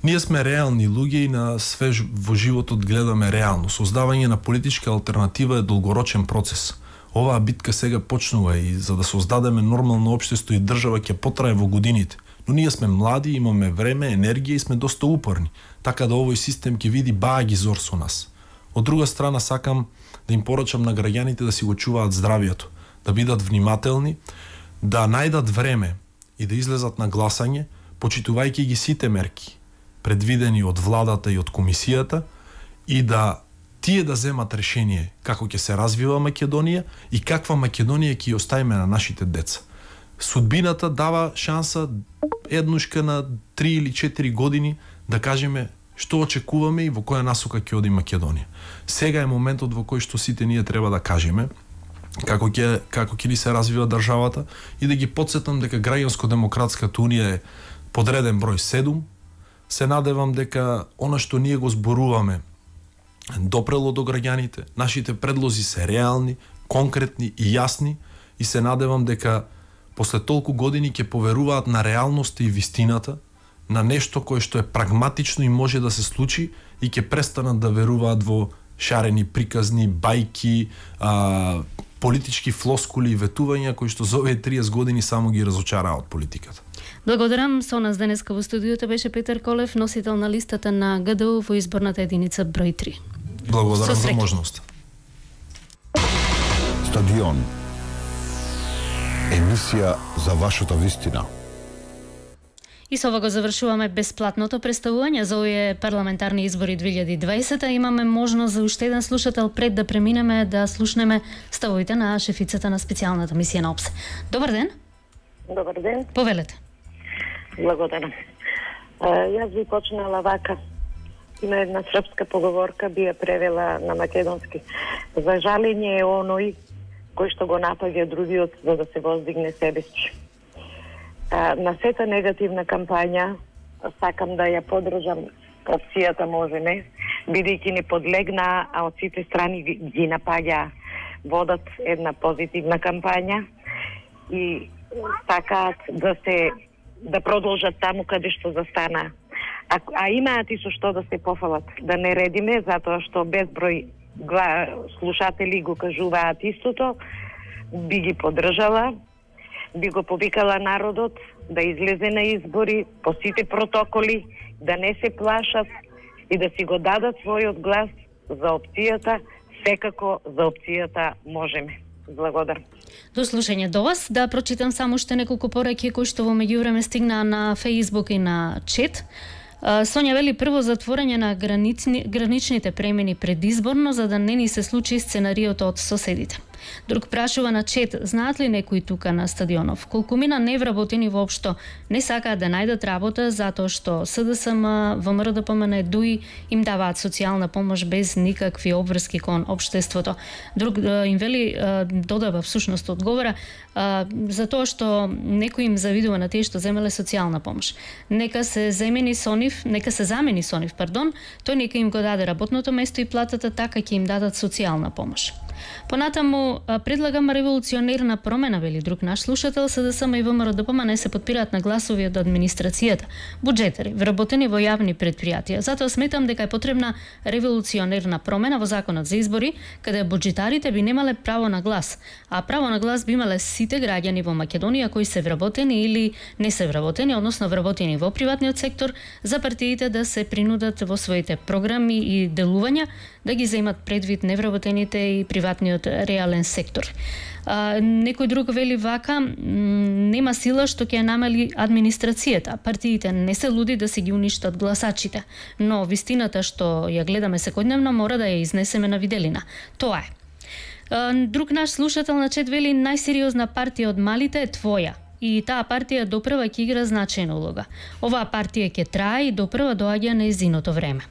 Ние сме реални луѓе и на све во животот гледаме реално. Создавање на политичка алтернатива е долгорочен процес. Оваа битка сега почнува и за да создадеме нормално општество и држава ќе потрае во годините. Но ние сме млади, имаме време, енергија и сме доста упорни, така да овој систем ќе види баа ги зор со нас. Од друга страна сакам да им порачам на граѓаните да си го чуваат здравието, да бидат внимателни, да најдат време и да излезат на гласање, почитувајќи ги сите мерки предвидени од владата и од комисијата, и да тие да земат решение како ќе се развива Македонија и каква Македонија ќе оставиме на нашите деца. Судбината дава шанса еднушка на три или четири години да кажеме што очекуваме и во која насока ќе оди Македонија. Сега е моментот во кој што сите ние треба да кажеме како ќе како ќе ни се развива државата и да ги потсетам дека Граѓанско-демократската унија е подреден број седум. Се надевам дека она што ние го зборуваме допрело до граѓаните, нашите предлози се реални, конкретни и јасни и се надевам дека после толку години ќе поверуваат на реалноста и вистината, на нешто кое што е прагматично и може да се случи и ќе престанат да веруваат во шарени приказни, бајки, а, политички флоскули и ветувања кои што за овие триесет години само ги разочараа од политиката. Благодарам. Со нас денеска во студиото беше Петар Колев, носител на листата на ГДУ во изборната единица број три. Благодарам за можност. Стадион. Емисија за вашата вистина. И со ова го завршуваме бесплатното представување за овие парламентарни избори две илјади и дваесета. Имаме можност за уште еден слушател пред да преминеме да слушнеме ставовите на шефицата на специјалната мисија на ОПСЕ. Добар ден. Добар ден. Повелете. Благодарам. Јас би почнала вака. Има една српска поговорка, би ја превела на македонски. За жалење е оној кој што го напаѓа другиот за да се воздигне себесчи. На сета негативна кампања сакам да ја подржам опцијата Можеме, бидејќи не подлегна, а од сите страни ги напаѓа, водат една позитивна кампања и сакаат да се да продолжат таму каде што застана. А, а имаат и со што да се пофалат. Да не редиме, затоа што безброј слушатели го кажуваат истото, би ги подржала, би го повикала народот да излезе на избори по сите протоколи, да не се плашат и да си го дадат својот глас за опцијата, секако за опцијата Можеме. Благодарам. До слушање до вас. Да прочитам само уште неколку пораки кои што во меѓувреме стигнаа на Facebook и на чет. Сонја вели прво затворање на гранични, граничните премини предизборно за да не ни се случи сценариото од соседите. Друг прашува на чет, знаат ли некои тука на стадионов? Колкумина невработени воопшто не сакаат да најдат работа затоа што СДСМ, ВМРО-ДПМН, ДУИ им даваат социјална помош без никакви обврски кон општеството. Друг им вели, додава всушност одговора, за тоа што некој им завидува на тие што земеле социјална помош. Нека се замени со нив, нека се замени со нив, пардон, тој нека им го даде работното место и платата, така ќе им дадат социјална помош. Понатаму предлагам револуционерна промена, вели друг наш слушател. СДСМ и ВМРО-ДПМН се подпираат на гласови од администрацијата, буџетари, вработени во јавни предпријатија. Затоа сметам дека е потребна револуционерна промена во законот за избори, каде буџетарите би немале право на глас, а право на глас би имале сите граѓани во Македонија кои се вработени или не се вработени, односно вработени во приватниот сектор, за партиите да се принудат во своите програми и делувања да ги земат предвид невработените и приватниот реален сектор. А, некој друг вели вака, нема сила што ќе намали администрацијата. Партиите не се луди да се ги уништат гласачите, но вистината што ја гледаме секојдневно мора да ја изнесеме на виделина. Тоа е. А, друг наш слушател на чет вели, најсериозна партија од малите е твоја. И таа партија допрва ќе игра значајна улога. Оваа партија ќе трае и допрва доаѓа на нејзиното време.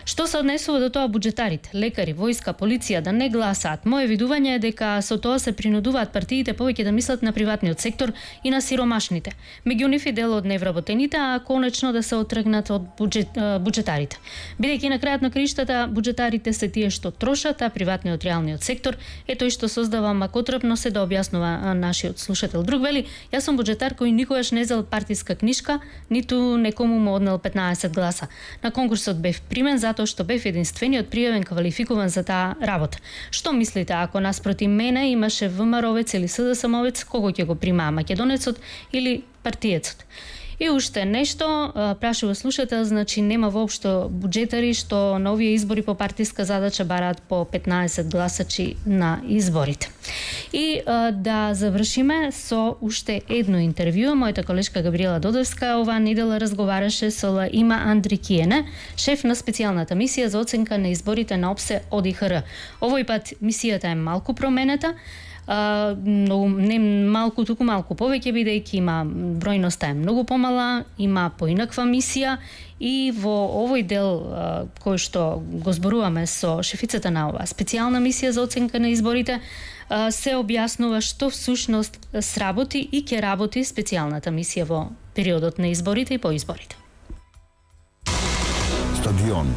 Што се однесува до тоа буџетарите, лекари, војска, полиција да не гласаат? Моје видување е дека со тоа се принудуваат партиите повеќе да мислат на приватниот сектор и на сиромашните. Меѓу нив и дел од невработените, а конечно да се отргнат од буџет, буџетарите. Бидејќи на крајот на краиштата буџетарите се тие што трошат, а приватниот реалниот сектор е тој што создава макотрпно, се да објаснува нашиот слушател. Друг вели, јас сум буџетар кој никогаш не зел партиска книшка, ниту некому му однел петнаесет гласа. На конкурсот бев примен затоа што бев единствениот пријавен квалификуван за таа работа. Што мислите, ако наспроти мене имаше ВМРО-вец или СДСМ-овец, кого ќе го примаа, македонецот или партиецот? И уште нешто, прашува слушател, значи нема воопшто буџетари што на овие избори по партиска задача бараат по петнаесет гласачи на изборите. И да завршиме со уште едно интервју. Мојата колешка Габриела Додевска оваа недела разговараше со Има Андрикиене, шеф на специјалната мисија за оценка на изборите на ОПСЕ ОДИХР. Овој пат мисијата е малку променета, но не малку, туку малку повеќе, бидејќи има бројноста е многу помала, има поинаква мисија и во овој дел кој што го зборуваме со шефицата на оваа специјална мисија за оценка на изборите, се објаснува што всушност сработи и ќе работи специјалната мисија во периодот на изборите и по изборите. Стадион.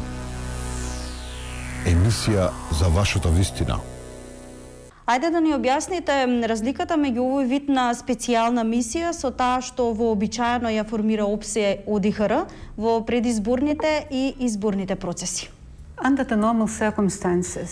Емисија за вашата вистина. Ајде да ни објасните разликата меѓу овој вид на специјална мисија со таа што вообичаено ја формира ОПСЕ ОДИХР во предизборните и изборните процеси.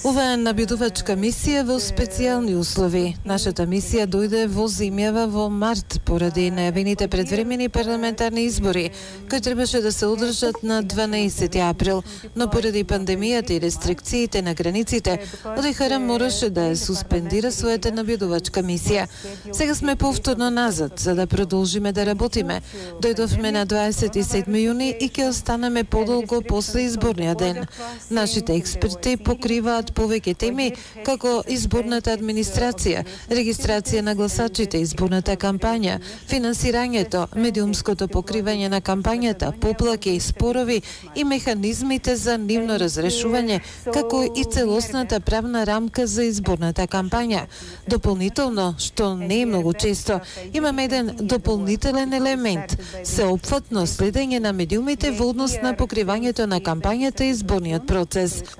Ова е набедувачка мисија во специјални услови. Нашата мисија дојде во земјава во март поради најавените предвремени парламентарни избори, кои требаше да се одржат на дванаесети април, но поради пандемијата и рестрикциите на границите, ОДИХР мораше да ја суспендира својата набедувачка мисија. Сега сме повторно назад, за да продолжиме да работиме. Дојдовме на дваесет и седми јуни и ќе останеме подолго после изборниот ден. Нашите експерти покриваат повеќе теми, како изборната администрација, регистрација на гласачите, изборната кампања, финансирањето, медиумското покривање на кампањата, поплаки и спорови и механизмите за нивно разрешување, како и целосната правна рамка за изборната кампања. Дополнително, што не е многу често, имаме еден дополнителен елемент – сеопфатно следење на медиумите во однос на покривањето на кампањата и изборниот процес.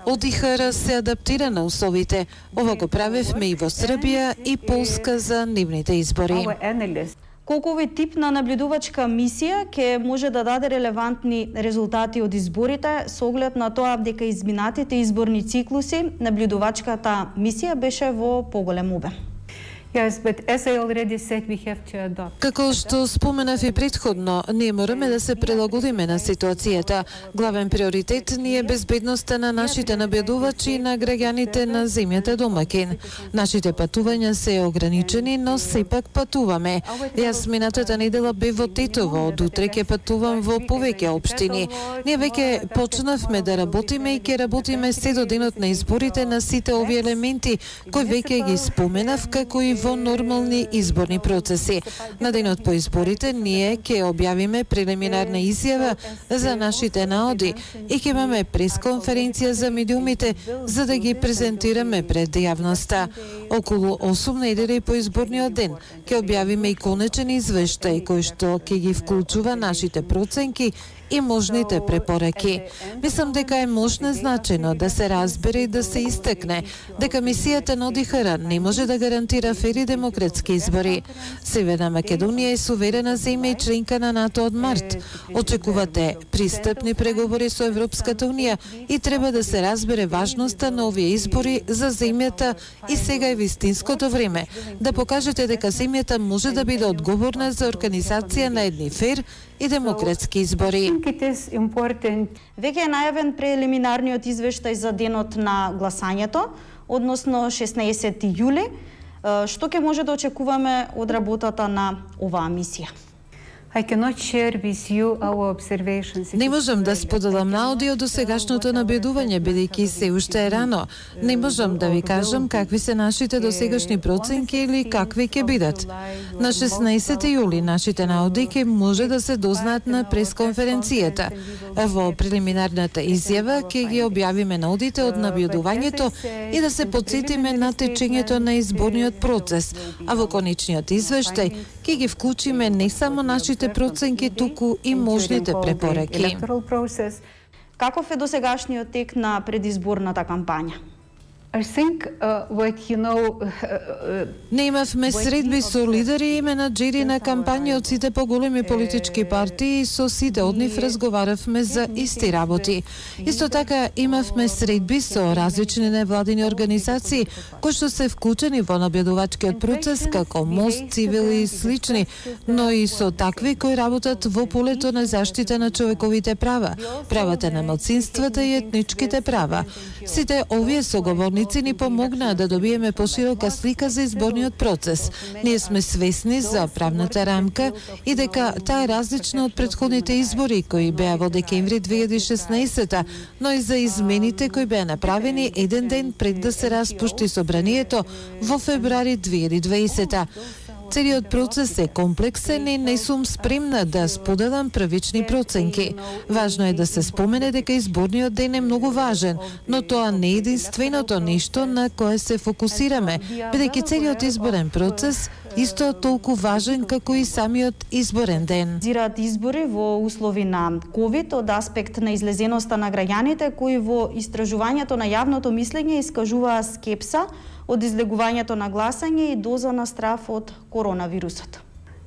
ОДИХР се адаптира на условите. Ова го правевме и во Србија и Полска за нивните избори. Колку овој тип на наблюдувачка мисија ќе може да даде релевантни резултати од изборите со оглед на тоа дека изминатите изборни циклуси наблюдувачката мисија беше во поголем обем? Како што споменав и претходно, ние мораме да се прилагодиме на ситуацијата. Главен приоритет ни е безбедноста на нашите набедувачи и на граѓаните на земјата домакин. Нашите патувања се ограничени, но сепак патуваме. Јас минатата недела бев во Тетово, од утре ќе патувам во повеќе општини. Ние веќе почнавме да работиме и ќе работиме се до денот на изборите на сите овие елементи, кои веќе ги споменав, како и во нормални изборни процеси. На денот по изборите ние ќе објавиме прелиминарна изјава за нашите наоди и ќе имаме пресконференција за медиумите за да ги презентираме пред јавноста. Околу осум недели по изборниот ден ќе објавиме и конечен извештај кој што ќе ги вклучува нашите проценки и можните препораки. Мислам дека е можно значено да се разбере и да се истакне дека мисијата на ОДИХР не може да гарантира фери демократски избори. Северна Македонија е суверена земја и членка на НАТО од март. Очекувате пристапни преговори со Европската унија и треба да се разбере важноста на овие избори за земјата и сега е вистинското време да покажете дека земјата може да биде одговорна за организација на едни фер и демократски избори. Веќе е најавен прелиминарниот извештај за денот на гласањето, односно шеснаесети јули. Што ќе може да очекуваме од работата на оваа мисија? Не можам да споделам наоди од досегашното набедување, бидејќи се уште е рано. Не можам да ви кажам какви се нашите досегашни проценки или какви ќе бидат. На шеснаесети јули нашите наоди ќе може да се дознаат на пресконференцијата. Во прелиминарната изјава ќе ги објавиме наодите од набедувањето и да се подсетиме на течењето на изборниот процес, а во конечниот извештај ќе ги вклучиме не само нашите проценки, туку и можните препораки. Каков е досегашниот тек на предизборната кампања? I think uh, what you know uh, Не имавме средби со лидери и менаџери на кампања од сите поголеми политички партии и со сите од нив разговаравме за исти работи. Исто така имавме средби со различни невладини организации кои што се вклучени во набедувачкиот процес како Мост, Цивили и слични, но и со такви кои работат во полето на заштита на човековите права, правата на малцинствата и етничките права. Сите овие соговорници ни помогнаа да добиеме поширока слика за изборниот процес. Ние сме свесни за правната рамка и дека таа е различна од претходните избори кои беа во декември две илјади и шеснаесета, но и за измените кои беа направени еден ден пред да се распушти собранието во февруари две илјади и дваесета. Целиот процес е комплексен и не сум спремна да споделам првични проценки. Важно е да се спомене дека изборниот ден е многу важен, но тоа не е единственото нешто на кое се фокусираме, бидејќи целиот изборен процес исто толку важен како и самиот изборен ден. Зираат избори во услови на ковид од аспект на излезеноста на граѓаните кои во истражувањето на јавното мислење искажуваа скепса од излегувањето на гласање и доза на страв од коронавирусот.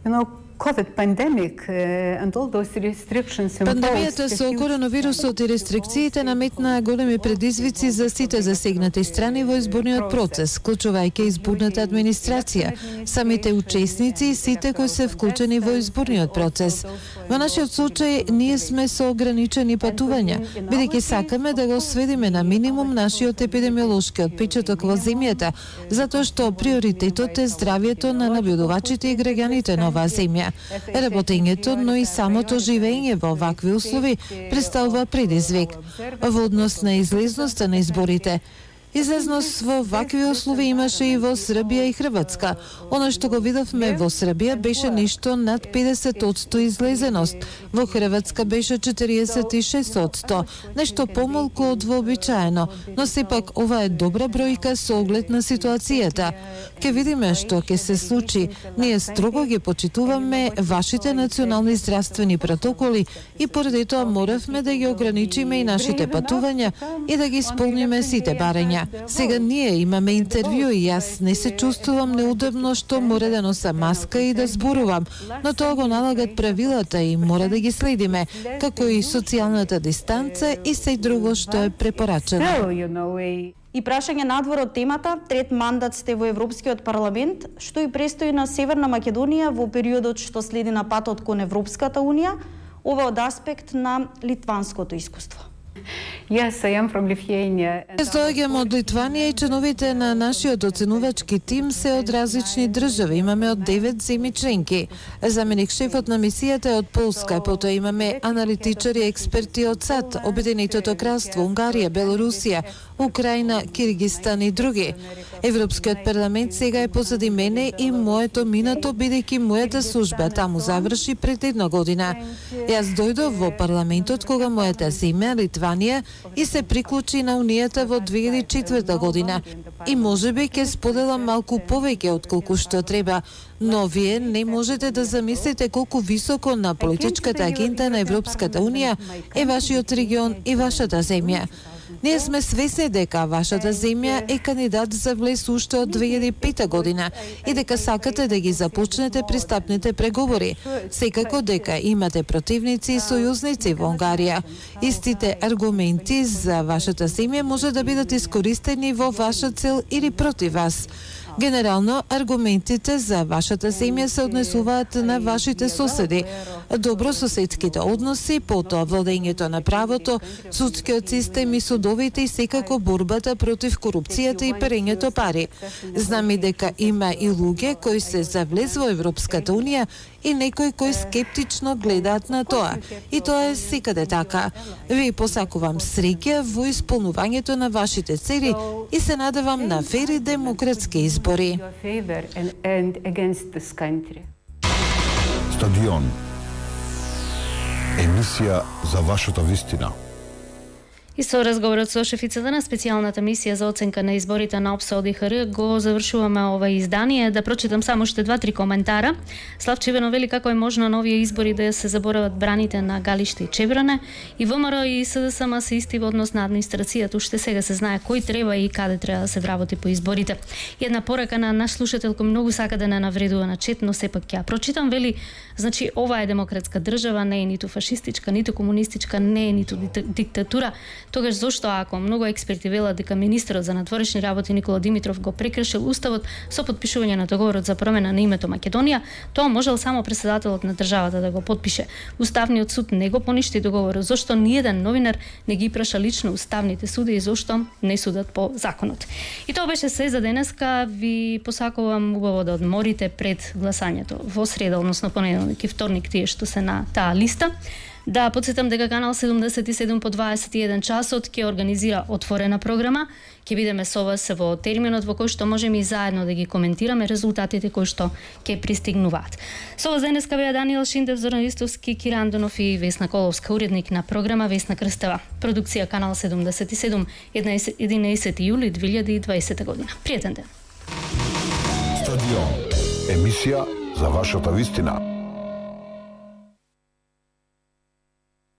You know, COVID pandemic uh, and all those restrictions Пандемијата со коронавирусот и рестрикциите наметнаа големи предизвици за сите засегнати страни во изборниот процес, вклучувајќи изборната администрација, самите учесници и сите кои се вклучени во изборниот процес. Во нашиот случај ние сме со ограничени патувања, бидејќи сакаме да го сведеме на минимум нашиот епидемиолошки отпечаток во земјата, затоа што приоритетот е здравјето на набљудувачите и граѓаните на оваа земја. Работењето, но и самото живење во вакви услови представува предизвик во однос на излезноста на изборите. Излезност во вакви услови имаше и во Србија и Хрватска. Оно што го видовме во Србија беше нешто над педесет одсто излезеност, во Хрватска беше четириесет и шест одсто, нешто помалку од вообичаено, но сепак ова е добра бројка со оглед на ситуацијата. Ке видиме што ќе се случи. Ние строго ги почитуваме вашите национални здравствени протоколи и поради тоа моравме да ги ограничиме и нашите патувања и да ги исполниме сите барања. Сега ние имаме интервју и јас не се чувствувам неудобно што мора да носа маска и да зборувам, но тоа го налагат правилата и мора да ги следиме, како и социјалната дистанца и се друго што е препорачено. И прашање надвор од темата, трет мандат сте во Европскиот парламент, што и престои на Северна Македонија во периодот што следи на патот кон Европската унија, ова од аспект на литванското искуство. Yes, I am from Lithuania. Јас доаѓам од Литванија и членовите на нашиот оценувачки тим се од различни држави. Имаме од девет земји членки. Заменик шефот на мисијата е од Полска, потоа имаме аналитичари и експерти од САД, Обединетото кралство, Унгарија, Белорусија, Украина, Киргизстан и други. Европскиот парламент сега е позади мене и моето минато, бидејќи мојата служба таму заврши пред една година. Јас дојдов во парламентот кога мојата земја, Литванија, и се приклучи на Унијата во две илјади и четврта година. И можеби ќе споделам малку повеќе од колку што треба, но вие не можете да замислите колку високо на политичката агенда на Европската Унија е вашиот регион и вашата земја. Ние сме свесни дека вашата земја е кандидат за влез уште од две илјади и пета година и дека сакате да ги започнете пристапните преговори. Секако дека имате противници и сојузници во Унгарија. Истите аргументи за вашата земја може да бидат искористени во ваша цел или против вас. Генерално, аргументите за вашата земја се однесуваат на вашите соседи, добрососедските односи, потоа владењето на правото, судскиот систем и судовите и секако борбата против корупцијата и перењето пари. Знаме дека има и луѓе кои се за влез во Европската Унија и некои кои скептично гледаат на тоа. И тоа е секаде така. Ви посакувам среќа во исполнувањето на вашите цели и се надевам на фер и демократски избори. Стадион. Емисија за вашата вистина. И со разговорот со шефицата на специјалната мисија за оценка на изборите на ОПСО од И Х Р го завршуваме ова издание. Да прочитам само уште два-три коментара. Славче Иванов вели како е можно на овие избори да се заборават браните на Галиште и Чебране. И ВМРО и С Д С М се исти во однос на администрацијата. Уште сега се знае кој треба и каде треба да се вработи по изборите. И една порака на наш слушател кој многу сака да не навредува на чет, но сепак ќе прочитам, вели, значи ова е демократска држава, не е ниту фашистичка, ниту комунистичка, не е ниту диктатура. Тогаш зошто ако многу експерти велат дека министерот за надворешни работи Никола Димитров го прекршил уставот со подпишување на договорот за промена на името Македонија, тоа можел само претседателот на државата да го подпише. Уставниот суд не го поништи договорот. Зошто ниеден новинар не ги праша лично уставните суди и зошто не судат по законот. И тоа беше се за денеска. Ви посакувам убаво да одморите пред гласањето во среда, односно понеделник и вторник, тие што се на таа листа. Да подсетам дека канал седумдесет и седум по дваесет и еден часот ќе организира отворена програма. Ќе бидеме со вас во терминот во кој што можеме и заедно да ги коментираме резултатите кои што ќе пристигнуваат. Со вас денеска беа Даниел Шиндев, Зоран Ристовски, Киран Донов и Весна Коловска, уредник на програма Весна Крстева. Продукција канал седумдесет и седум, единаесети јули две илјади и дваесета година. Пријатен ден. Стадион. Емисија за вашата вистина.